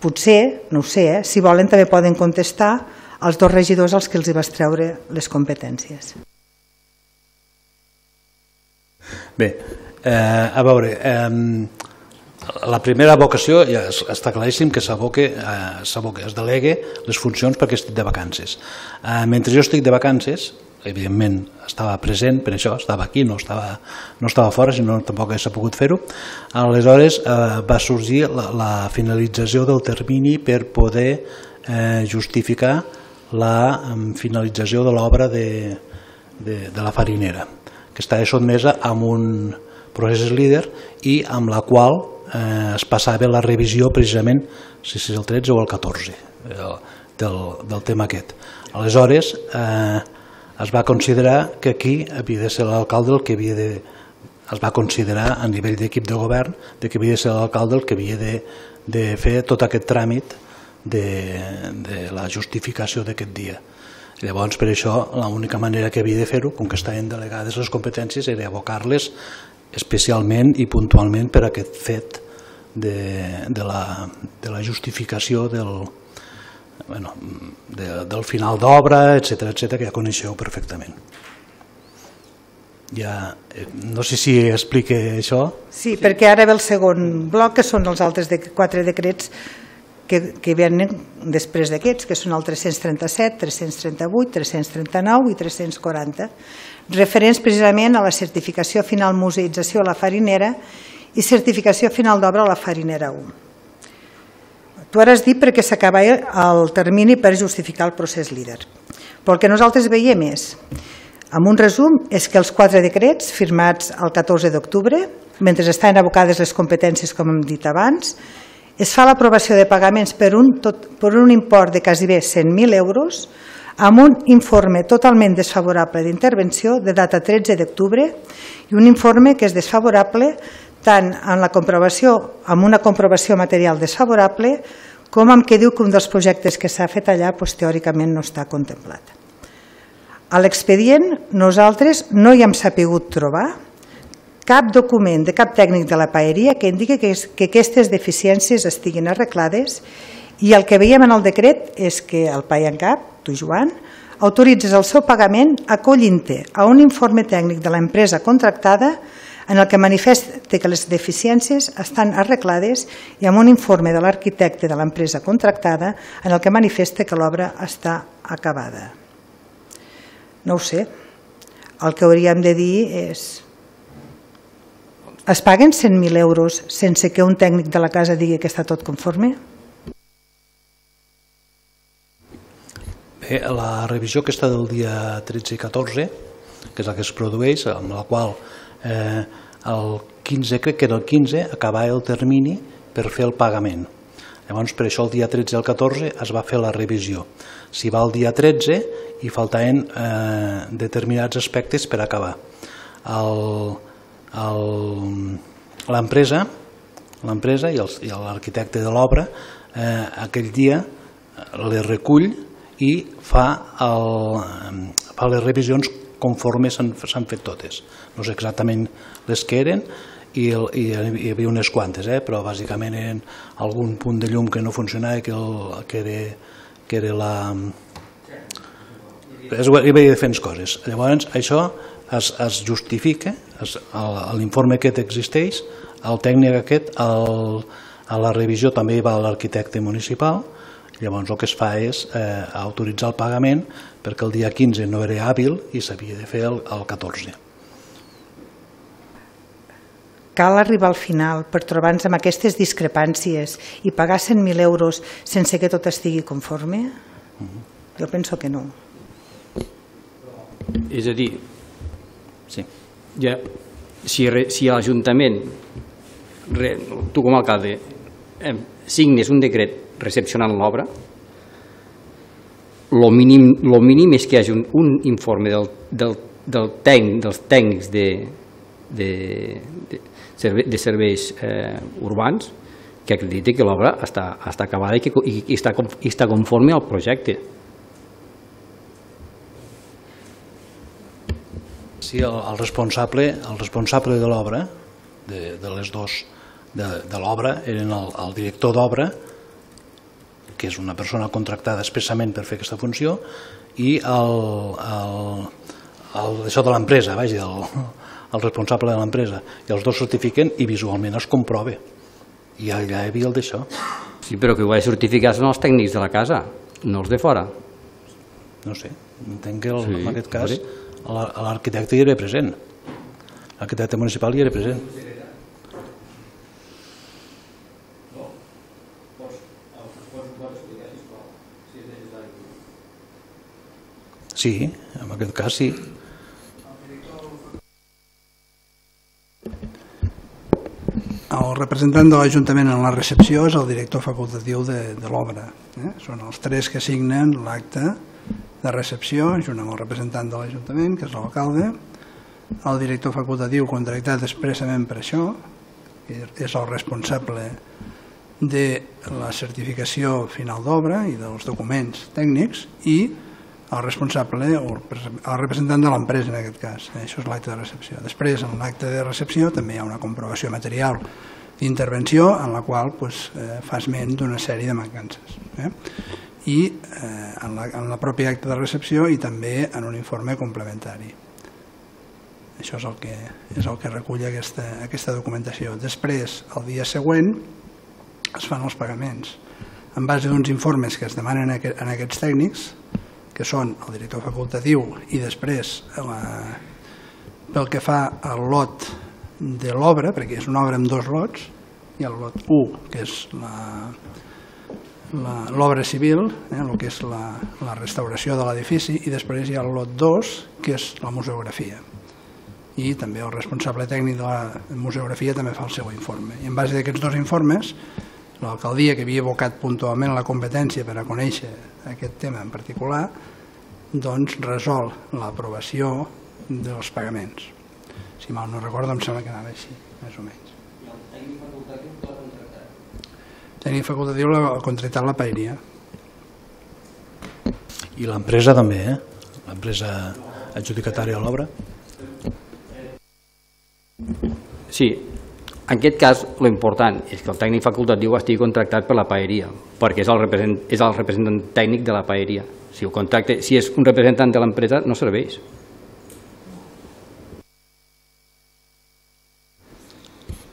potser, no ho sé, si volen també poden contestar als dos regidors als que els hi vas treure les competències. Bé, a veure, la primera vocació ja està claríssim que es delegue les funcions perquè estic de vacances. Mentre jo estic de vacances, evidentment estava present, per això estava aquí, no estava fora, si no tampoc hauria pogut fer-ho. Aleshores va sorgir la finalització del termini per poder justificar la finalització de l'obra de la Farinera, que estava sotmesa a un procés líder i amb la qual es passava la revisió precisament, si és el 13 o el 14 del tema aquest. Aleshores es va considerar que aquí havia de ser l'alcalde el que havia de... Es va considerar a nivell d'equip de govern que havia de ser l'alcalde el que havia de fer tot aquest tràmit de la justificació d'aquest dia. Llavors, per això, l'única manera que havia de fer-ho, com que estaven delegades les competències, era abocar-les especialment i puntualment per aquest fet de la justificació del final d'obra, etc., que ja coneixeu perfectament. No sé si explique això. Sí, perquè ara ve el segon bloc, que són els altres 4 decrets que venen després d'aquests, que són el 337, 338, 339 i 340, referents precisament a la certificació final museïtzació a la Farinera i certificació final d'obra a la Farinera 1. Tu ara has dit perquè s'acaba el termini per justificar el procés líder. Però el que nosaltres veiem és, en un resum, és que els 4 decrets firmats el 14 d'octubre, mentre estan abocades les competències, com hem dit abans, es fa l'aprovació de pagaments per un import de quasi bé 100.000 euros amb un informe totalment desfavorable d'intervenció de data 13 d'octubre i un informe que és desfavorable tant amb una comprovació material desfavorable com amb què diu que un dels projectes que s'ha fet allà teòricament no està contemplat. A l'expedient nosaltres no hi hem sabut trobar cap document de cap tècnic de la paeria que indiqui que aquestes deficiències estiguin arreglades, i el que veiem en el decret és que el PAENCAP, tu Joan, autoritzes el seu pagament acollint-te a un informe tècnic de l'empresa contractada en el que manifesta que les deficiències estan arreglades i amb un informe de l'arquitecte de l'empresa contractada en el que manifesta que l'obra està acabada. No ho sé. El que hauríem de dir és: es paguen 100.000 euros sense que un tècnic de la casa digui que està tot conforme? Bé, la revisió aquesta del dia 13 i 14, que és la que es produeix, amb la qual el 15, crec que era el 15, acabava el termini per fer el pagament. Llavors, per això el dia 13 i el 14 es va fer la revisió. Si va el dia 13 i faltaven determinats aspectes per acabar. L'empresa i l'arquitecte de l'obra aquell dia les recull i fa les revisions conforme s'han fet totes. No sé exactament les que eren, i hi havia unes quantes, però bàsicament eren algun punt de llum que no funcionava, que era la... Hi havia diferents coses. Llavors, això es justifica, l'informe aquest existeix, el tècnic aquest, a la revisió també hi va l'arquitecte municipal. Llavors el que es fa és autoritzar el pagament perquè el dia 15 no era hàbil i s'havia de fer el 14. Cal arribar al final per trobar-nos amb aquestes discrepàncies i pagar 100.000 euros sense que tot estigui conforme? Jo penso que no. És a dir, si l'Ajuntament, tu com a alcalde, signes un decret recepcionant l'obra, el mínim és que hi hagi un informe dels tècnics de serveis urbans que acrediti que l'obra està acabada i està conforme al projecte. Sí, el responsable de l'obra, de l'obra, eren el director d'obra, que és una persona contractada expressament per fer aquesta funció, i això de l'empresa, el responsable de l'empresa, i els dos certifiquen i visualment es comprova. I allà hi havia el d'això. Sí, però que ho ha de certificar són els tècnics de la casa, no els de fora. No sé, entenc que en aquest cas l'arquitecte hi era present, l'arquitecte municipal hi era present. Sí, en aquest cas sí. El representant de l'Ajuntament en la recepció és el director facultatiu de l'obra. Són els tres que signen l'acte de recepció, junt amb el representant de l'Ajuntament, que és l'alcalde, el director facultatiu contractat expressament per això, que és el responsable de la certificació final d'obra i dels documents tècnics, i el responsable, el representant de l'empresa en aquest cas. Això és l'acte de recepció. Després, en l'acte de recepció també hi ha una comprovació material d'intervenció en la qual fa esment d'una sèrie de mancances. I en la pròpia acte de recepció i també en un informe complementari. Això és el que recull aquesta documentació. Després, el dia següent, es fan els pagaments en base d'uns informes que es demanen a aquests tècnics, que són el director facultatiu, i després, pel que fa al lot de l'obra, perquè és una obra amb dos lots, hi ha el lot 1, que és l'obra civil, el que és la restauració de l'edifici, i després hi ha el lot 2, que és la museografia. I també el responsable tècnic de la museografia també fa el seu informe. I en base d'aquests dos informes, l'alcaldia, que havia evocat puntualment la competència per a conèixer aquest tema en particular, doncs resol l'aprovació dels pagaments. Si mal no recordo, em sembla que anava així, més o menys. I el tècnic facultatiu l'ha contractat? El tècnic facultatiu l'ha contractat la paeria. I l'empresa també, l'empresa adjudicatària a l'obra. Sí, en aquest cas l'important és que el tècnic facultatiu estigui contractat per la paeria, perquè és el representant tècnic de la paeria. Si és un representant de l'empresa no serveix.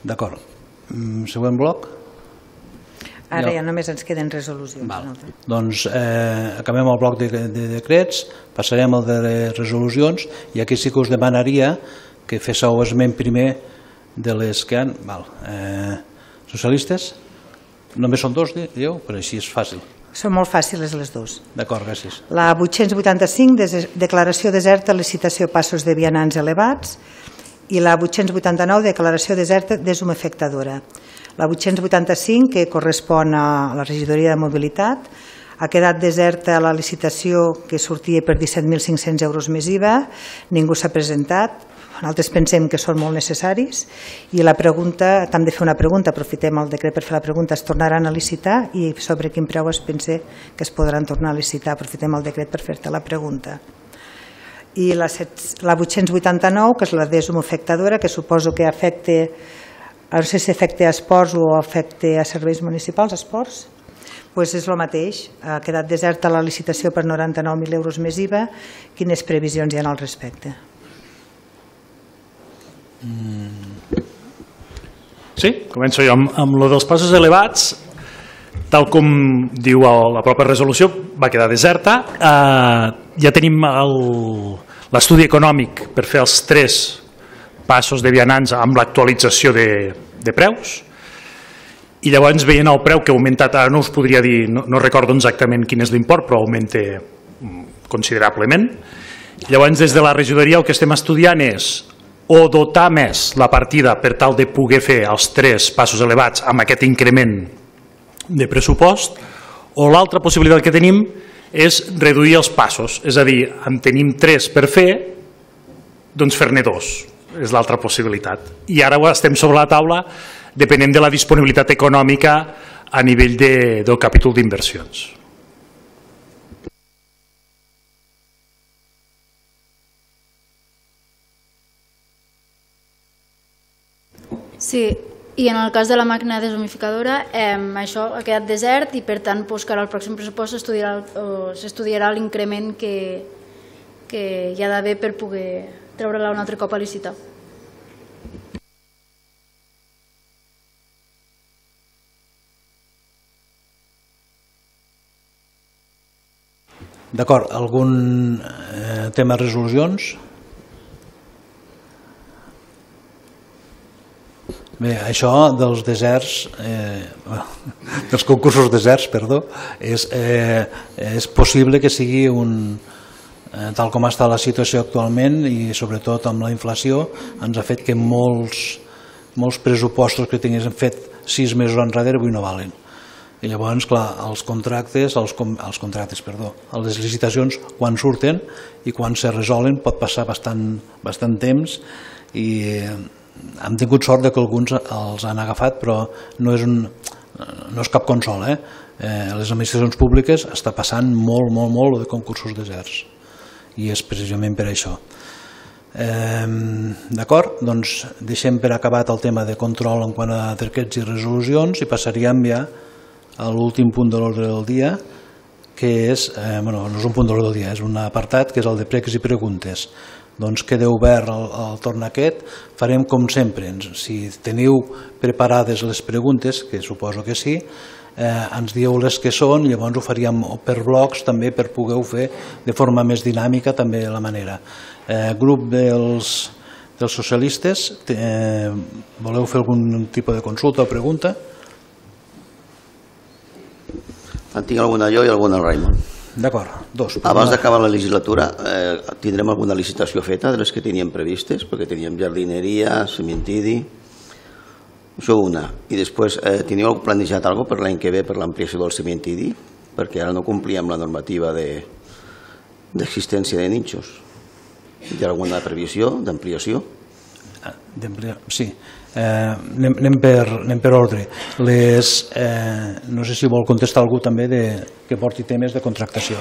D'acord. Següent bloc. Ara ja només ens queden resolucions. Doncs acabem el bloc de decrets, passarem al de resolucions, i aquí sí que us demanaria que féssiu esment primer de les que han... Socialistes? Només són dos, dieu? Però així és fàcil. Són molt fàcils les dues. D'acord, gràcies. La 885, declaració deserta, licitació passos de vianants elevats, i la 889, declaració deserta deshumefectadora. La 885, que correspon a la regidoria de mobilitat, ha quedat deserta la licitació que sortia per 17.500 euros més IVA, ningú s'ha presentat, nosaltres pensem que són molt necessaris, i la pregunta, t'hem de fer una pregunta, aprofitem el decret per fer la pregunta, es tornaran a licitar i sobre quin preu es pensa que es podran tornar a licitar, aprofitem el decret per fer-te la pregunta. I la 889, que és la deshumefectadora, que suposo que afecta, no sé si afecta a esports o afecta a serveis municipals, esports, doncs és el mateix, ha quedat deserta la licitació per 99.000 euros més IVA, quines previsions hi ha al respecte? Sí, començo jo amb lo dels passos elevats. Tal com diu la pròpia resolució, va quedar deserta. Ja tenim l'estudi econòmic per fer els 3 passos de vianants amb l'actualització de preus, i llavors veient el preu que ha augmentat, ara no us podria dir, no recordo exactament quin és l'import, però augmenta considerablement. Llavors des de la regidoria el que estem estudiant és o dotar més la partida per tal de poder fer els 3 passos elevats amb aquest increment de pressupost, o l'altra possibilitat que tenim és reduir els passos, és a dir, en tenim 3 per fer, doncs fer-ne 2, és l'altra possibilitat. I ara estem sobre la taula depenent de la disponibilitat econòmica a nivell del capítol d'inversions. Sí, i en el cas de la màquina deshumificadora, això ha quedat desert i per tant que ara al pròxim pressupost s'estudiarà l'increment que hi ha d'haver per poder treure-la un altre cop a licitar. D'acord, algun tema de resolucions? Bé, això dels deserts, dels concursos deserts, perdó, és possible que sigui tal com està la situació actualment, i sobretot amb la inflació ens ha fet que molts pressupostos que tinguéssim fet 6 mesos enrere avui no valen. I llavors, clar, les licitacions quan surten i quan se resolen pot passar bastant temps, i hem tingut sort que alguns els han agafat, però no és cap consol. Les administracions públiques està passant molt de concursos deserts, i és precisament per això. D'acord, doncs deixem per acabat el tema de control en quant a decrets i resolucions i passaríem ja a l'últim punt de l'ordre del dia, que és, no és un punt de l'ordre del dia, és un apartat que és el de pregs i preguntes. Doncs queda obert el torn aquest, farem com sempre, si teniu preparades les preguntes, que suposo que sí, ens dieu les que són, llavors ho faríem per blocs també per poder-ho fer de forma més dinàmica també la manera. Grup dels socialistes, voleu fer algun tipus de consulta o pregunta? En tinc alguna jo i alguna el Raimon. D'acord, dos. Abans d'acabar la legislatura tindrem alguna licitació feta de les que teníem previstes, perquè teníem jardineria, cementiri, això una. I després, teniu plantejat alguna cosa per l'any que ve per l'ampliació del cementiri? Perquè ara no complíem la normativa d'existència de nínxols. Hi ha alguna previsió d'ampliació? Sí, anem per ordre. No sé si vol contestar algú també que porti temes de contractació.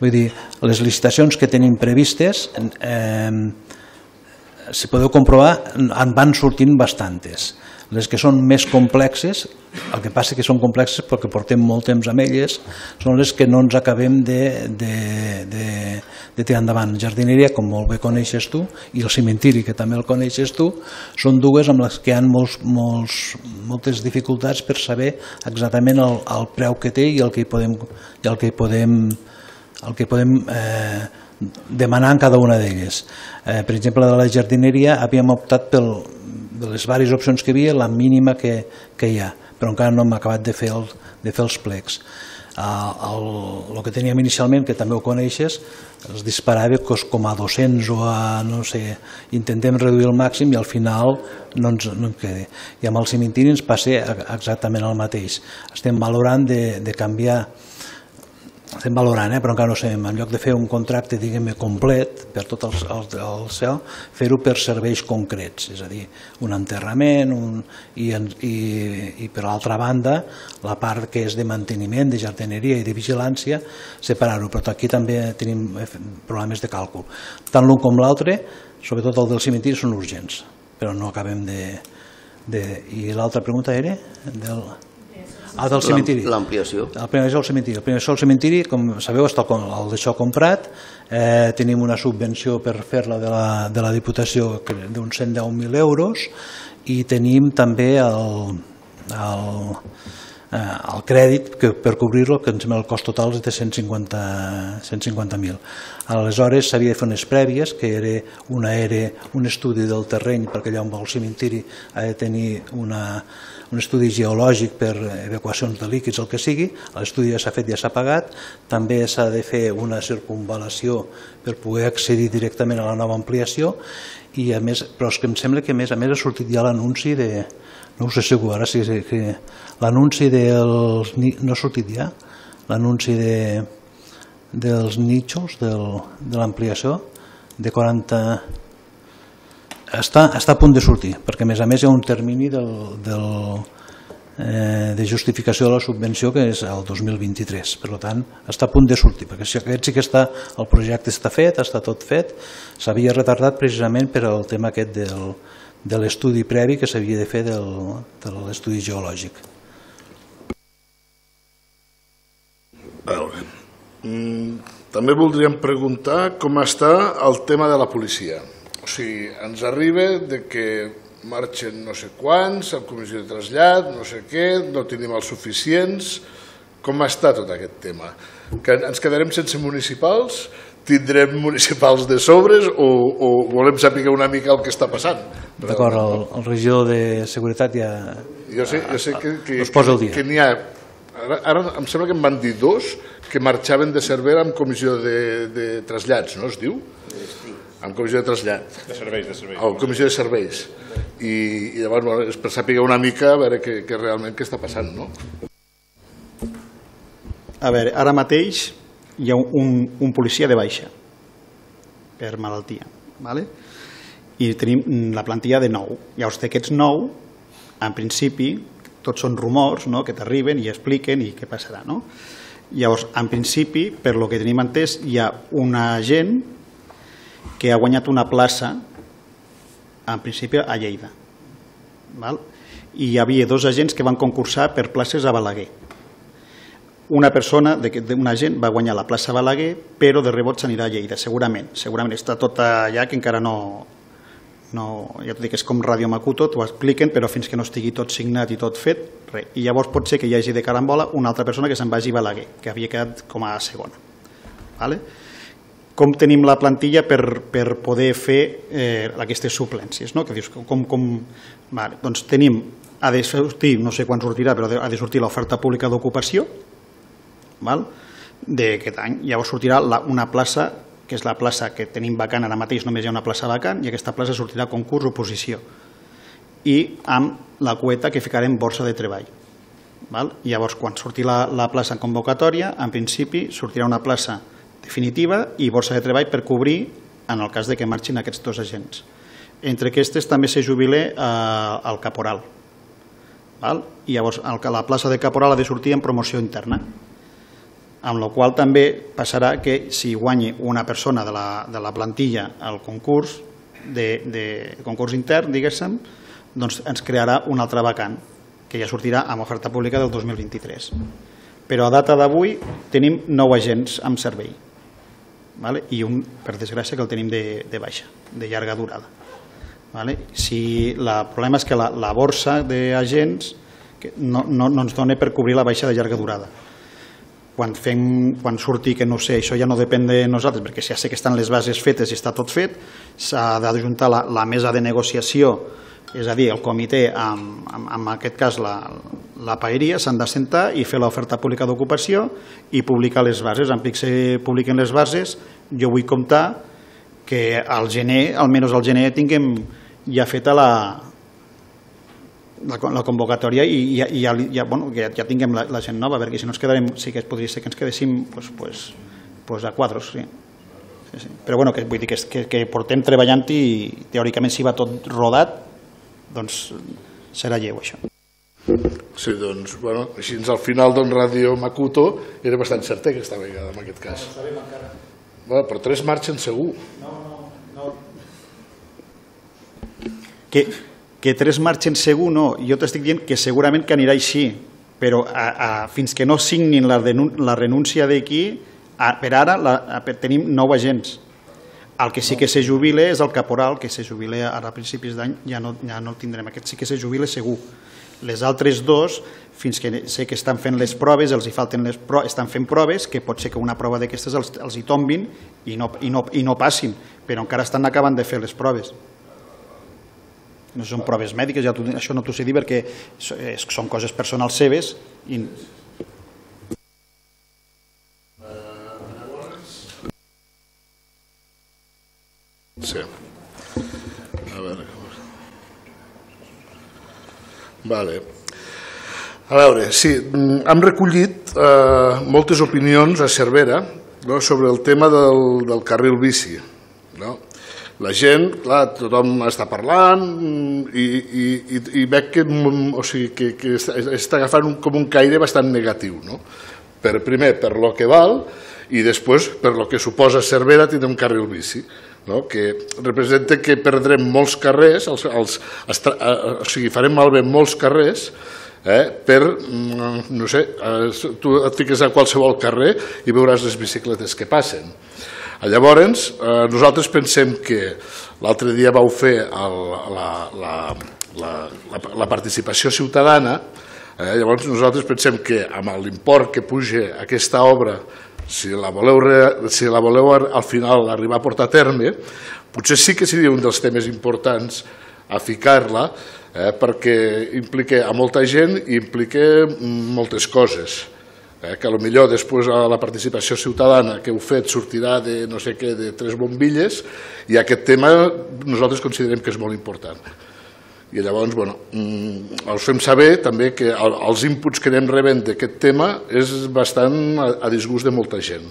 Vull dir, les licitacions que tenim previstes si podeu comprovar, en van sortint bastantes. Les que són més complexes, el que passa que són complexes perquè portem molt temps amb elles, són les que no ens acabem de tirar endavant. Jardineria, com molt bé coneixes tu, i el cimentiri, que també el coneixes tu, són dues amb les que hi ha moltes dificultats per saber exactament el preu que té i el que podem demanar en cada una d'elles. Per exemple, de la jardineria havíem optat de les diverses opcions que hi havia, la mínima que hi ha, però encara no hem acabat de fer els plecs. El que teníem inicialment, que també ho coneixes, es disparava com a 200 o a, no sé, intentem reduir el màxim i al final no ens queda. I amb el cimentiri ens passa exactament el mateix. Estem valorant de canviar, però encara no sabem, en lloc de fer un contracte, diguem-ne, complet per tot el cel, fer-ho per serveis concrets, és a dir, un enterrament i per l'altra banda la part que és de manteniment, de jardineria i de vigilància, separar-ho, però aquí també tenim problemes de càlcul. Tant l'un com l'altre, sobretot el del cimentiri, són urgents, però no acabem de... I l'altra pregunta era? Del cimentiri. L'ampliació. El primer és el cimentiri. El primer és el cimentiri, com sabeu, està el d'això comprat. Tenim una subvenció per fer-la de la Diputació d'uns 110.000 euros i tenim també el crèdit per cobrir-lo, que ens sembla el cost total és de 150.000. Aleshores s'havia de fer unes prèvies, que era un estudi del terreny, perquè allà on va el cimentiri ha de tenir un estudi geològic per evacuacions de líquids, el que sigui. L'estudi ja s'ha fet, ja s'ha pagat. També s'ha de fer una circunvalació per poder accedir directament a la nova ampliació, i a més, però és que em sembla que a més ha sortit ja l'anunci de... No ho sé segur, ara sí que l'anunci dels... No ha sortit ja? L'anunci dels nichos de l'ampliació de 40... Està a punt de sortir, perquè a més hi ha un termini de justificació de la subvenció que és el 2023, per tant està a punt de sortir, perquè si aquest sí que està, el projecte està fet, està tot fet, s'havia retardat precisament per al tema aquest de l'estudi previ que s'havia de fer de l'estudi geològic. També voldríem preguntar com està el tema de la policia. O sigui, ens arriba que marxen no sé quants, amb comissió de trasllat, no sé què, no tenim els suficients. Com està tot aquest tema? Que ens quedarem sense municipals? Tindrem municipals de sobres o volem saber una mica el que està passant? D'acord, el regidor de Seguretat ja us posa el dia. Que n'hi ha, ara em sembla que em van dir dos que marxaven de Cervera amb comissió de trasllats, no es diu? Amb comissió de trasllat. De serveis. O comissió de serveis. I llavors és per saber una mica a veure què realment què està passant, no? A veure, ara mateix hi ha un policia de baixa per malaltia, ¿vale? I tenim la plantilla de 9. Llavors d'aquests 9, en principi, tots són rumors, no?, que t'arriben i expliquen i què passarà, no? Llavors, en principi, per lo que tenim entès, hi ha una gent que ha guanyat una plaça, en principi, a Lleida. I hi havia 2 agents que van concursar per places a Balaguer. Una persona, un agent, va guanyar la plaça a Balaguer, però de rebot s'anirà a Lleida, segurament. Segurament està tot allà, que encara no... Ja t'ho dic, és com Ràdio Macuto, t'ho expliquen, però fins que no estigui tot signat i tot fet, res. I llavors pot ser que hi hagi de carambola una altra persona que se'n vagi a Balaguer, que havia quedat com a segona. Com tenim la plantilla per poder fer aquestes suplències, no? Que dius, doncs tenim, ha de sortir, no sé quan sortirà, però ha de sortir l'oferta pública d'ocupació d'aquest any. Llavors sortirà una plaça, que és la plaça que tenim vacant ara mateix, només hi ha una plaça vacant, i aquesta plaça sortirà a concurs o oposició. I amb la quota que ficarem borsa de treball. Llavors, quan surti la plaça en convocatòria, en principi sortirà una plaça definitiva i borsa de treball per cobrir en el cas de que marxin aquests 2 agents. Entre aquestes també se jubile el caporal. I llavors la plaça de caporal ha de sortir en promoció interna, amb la qual també passarà que si guanyi una persona de la plantilla al concurs, de concurs intern, diguéssim, doncs ens crearà una altra vacant, que ja sortirà amb oferta pública del 2023. Però a data d'avui tenim 9 agents amb servei, i un, per desgràcia, que el tenim de baixa, de llarga durada. El problema és que la borsa d'agents no ens dona per cobrir la baixa de llarga durada. Quan surti, que no sé, això ja no depèn de nosaltres, perquè ja sé que estan les bases fetes i està tot fet, s'ha d'ajuntar la mesa de negociació, és a dir, el comitè, en aquest cas la paeria, s'han d'assentar i fer l'oferta pública d'ocupació i publicar les bases. En pic se publiquen les bases, jo vull comptar que al gener, almenys al gener, tinguem ja feta la convocatòria i ja tinguem la gent nova, perquè si no ens quedarem, sí que podria ser que ens quedéssim a quadros. Però vull dir que portem treballant i teòricament si va tot rodat, doncs serà lleu això. Sí, doncs, així al final Ràdio Makuto era bastant certer aquesta vegada, en aquest cas. No sabem encara. Però 3 marxen segur. No. Que 3 marxen segur no, jo t'estic dient que segurament que anirà així, però fins que no signin la renúncia d'aquí, per ara tenim 9 agents. El que sí que se jubila és el caporal, que se jubila ara a principis d'any, ja no el tindrem, aquest sí que se jubila segur. Les altres 2, fins que sé que estan fent les proves, estan fent proves, que pot ser que una prova d'aquestes els hi tombin i no passin, però encara estan acabant de fer les proves. No són proves mèdiques, això no t'ho sé dir perquè són coses personals seves. Sí. A veure, sí, hem recollit moltes opinions a Cervera sobre el tema del carril bici. La gent, clar, tothom està parlant i veig que està agafant com un caire bastant negatiu. Primer, per lo que val, i després, per lo que suposa Cervera tindre un carril bici, que representa que perdrem molts carrers, farem malbé molts carrers per, no sé, tu et fiques a qualsevol carrer i veuràs les bicicletes que passen. Llavors, nosaltres pensem que l'altre dia vau fer la participació ciutadana, llavors nosaltres pensem que amb l'import que puja aquesta obra, si la voleu al final arribar a portar a terme, potser sí que seria un dels temes importants a ficar-la, perquè implica a molta gent i implica moltes coses. Que potser després a la participació ciutadana que heu fet sortirà de no sé què, de 3 bombilles, i aquest tema nosaltres considerem que és molt important. I llavors, us fem saber també que els inputs que anem rebent d'aquest tema és bastant a disgust de molta gent.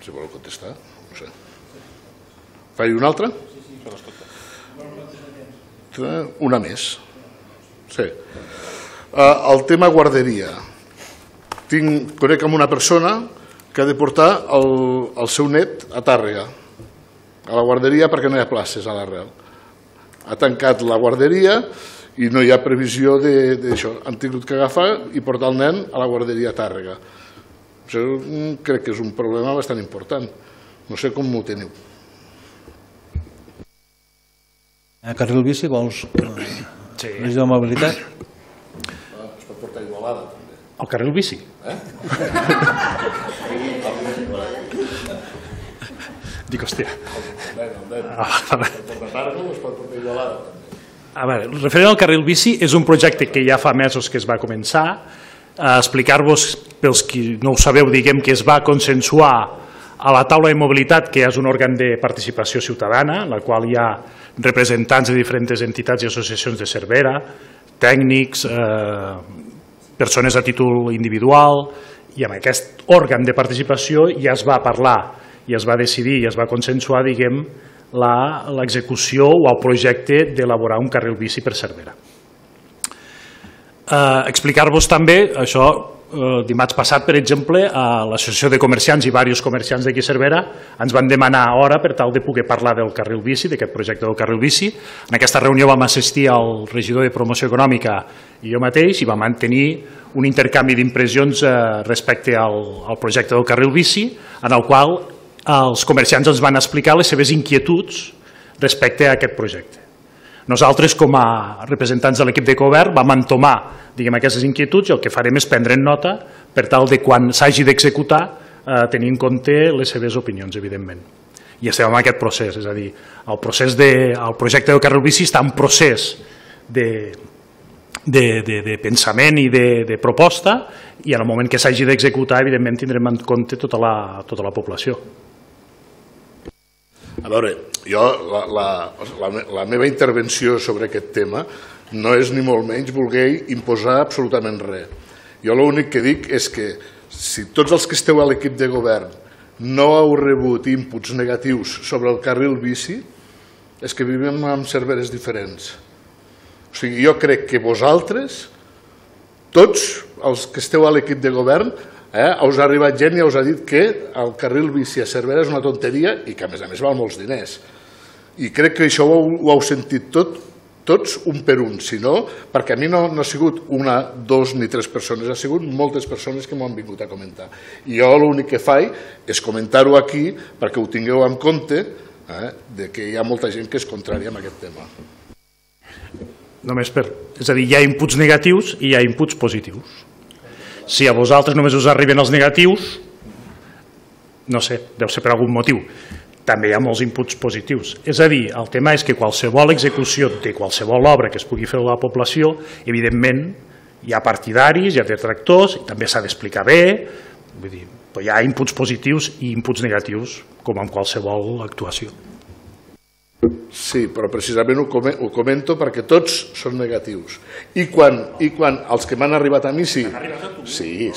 Si voleu contestar, no sé. Faig una altra? Una més. Sí. El tema guarderia. Conec amb una persona que ha de portar el seu net a Tàrrega, a la guarderia, perquè no hi ha places a l'Arrel. Ha tancat la guarderia i no hi ha previsió d'això. Han tingut que agafar i portar el nen a la guarderia a Tàrrega. Això crec que és un problema bastant important. No sé com m'ho teniu. A carril bici vols més de mobilitat? Es pot portar a Igualada, també. El carril bici? Dic, hòstia. A veure, referent al carril bici, és un projecte que ja fa mesos que es va començar. Explicar-vos, pels qui no ho sabeu, diguem que es va consensuar a la taula de mobilitat, que és un òrgan de participació ciutadana, en la qual hi ha representants de diferents entitats i associacions de Cervera, tècnics, persones a títol individual, i amb aquest òrgan de participació ja es va parlar, i es va decidir i es va consensuar, diguem, l'execució o el projecte d'elaborar un carril bici per Cervera. Explicar-vos també, això dimarts passat, per exemple, a l'Associació de Comerciants i diversos comerciants d'aquí a Cervera ens van demanar hora per tal de poder parlar del carril bici, d'aquest projecte del carril bici. En aquesta reunió vam assistir al regidor de Promoció Econòmica i jo mateix i vam mantenir un intercanvi d'impressions respecte al projecte del carril bici, en el qual els comerciants ens van explicar les seves inquietuds respecte a aquest projecte. Nosaltres, com a representants de l'equip de govern, vam entomar aquestes inquietuds i el que farem és prendre en nota per tal de quan s'hagi d'executar tenir en compte les seves opinions, evidentment. I estem en aquest procés, és a dir, el projecte del carril bici està en procés de pensament i de proposta i en el moment que s'hagi d'executar, evidentment, tindrem en compte tota la població. A veure, jo la meva intervenció sobre aquest tema no és ni molt menys voler imposar absolutament res. Jo l'únic que dic és que si tots els que esteu a l'equip de govern no heu rebut inputs negatius sobre el carril bici, és que vivim en Cerveres diferents. O sigui, jo crec que vosaltres, tots els que esteu a l'equip de govern, us ha arribat gent i us ha dit que el carril bici a Cervera és una tonteria i que a més val molts diners. I crec que això ho heu sentit tots un per un, si no, perquè a mi no ha sigut una, dos ni tres persones, ha sigut moltes persones que m'ho han vingut a comentar. I jo l'únic que faig és comentar-ho aquí perquè ho tingueu en compte que hi ha molta gent que és contrària a aquest tema. És a dir, hi ha inputs negatius i hi ha inputs positius. Si a vosaltres només us arriben els negatius, no sé, deu ser per algun motiu. També hi ha molts inputs positius. És a dir, el tema és que qualsevol execució de qualsevol obra que es pugui fer a la població, evidentment, hi ha partidaris, hi ha detractors, i també s'ha d'explicar bé, vull dir, hi ha inputs positius i inputs negatius, com en qualsevol actuació. Sí, però precisament ho comento perquè tots són negatius. I quan els que m'han arribat a mi sí. Sí.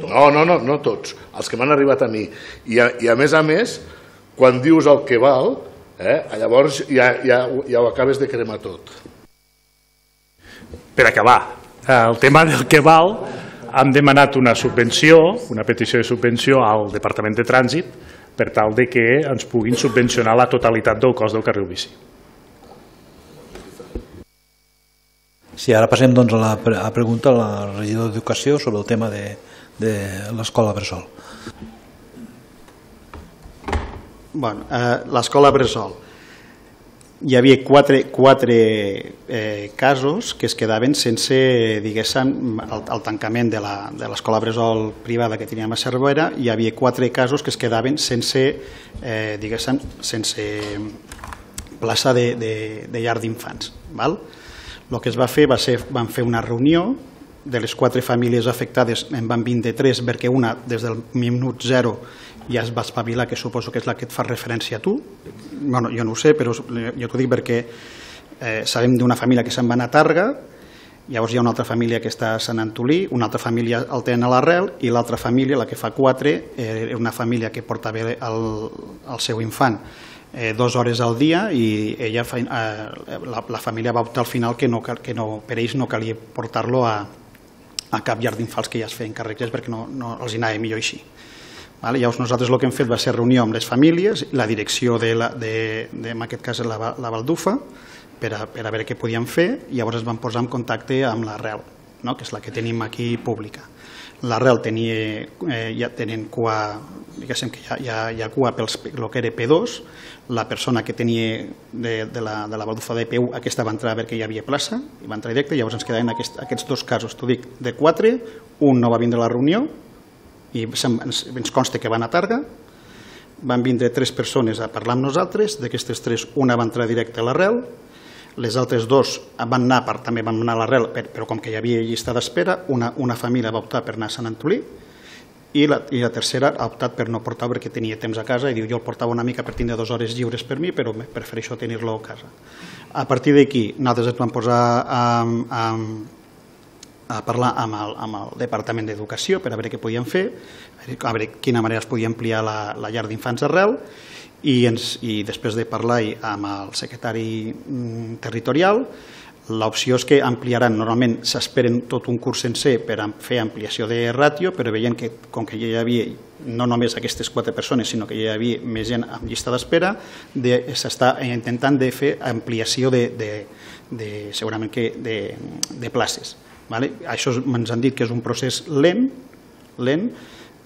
No tots. Els que m'han arribat a mi. I a més, quan dius el que val, llavors ja ho acabes de cremar tot. Per acabar, el tema del que val, hem demanat una subvenció, una petició de subvenció al Departament de Trànsit per tal que ens puguin subvencionar la totalitat del cost del carril bici. Sí, ara passem a la pregunta a la regidora d'Educació sobre el tema de l'escola Bressol. L'escola Bressol. Hi havia quatre casos que es quedaven sense, diguéssim, el tancament de l'escola Bressol privada que teníem a Cervera. Hi havia 4 casos que es quedaven sense, diguéssim, sense plaça de llar d'infants. El que es va fer van fer una reunió de les 4 famílies afectades, en van vindre 3 perquè una des del minut 0 ja es va espavilar, que suposo que és la que et fa referència a tu. Bueno, jo no ho sé, però jo t'ho dic perquè sabem d'una família que se'n va anar a Targa, llavors hi ha una altra família que està a Sant Antolí, una altra família el tenen a l'Arrel i l'altra família, la que fa 4, és una família que porta bé el seu infant 2 hores al dia i ella, la família va optar al final que per ells no calia portar-lo a cap llar d'infants que ja es feien càrrecs perquè no els anava millor així. Llavors nosaltres el que hem fet va ser reunió amb les famílies, la direcció en aquest cas la Baldufa, per a veure què podíem fer, i llavors es van posar en contacte amb l'Arrel, que és la que tenim aquí pública. L'Arrel ja tenen cua, diguéssim que hi ha cua pel que era P2, la persona que tenia de la Baldufa de P1, aquesta va entrar a veure que hi havia plaça, i va entrar directe, llavors ens quedaven aquests 2 casos, t'ho dic, de 4, un no va vindre a la reunió, i ens consta que van a Targa, van vindre 3 persones a parlar amb nosaltres, d'aquestes 3 una va entrar directe a l'Arrel, les altres 2 van anar, també van anar a l'Arrel, però com que hi havia llista d'espera, una família va optar per anar a Sant Antolí i la tercera ha optat per no portar perquè tenia temps a casa i diu jo el portava una mica per tindre 2 hores lliures per mi, però prefereixo tenir-lo a casa. A partir d'aquí nosaltres ens vam posar a parlar amb el Departament d'Educació per a veure què podíem fer, a veure quina manera es podia ampliar la llar d'infants d'Arrel i després de parlar amb el secretari territorial L'opció és que ampliaran, normalment s'esperen tot un curs sencer per fer ampliació de ràtio, però veient que com que ja hi havia no només aquestes 4 persones, sinó que ja hi havia més gent en llista d'espera, s'està intentant de fer ampliació segurament de places. Això ens han dit que és un procés lent,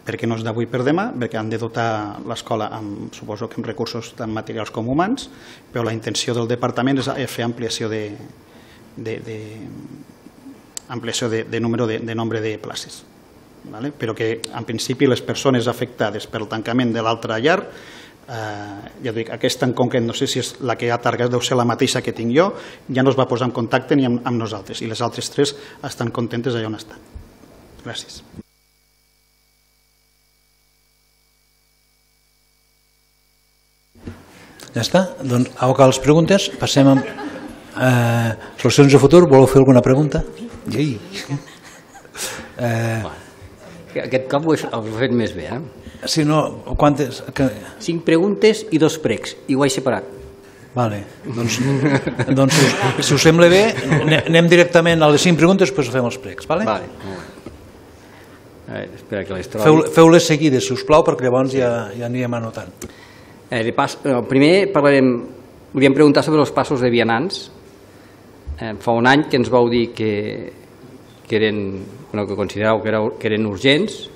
perquè no és d'avui per demà, perquè han de dotar l'escola, suposo que amb recursos tant materials com humans, però la intenció del departament és fer ampliació de nombre de places. Però que en principi les persones afectades pel tancament de l'altra llar, ja dic, aquesta en concret no sé si és la que ha targat, deu ser la mateixa que tinc jo, ja no es va posar en contacte ni amb nosaltres, i les altres 3 estan contentes allà on estan. Gràcies. Ja està? Doncs, a les preguntes, passem a solucions de futur. Voleu fer alguna pregunta? Sí. Aquest cop ho he fet més bé, Si no, quantes? 5 preguntes i 2 pregs, i ho he separat. Vale. Doncs si us sembla bé, anem directament a les 5 preguntes, després fem els pregs. Vale? Espera que les trobi. Feu-les seguides, si us plau, perquè llavors ja anirem anotant. Primer volíem preguntar sobre els passos de vianants. Fa un any que ens vau dir que consideràveu que eren urgents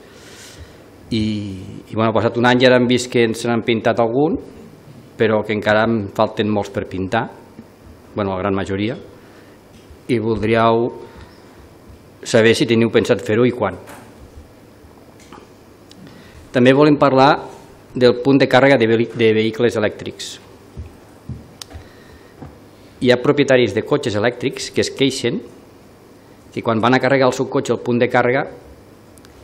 i ha passat un any i ara hem vist que ens n'han pintat algun, però que encara en falten molts per pintar, la gran majoria, i voldríeu saber si teniu pensat fer-ho i quan. També volem parlar del punt de càrrega de vehicles elèctrics. Hi ha propietaris de cotxes elèctrics que es queixen que quan van a carregar el seu cotxe al punt de càrrega,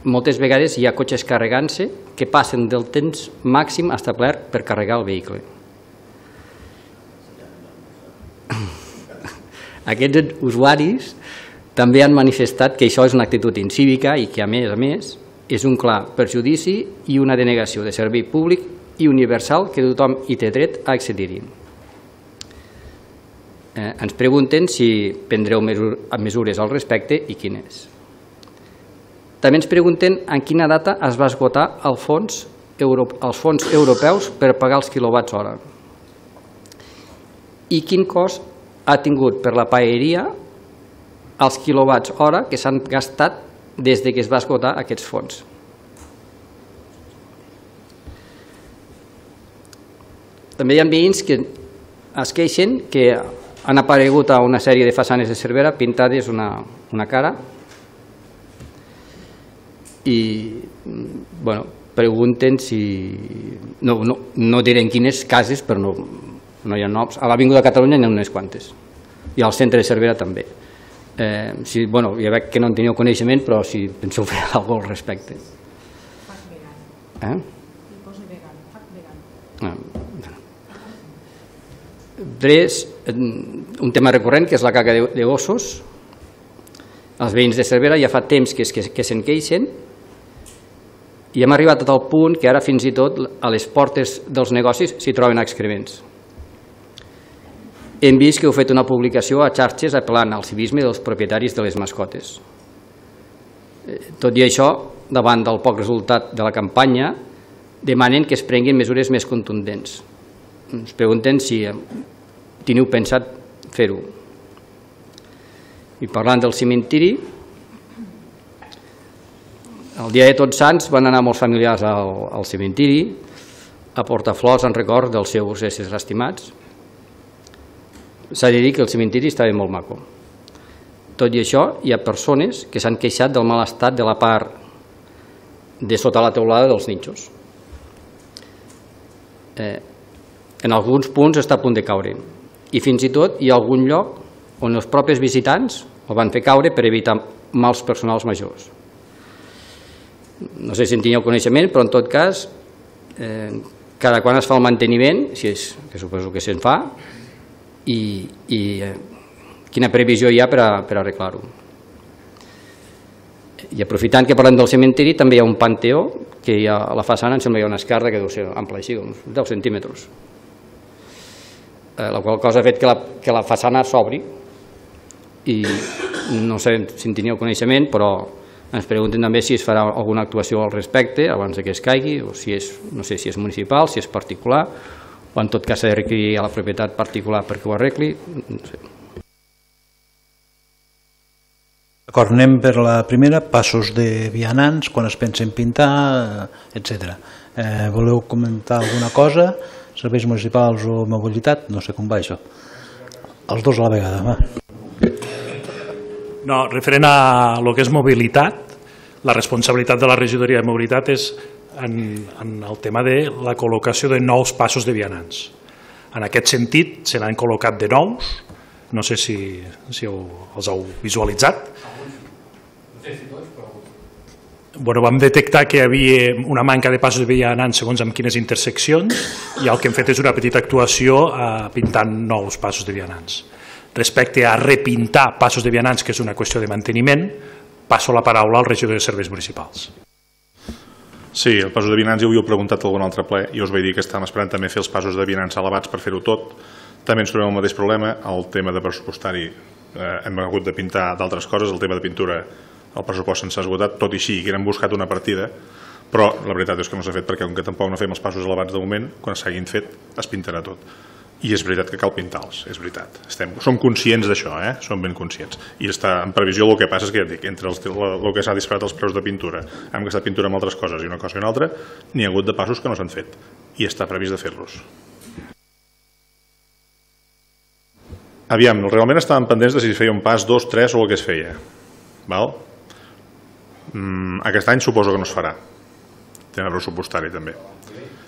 moltes vegades hi ha cotxes carregant-se que passen del temps màxim establert per carregar el vehicle. Aquests usuaris també han manifestat que això és una actitud incívica i que, a més, és un clar perjudici i una denegació de servei públic i universal que tothom hi té dret a accedir-hi. Ens pregunten si prendreu mesures al respecte i quines. També ens pregunten en quina data es va esgotar els fons europeus per pagar els quilowatts hora i quin cost ha tingut per la paeria els quilowatts hora que s'han gastat des que es va esgotar aquests fons. També hi ha veïns que es queixen que han aparegut a una sèrie de façanes de Cervera pintades una cara i pregunten si... No direm quines cases, però no hi ha noms. A l'Avinguda de Catalunya n'hi ha unes quantes i al centre de Cervera també. Ja veig que no en teniu coneixement, però si penseu fer alguna cosa al respecte. Un tema recurrent, que és la caca de gossos. Els veïns de Cervera ja fa temps que se'n queixen i hem arribat a tal punt que ara fins i tot a les portes dels negocis s'hi troben excrements. Hem vist que heu fet una publicació a xarxes apel·lant al civisme dels propietaris de les mascotes. Tot i això, davant del poc resultat de la campanya, demanen que es prenguin mesures més contundents. Ens pregunten si teniu pensat fer-ho. I parlant del cementiri, el dia de Tots Sants van anar molts familiars al cementiri a portar flors en record dels seus éssers estimats. S'ha de dir que el cementiri estava molt maco. Tot i això, hi ha persones que s'han queixat del mal estat de la part de sota la teulada dels nínxols. En alguns punts està a punt de caure i fins i tot hi ha algun lloc on els propis visitants el van fer caure per evitar mals personals majors. No sé si en teniu coneixement, però en tot cas, cada quan es fa el manteniment, que suposo que se'n fa, i quina previsió hi ha per arreglar-ho. I aprofitant que parlem del cementiri, també hi ha un panteó que hi ha a la façana, em sembla que hi ha una esquerda que deu ser ampla així, uns 10 centímetres. La qual cosa ha fet que la façana s'obri i no sé si en teníeu coneixement, però ens pregunten també si es farà alguna actuació al respecte abans que es caigui, o si és, no sé si és municipal, si és particular, o en tot cas s'ha de requerir a la propietat particular perquè ho arregli, no sé. D'acord, anem per la primera, passos de vianants, quan es pensen pintar, etc. Voleu comentar alguna cosa? Serveis municipals o mobilitat? No sé com va això. Els dos a la vegada, va. No, referent a lo que és mobilitat, la responsabilitat de la regidoria de mobilitat és en el tema de la col·locació de nous passos de vianants. En aquest sentit, se n'han col·locat de nous, no sé si els heu visualitzat. Bueno, vam detectar que hi havia una manca de passos de vianants segons amb quines interseccions i el que hem fet és una petita actuació pintant nous passos de vianants. Respecte a repintar passos de vianants, que és una qüestió de manteniment, passo la paraula al regidor de serveis municipals. Sí, el passos de vianants ja ho havíeu preguntat a algun altre ple i us vaig dir que estàvem esperant també fer els passos de vianants elevats per fer-ho tot. També ens trobem el mateix problema, el tema de pressupostari hem hagut de pintar d'altres coses, el tema de pintura el pressupost se'ns ha esgotat, tot i així que hem buscat una partida, però la veritat és que no s'ha fet perquè com que tampoc no fem els passos elevats de moment, quan s'hagin fet es pintarà tot. I és veritat que cal pintar-los, és veritat. Som conscients d'això, som ben conscients. I està en previsió, el que passa és que entre el que s'ha disparat els preus de pintura, hem gastat pintura amb altres coses i una cosa i una altra, n'hi ha hagut de passos que no s'han fet i està previst de fer-los. Aviam, realment estàvem pendents de si es feia un pas, 2, 3 o el que es feia. Val? Aquest any suposo que no es farà. Tema pressupostari també.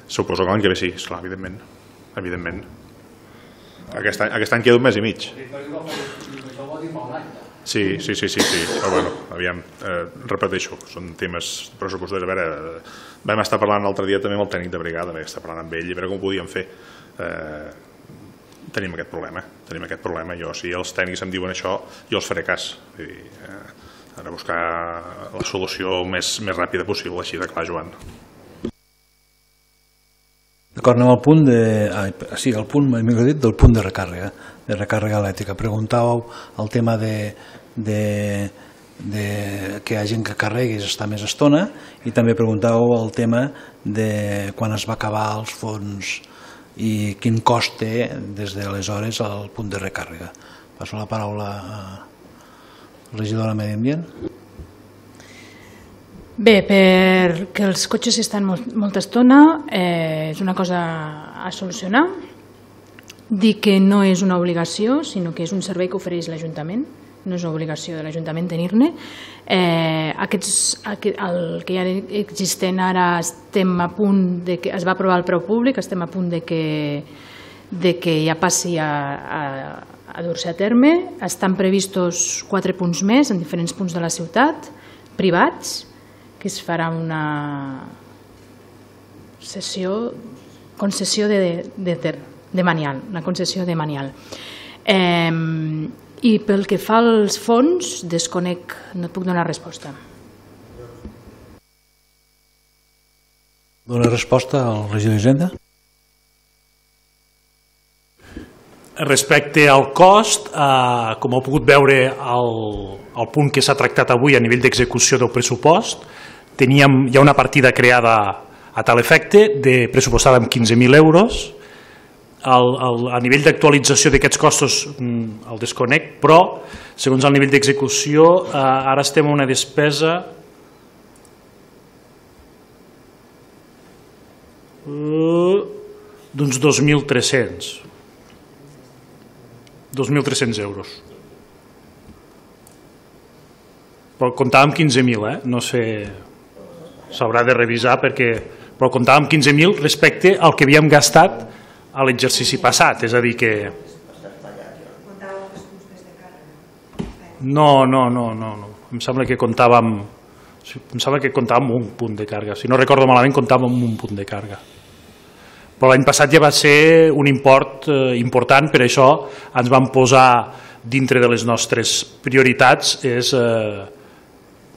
Suposo que l'any que ve sí, esclar, evidentment. Aquest any queda un mes i mig. Sí, però bueno, aviam, repeteixo, són temes pressupostaris. A veure, vam estar parlant l'altre dia també amb el tècnic de brigada, vam estar parlant amb ell i a veure com ho podíem fer. Tenim aquest problema, jo, si els tècnics em diuen això, jo els faré cas. Hem de buscar la solució més ràpida possible, així de clar, Joan. D'acord, anem al punt del punt de recàrrega elèctrica. Preguntàveu el tema de que hi ha gent que carregui i està més estona i també preguntàveu el tema de quan es va acabar els fons i quin cost té des d'aleshores el punt de recàrrega. Passo la paraula a regidora de Medi Ambient. Bé, perquè els cotxes estan molta estona és una cosa a solucionar. Dir que no és una obligació, sinó que és un servei que ofereix l'Ajuntament, no és una obligació de l'Ajuntament tenir-ne. El que ja existent ara estem a punt de que es va aprovar el preu públic, estem a punt de que ja passi a dur-se a terme. Estan previstos 4 punts més en diferents punts de la ciutat, privats, que es farà una concessió de manial, una concessió de manial. I pel que fa als fons, desconec, no et puc donar resposta. Dóna resposta al regidor d'Hisenda? Respecte al cost, com heu pogut veure al punt que s'ha tractat avui a nivell d'execució del pressupost, hi ha una partida creada a tal efecte, pressupostada amb 15.000 euros. A nivell d'actualització d'aquests costos el desconec, però segons el nivell d'execució ara estem a una despesa d'uns 2.300 euros. Però comptàvem amb 15.000, no sé, s'haurà de revisar però comptàvem amb 15.000 respecte al que havíem gastat a l'exercici passat, és a dir que... No, em sembla que comptàvem un punt de càrrega, si no recordo malament comptàvem un punt de càrrega. Però l'any passat ja va ser un import important, per això ens vam posar dintre de les nostres prioritats és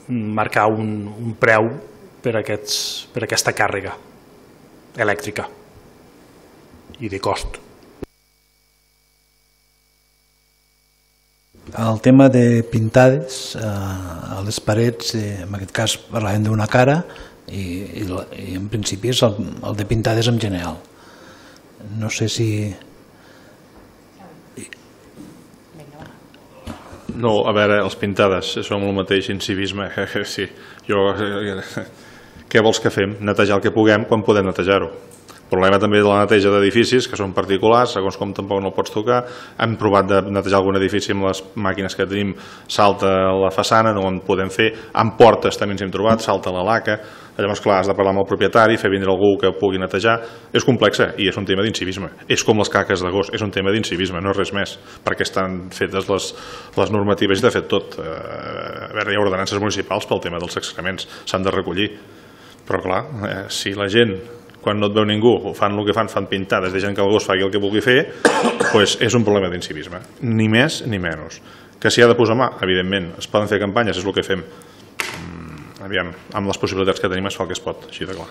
marcar un preu per aquesta càrrega elèctrica i de cost. el tema de pintades a les parets, en aquest cas parlàvem d'una cara i en principi és el de pintades en general. No sé si... No, a veure, els pintades, som el mateix incivisme, sí. Què vols que fem? Netejar el que puguem quan podem netejar-ho. El problema també de la neteja d'edificis, que són particulars, segons com tampoc no el pots tocar. Hem provat de netejar algun edifici amb les màquines que tenim, salta la façana, no en podem fer. Amb portes també ens hem trobat, salta la laca. Llavors, clar, has de parlar amb el propietari, fer vindre algú que pugui netejar. És complexa i és un tema d'incivisme. És com les caques de gos, és un tema d'incivisme, no és res més, perquè estan fetes les normatives i de fet tot. A veure, hi ha ordenances municipals pel tema dels excrements, s'han de recollir. Però clar, si la gent, quan no et veu ningú, fan el que fan pintades, deixen que el gos faci el que vulgui fer, doncs és un problema d'incivisme, ni més ni menys. Que s'hi ha de posar mà, evidentment, es poden fer campanyes, és el que fem. Aviam, amb les possibilitats que tenim es fa el que es pot, així de clar.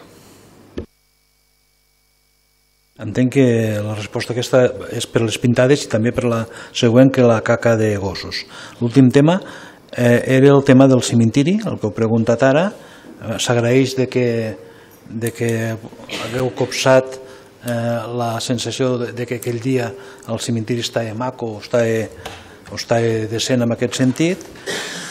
Entenc que la resposta aquesta és per les pintades i també per la següent, que la caca de gossos. L'últim tema era el tema del cementiri, el que heu preguntat ara. S'agraeix de que hagueu copsat la sensació de que aquell dia el cementiri estava maco o estava decent en aquest sentit,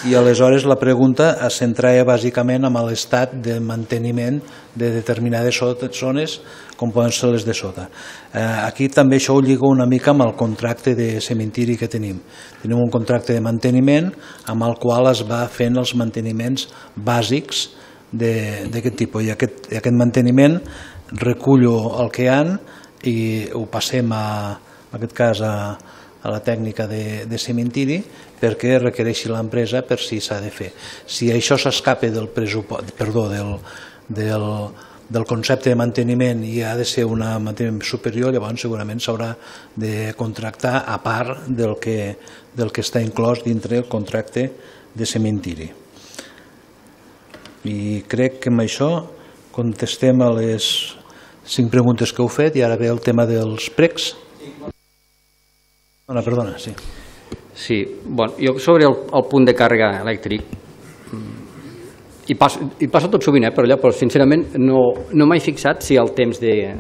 i aleshores la pregunta es centrava bàsicament en l'estat de manteniment de determinades zones com poden ser les de sota. Aquí també això ho lligo una mica amb el contracte de cementiri que tenim. Tenim un contracte de manteniment amb el qual es va fent els manteniments bàsics d'aquest tipus, i aquest manteniment recullo el que hi ha i ho passem en aquest cas a la tècnica de cementiri perquè requereixi l'empresa per si s'ha de fer. Si això s'escapa del concepte de manteniment i ha de ser un manteniment superior, llavors segurament s'haurà de contractar a part del que està inclòs dintre el contracte de cementiri. I crec que amb això contestem a les 5 preguntes que heu fet i ara ve el tema dels pregs. Perdona, sí. Sí, bueno, jo sobre el punt de càrrega elèctric hi passo tot sovint, però sincerament no m'he fixat si el temps de...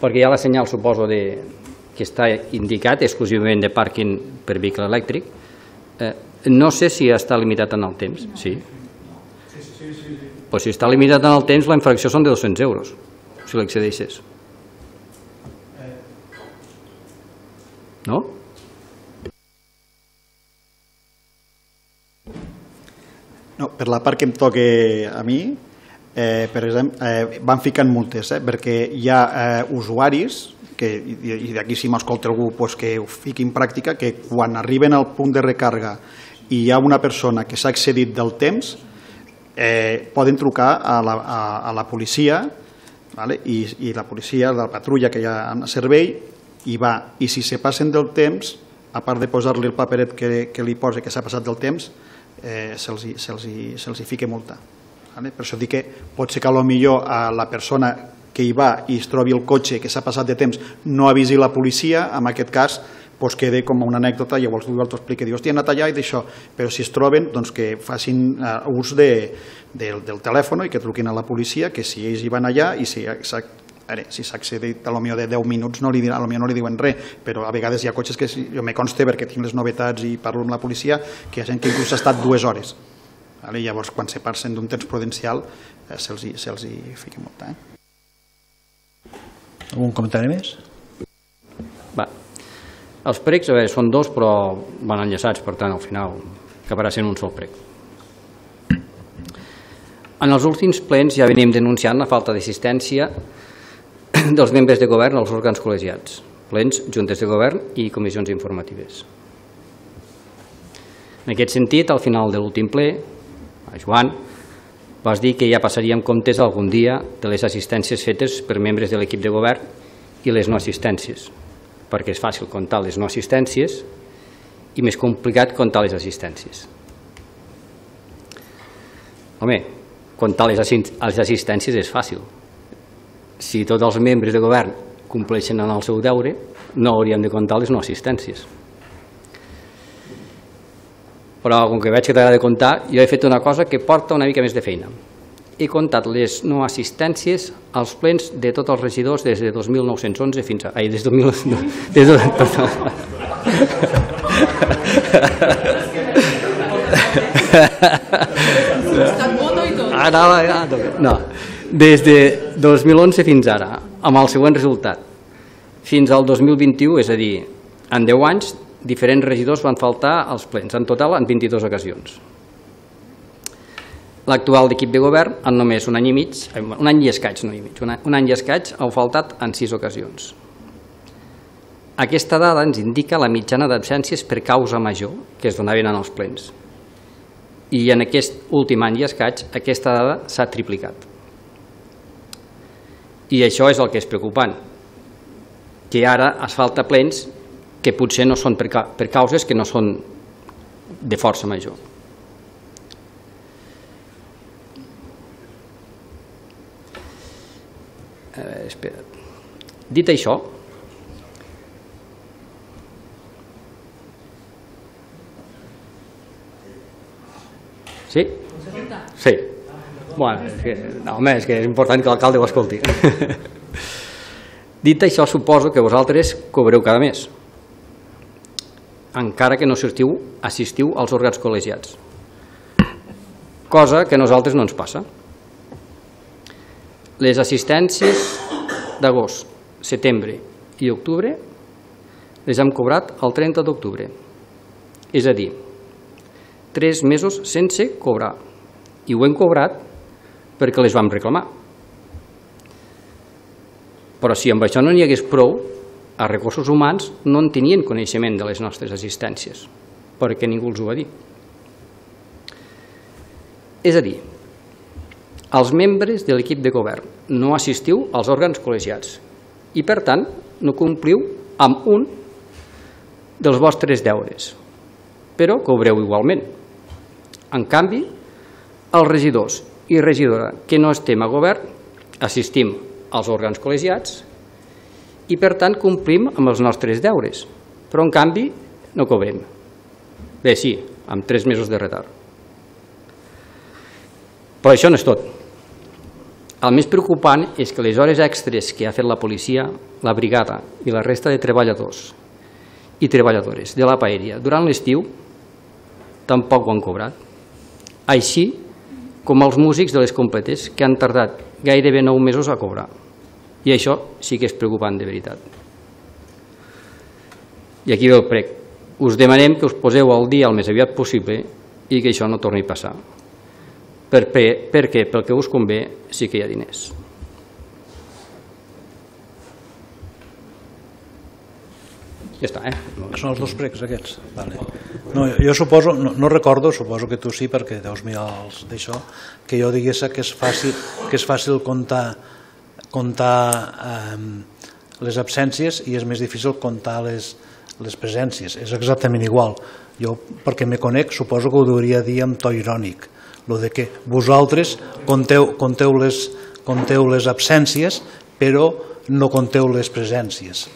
perquè hi ha la senyal, suposo, que està indicat exclusivament de pàrquing per vehicle elèctric. No sé si està limitat en el temps, sí. Pues si està limitat en el temps, la infracció són de 200 euros, si l'excedeixes. No? No, per la part que em toca a mi, per exemple, van ficant multes, perquè hi ha usuaris, i d'aquí si m'escolta algú que ho fiqui en pràctica, que quan arriben al punt de recàrrega i hi ha una persona que s'ha excedit del temps, poden trucar a la policia, i la policia, la patrulla que hi ha en servei, hi va. I si se passen del temps, a part de posar-li el paperet que li posa que s'ha passat del temps, se'ls fica multa. Per això dic que pot ser que potser la persona que hi va i es trobi el cotxe que s'ha passat de temps no avisi la policia, en aquest cas queda com una anècdota, llavors tu explica, diu, hòstia, he anat allà i d'això, però si es troben, doncs que facin ús del telèfon i que truquin a la policia, que si ells hi van allà i si s'ha accedit potser de 10 minuts no li diuen res, però a vegades hi ha cotxes que jo me consta perquè tinc les novetats i parlo amb la policia, que hi ha gent que inclús ha estat 2 hores. Llavors quan se passen d'un temps prudencial se'ls fica multa. Algun comentari més? Els pregs, són 2 però van enllaçats, per tant al final acabarà sent un sol preg. En els últims plens ja venim denunciant la falta d'assistència dels membres de govern als òrgans col·legiats, plens, juntes de govern i comissions informatives. En aquest sentit, al final de l'últim ple, Joan, vas dir que ja passaríem comptes algun dia de les assistències fetes per membres de l'equip de govern i les no assistències, perquè és fàcil comptar les no assistències i més complicat comptar les assistències. Home, comptar les assistències és fàcil. Si tots els membres de govern compleixen en el seu deure, no hauríem de comptar les no assistències. però com que veig que t'agrada comptar, jo he fet una cosa que porta una mica més de feina. He comptat les no assistències als plens de tots els regidors des de 2911 fins a... Ai, des de 2000... No, des de 2011 fins ara, amb el següent resultat. Fins al 2021, és a dir, en 10 anys, diferents regidors van faltar als plens, en total en 22 ocasions. L'actual equip de govern, en només un any i mig, un any i escaig, no i mig, un any i escaig, ha faltat en 6 ocasions. Aquesta dada ens indica la mitjana d'absències per causa major que es donaven en els plens. I en aquest últim any i escaig, aquesta dada s'ha triplicat. I això és el que és preocupant, que ara es falta plens que potser no són per causes que no són de força major. Espera't. Dit això, sí? Sí. Bueno, és que és important que l'alcalde ho escolti. Dit això, suposo que vosaltres cobreu cada mes, encara que no assistiu als òrgans col·legiats, cosa que a nosaltres no ens passa. Les assistències d'agost, setembre i octubre les hem cobrat el 30 d'octubre, és a dir, 3 mesos sense cobrar, i ho hem cobrat perquè les vam reclamar. Però si amb això no n'hi hagués prou, a Recursos Humans no en tenien coneixement de les nostres assistències, perquè ningú els ho va dir. És a dir, els membres de l'equip de govern no assistiu als òrgans col·legiats i, per tant, no compliu amb un dels vostres deures, però cobreu igualment. En canvi, els regidors i regidora que no estem a govern assistim als òrgans col·legiats i, per tant, complim amb els nostres deures, però, en canvi, no cobrem. Bé, sí, amb 3 mesos de retard. Però això no és tot. El més preocupant és que les hores extres que ha fet la policia, la brigada i la resta de treballadors i treballadores de la paeria durant l'estiu tampoc ho han cobrat. Així com els músics de les completes, que han tardat gairebé 9 mesos a cobrar. I això sí que és preocupant de veritat. I aquí ve el prec. Us demanem que us poseu al dia el més aviat possible i que això no torni a passar. Perquè pel que us convé sí que hi ha diners. Ja està, Són els 2 pregs aquests? Vale. No, jo suposo, no recordo, suposo que tu sí, perquè deus mirar d'això, que jo digués que és fàcil comptar les absències i és més difícil comptar les presències. És exactament igual. Jo, perquè me conec, suposo que ho hauria dir amb to irònic, el de que vosaltres compteu les absències, però no compteu les presències.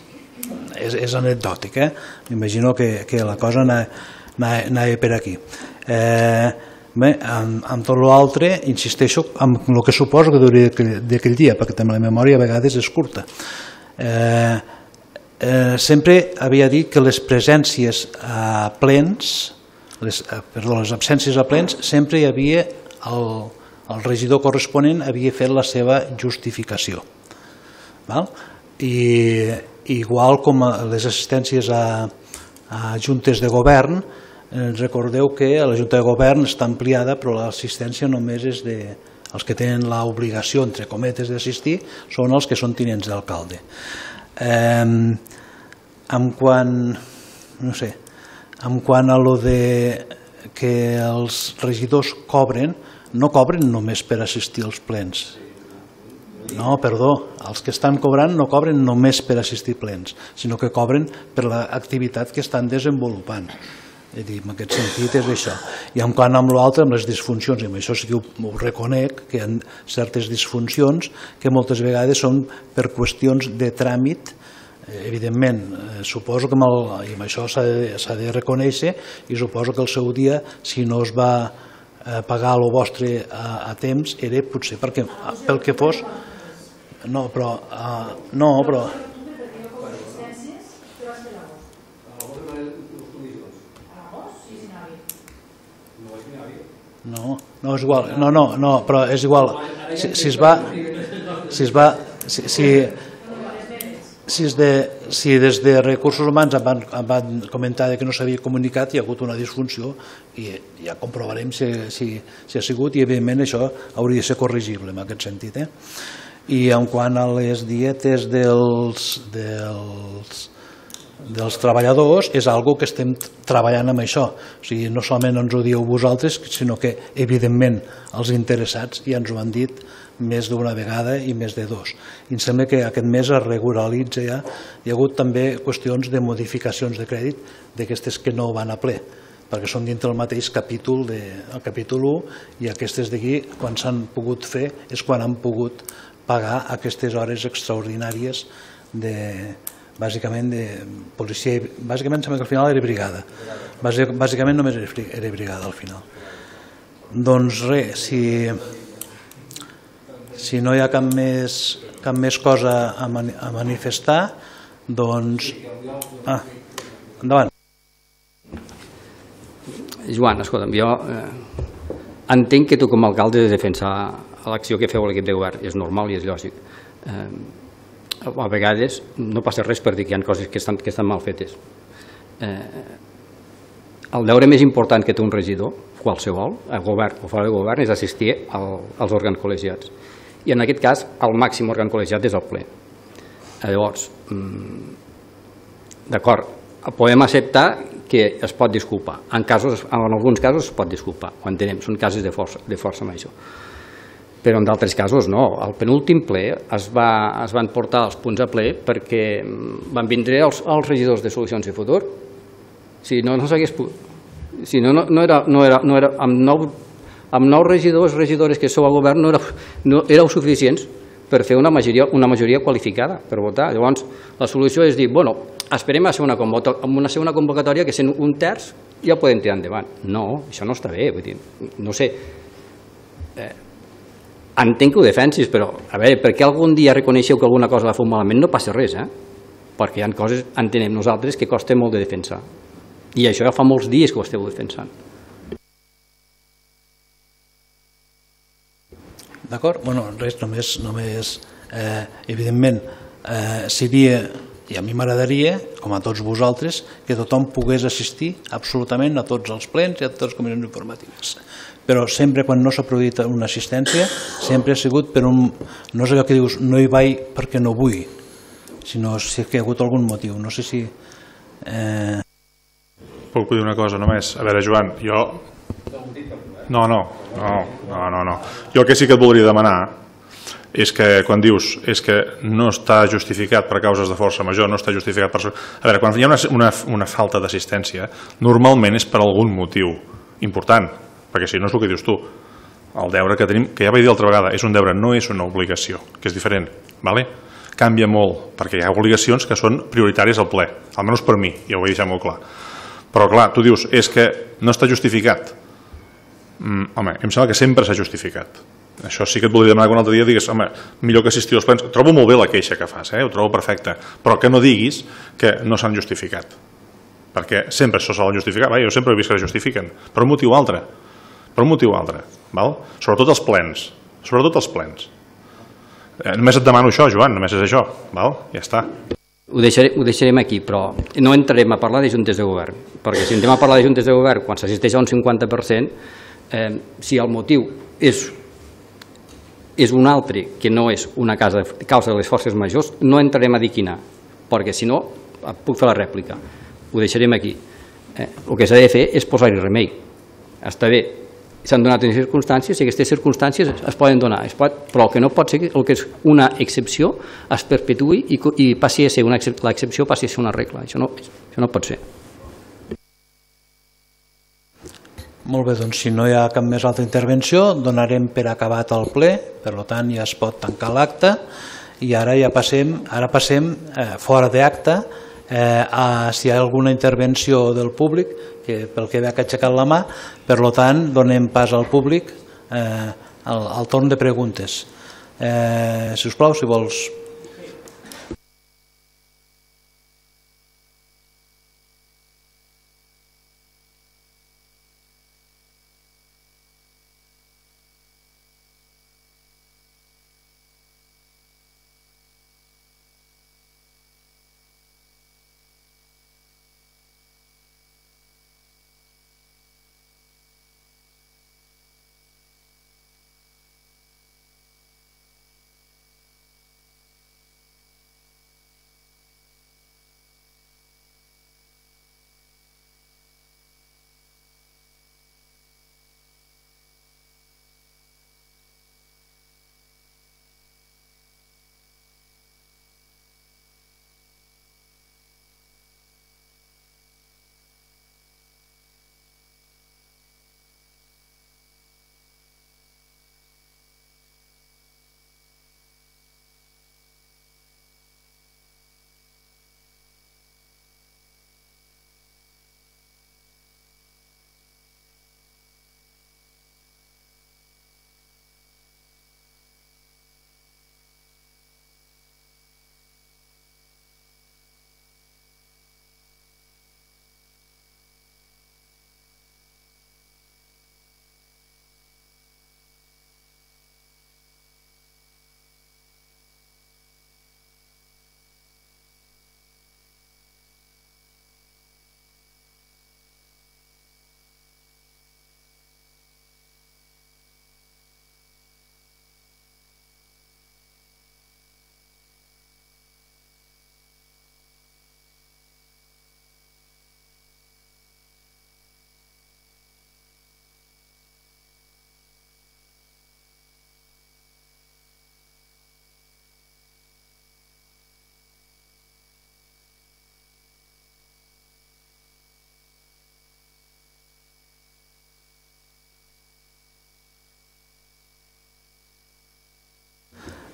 És anecdòtic, m'imagino que la cosa anava per aquí. Bé, amb tot l'altre, insisteixo en el que suposo que hauria d'aquell dia, perquè també la memòria a vegades és curta. Sempre havia dit que les presències a plens, les absències a plens, sempre hi havia el regidor corresponent havia fet la seva justificació. I igual com les assistències a juntes de govern, recordeu que la junta de govern està ampliada, però l'assistència només és els que tenen l'obligació, entre cometes, d'assistir, són els que són tinents d'alcalde. En quant a lo de que els regidors cobren, no cobren només per assistir als plens. No, perdó, els que estan cobrant no cobren només per assistir plens, sinó que cobren per l'activitat que estan desenvolupant. En aquest sentit és això. I en quant amb l'altre, amb les disfuncions, i amb això sí que ho reconec, que hi ha certes disfuncions que moltes vegades són per qüestions de tràmit evidentment, suposo que amb això s'ha de reconèixer, i suposo que el seu dia, si no es va pagar el vostre a temps, era potser perquè pel que fos... No, però... No, és igual, no, però és igual, si des de Recursos Humans em van comentar que no s'havia comunicat, hi ha hagut una disfunció i ja comprovarem si ha sigut, i evidentment això hauria de ser corregible en aquest sentit. I en quant a les dietes dels treballadors, és algo que estem treballant amb això. O sigui, no solament ens ho dieu vosaltres, sinó que, evidentment, els interessats ja ens ho han dit més d'una vegada i més de dos. I em sembla que aquest mes es regularitza ja. Hi ha hagut també qüestions de modificacions de crèdit d'aquestes que no van a ple, perquè són dintre del mateix capítol, el capítol 1, i aquestes d'aquí, quan s'han pogut fer, és quan han pogut pagar aquestes hores extraordinàries bàsicament de policia, bàsicament sembla que al final era brigada, bàsicament només era brigada al final. Doncs res, si no hi ha cap més cosa a manifestar, doncs... Endavant. Joan, escolta'm, jo entenc que tu com a alcalde has de defensar l'acció que feu a l'equip de govern, és normal i és lògic. A vegades no passa res per dir que hi ha coses que estan mal fetes. El deure més important que té un regidor, qualsevol, a govern o fora de govern, és assistir als òrgans col·legiats. I en aquest cas, el màxim òrgan col·legiat és el ple. Llavors, d'acord, podem acceptar que es pot disculpar. En alguns casos es pot disculpar, ho entenem, són casos de força major. Però en d'altres casos no. Al penúltim ple es van portar els punts a ple perquè van vindre els regidors de Solucions i Futur. Si no s'hagués pogut... Si no era... Amb 9 regidores que sou al govern no éreu suficients per fer una majoria qualificada per votar. Llavors, la solució és dir, bueno, esperem a una segona convocatòria que sent un terç ja podem tirar endavant. No, això no està bé, vull dir, no sé... Entenc que ho defensis, però a veure, per què algun dia reconeixeu que alguna cosa la feu malament? No passa res, perquè hi ha coses, entenem nosaltres, que costa molt de defensar. I això ja fa molts dies que ho esteu defensant. D'acord? Bueno, res, només evidentment, seria, i a mi m'agradaria, com a tots vosaltres, que tothom pogués assistir absolutament a tots els plens i a totes les comissions informatives. Però sempre quan no s'ha produït una assistència, sempre ha sigut per un... No és allò que dius, no hi vaig perquè no vull, sinó si hi ha hagut algun motiu. No sé si... Puc dir una cosa només? A veure, Joan, jo... No. Jo el que sí que et voldria demanar és que quan dius que no està justificat per causes de força major, no està justificat per... A veure, quan hi ha una falta d'assistència, normalment és per algun motiu important, perquè si no és el que dius tu. El deure que tenim, que ja vaig dir altra vegada, és un deure, no és una obligació, que és diferent. Canvia molt, perquè hi ha obligacions que són prioritàries al ple, almenys per mi, ja ho vaig deixar molt clar. Però clar, tu dius, és que no està justificat. Home, em sembla que sempre s'ha justificat. Això sí que et voldria demanar que un altre dia digues, home, millor que assistir als plens. Trobo molt bé la queixa que fas, ho trobo perfecte, però que no diguis que no s'han justificat. Perquè sempre això s'ha de justificar. Jo sempre he vist que es justifiquen, per un motiu altre. Sobretot els plens. Només et demano això, Joan, només és això. Ja està. Ho deixarem aquí, però no entrarem a parlar de juntes de govern, perquè si entrem a parlar de juntes de govern quan s'assisteix a un 50%, si el motiu és un altre que no és una causa de les forces majors, no entrarem a dir quina, perquè si no puc fer la rèplica. Ho deixarem aquí. El que s'ha de fer és posar-hi remei. Està bé, s'han donat unes circumstàncies i aquestes circumstàncies es poden donar, però el que no pot ser el que és una excepció es perpetuï i passi a ser l'excepció passi a ser una regla. Això no pot ser. Molt bé, doncs si no hi ha cap més altra intervenció donarem per acabat el ple, per tant ja es pot tancar l'acte i ara ja passem fora d'acte si hi ha alguna intervenció del públic, que pel que veig ha aixecat la mà, per tant donem pas al públic al torn de preguntes. Si us plau, si vols.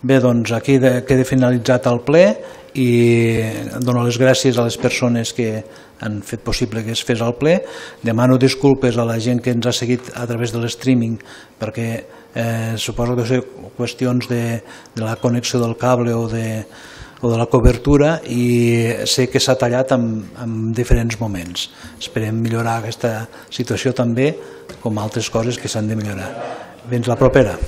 Bé, doncs aquí queda finalitzat el ple i dono les gràcies a les persones que han fet possible que es fes el ple. Demano disculpes a la gent que ens ha seguit a través de l'streaming perquè suposo que són qüestions de la connexió del cable o de la cobertura i sé que s'ha tallat en diferents moments. Esperem millorar aquesta situació també, com altres coses que s'han de millorar. Fins la propera.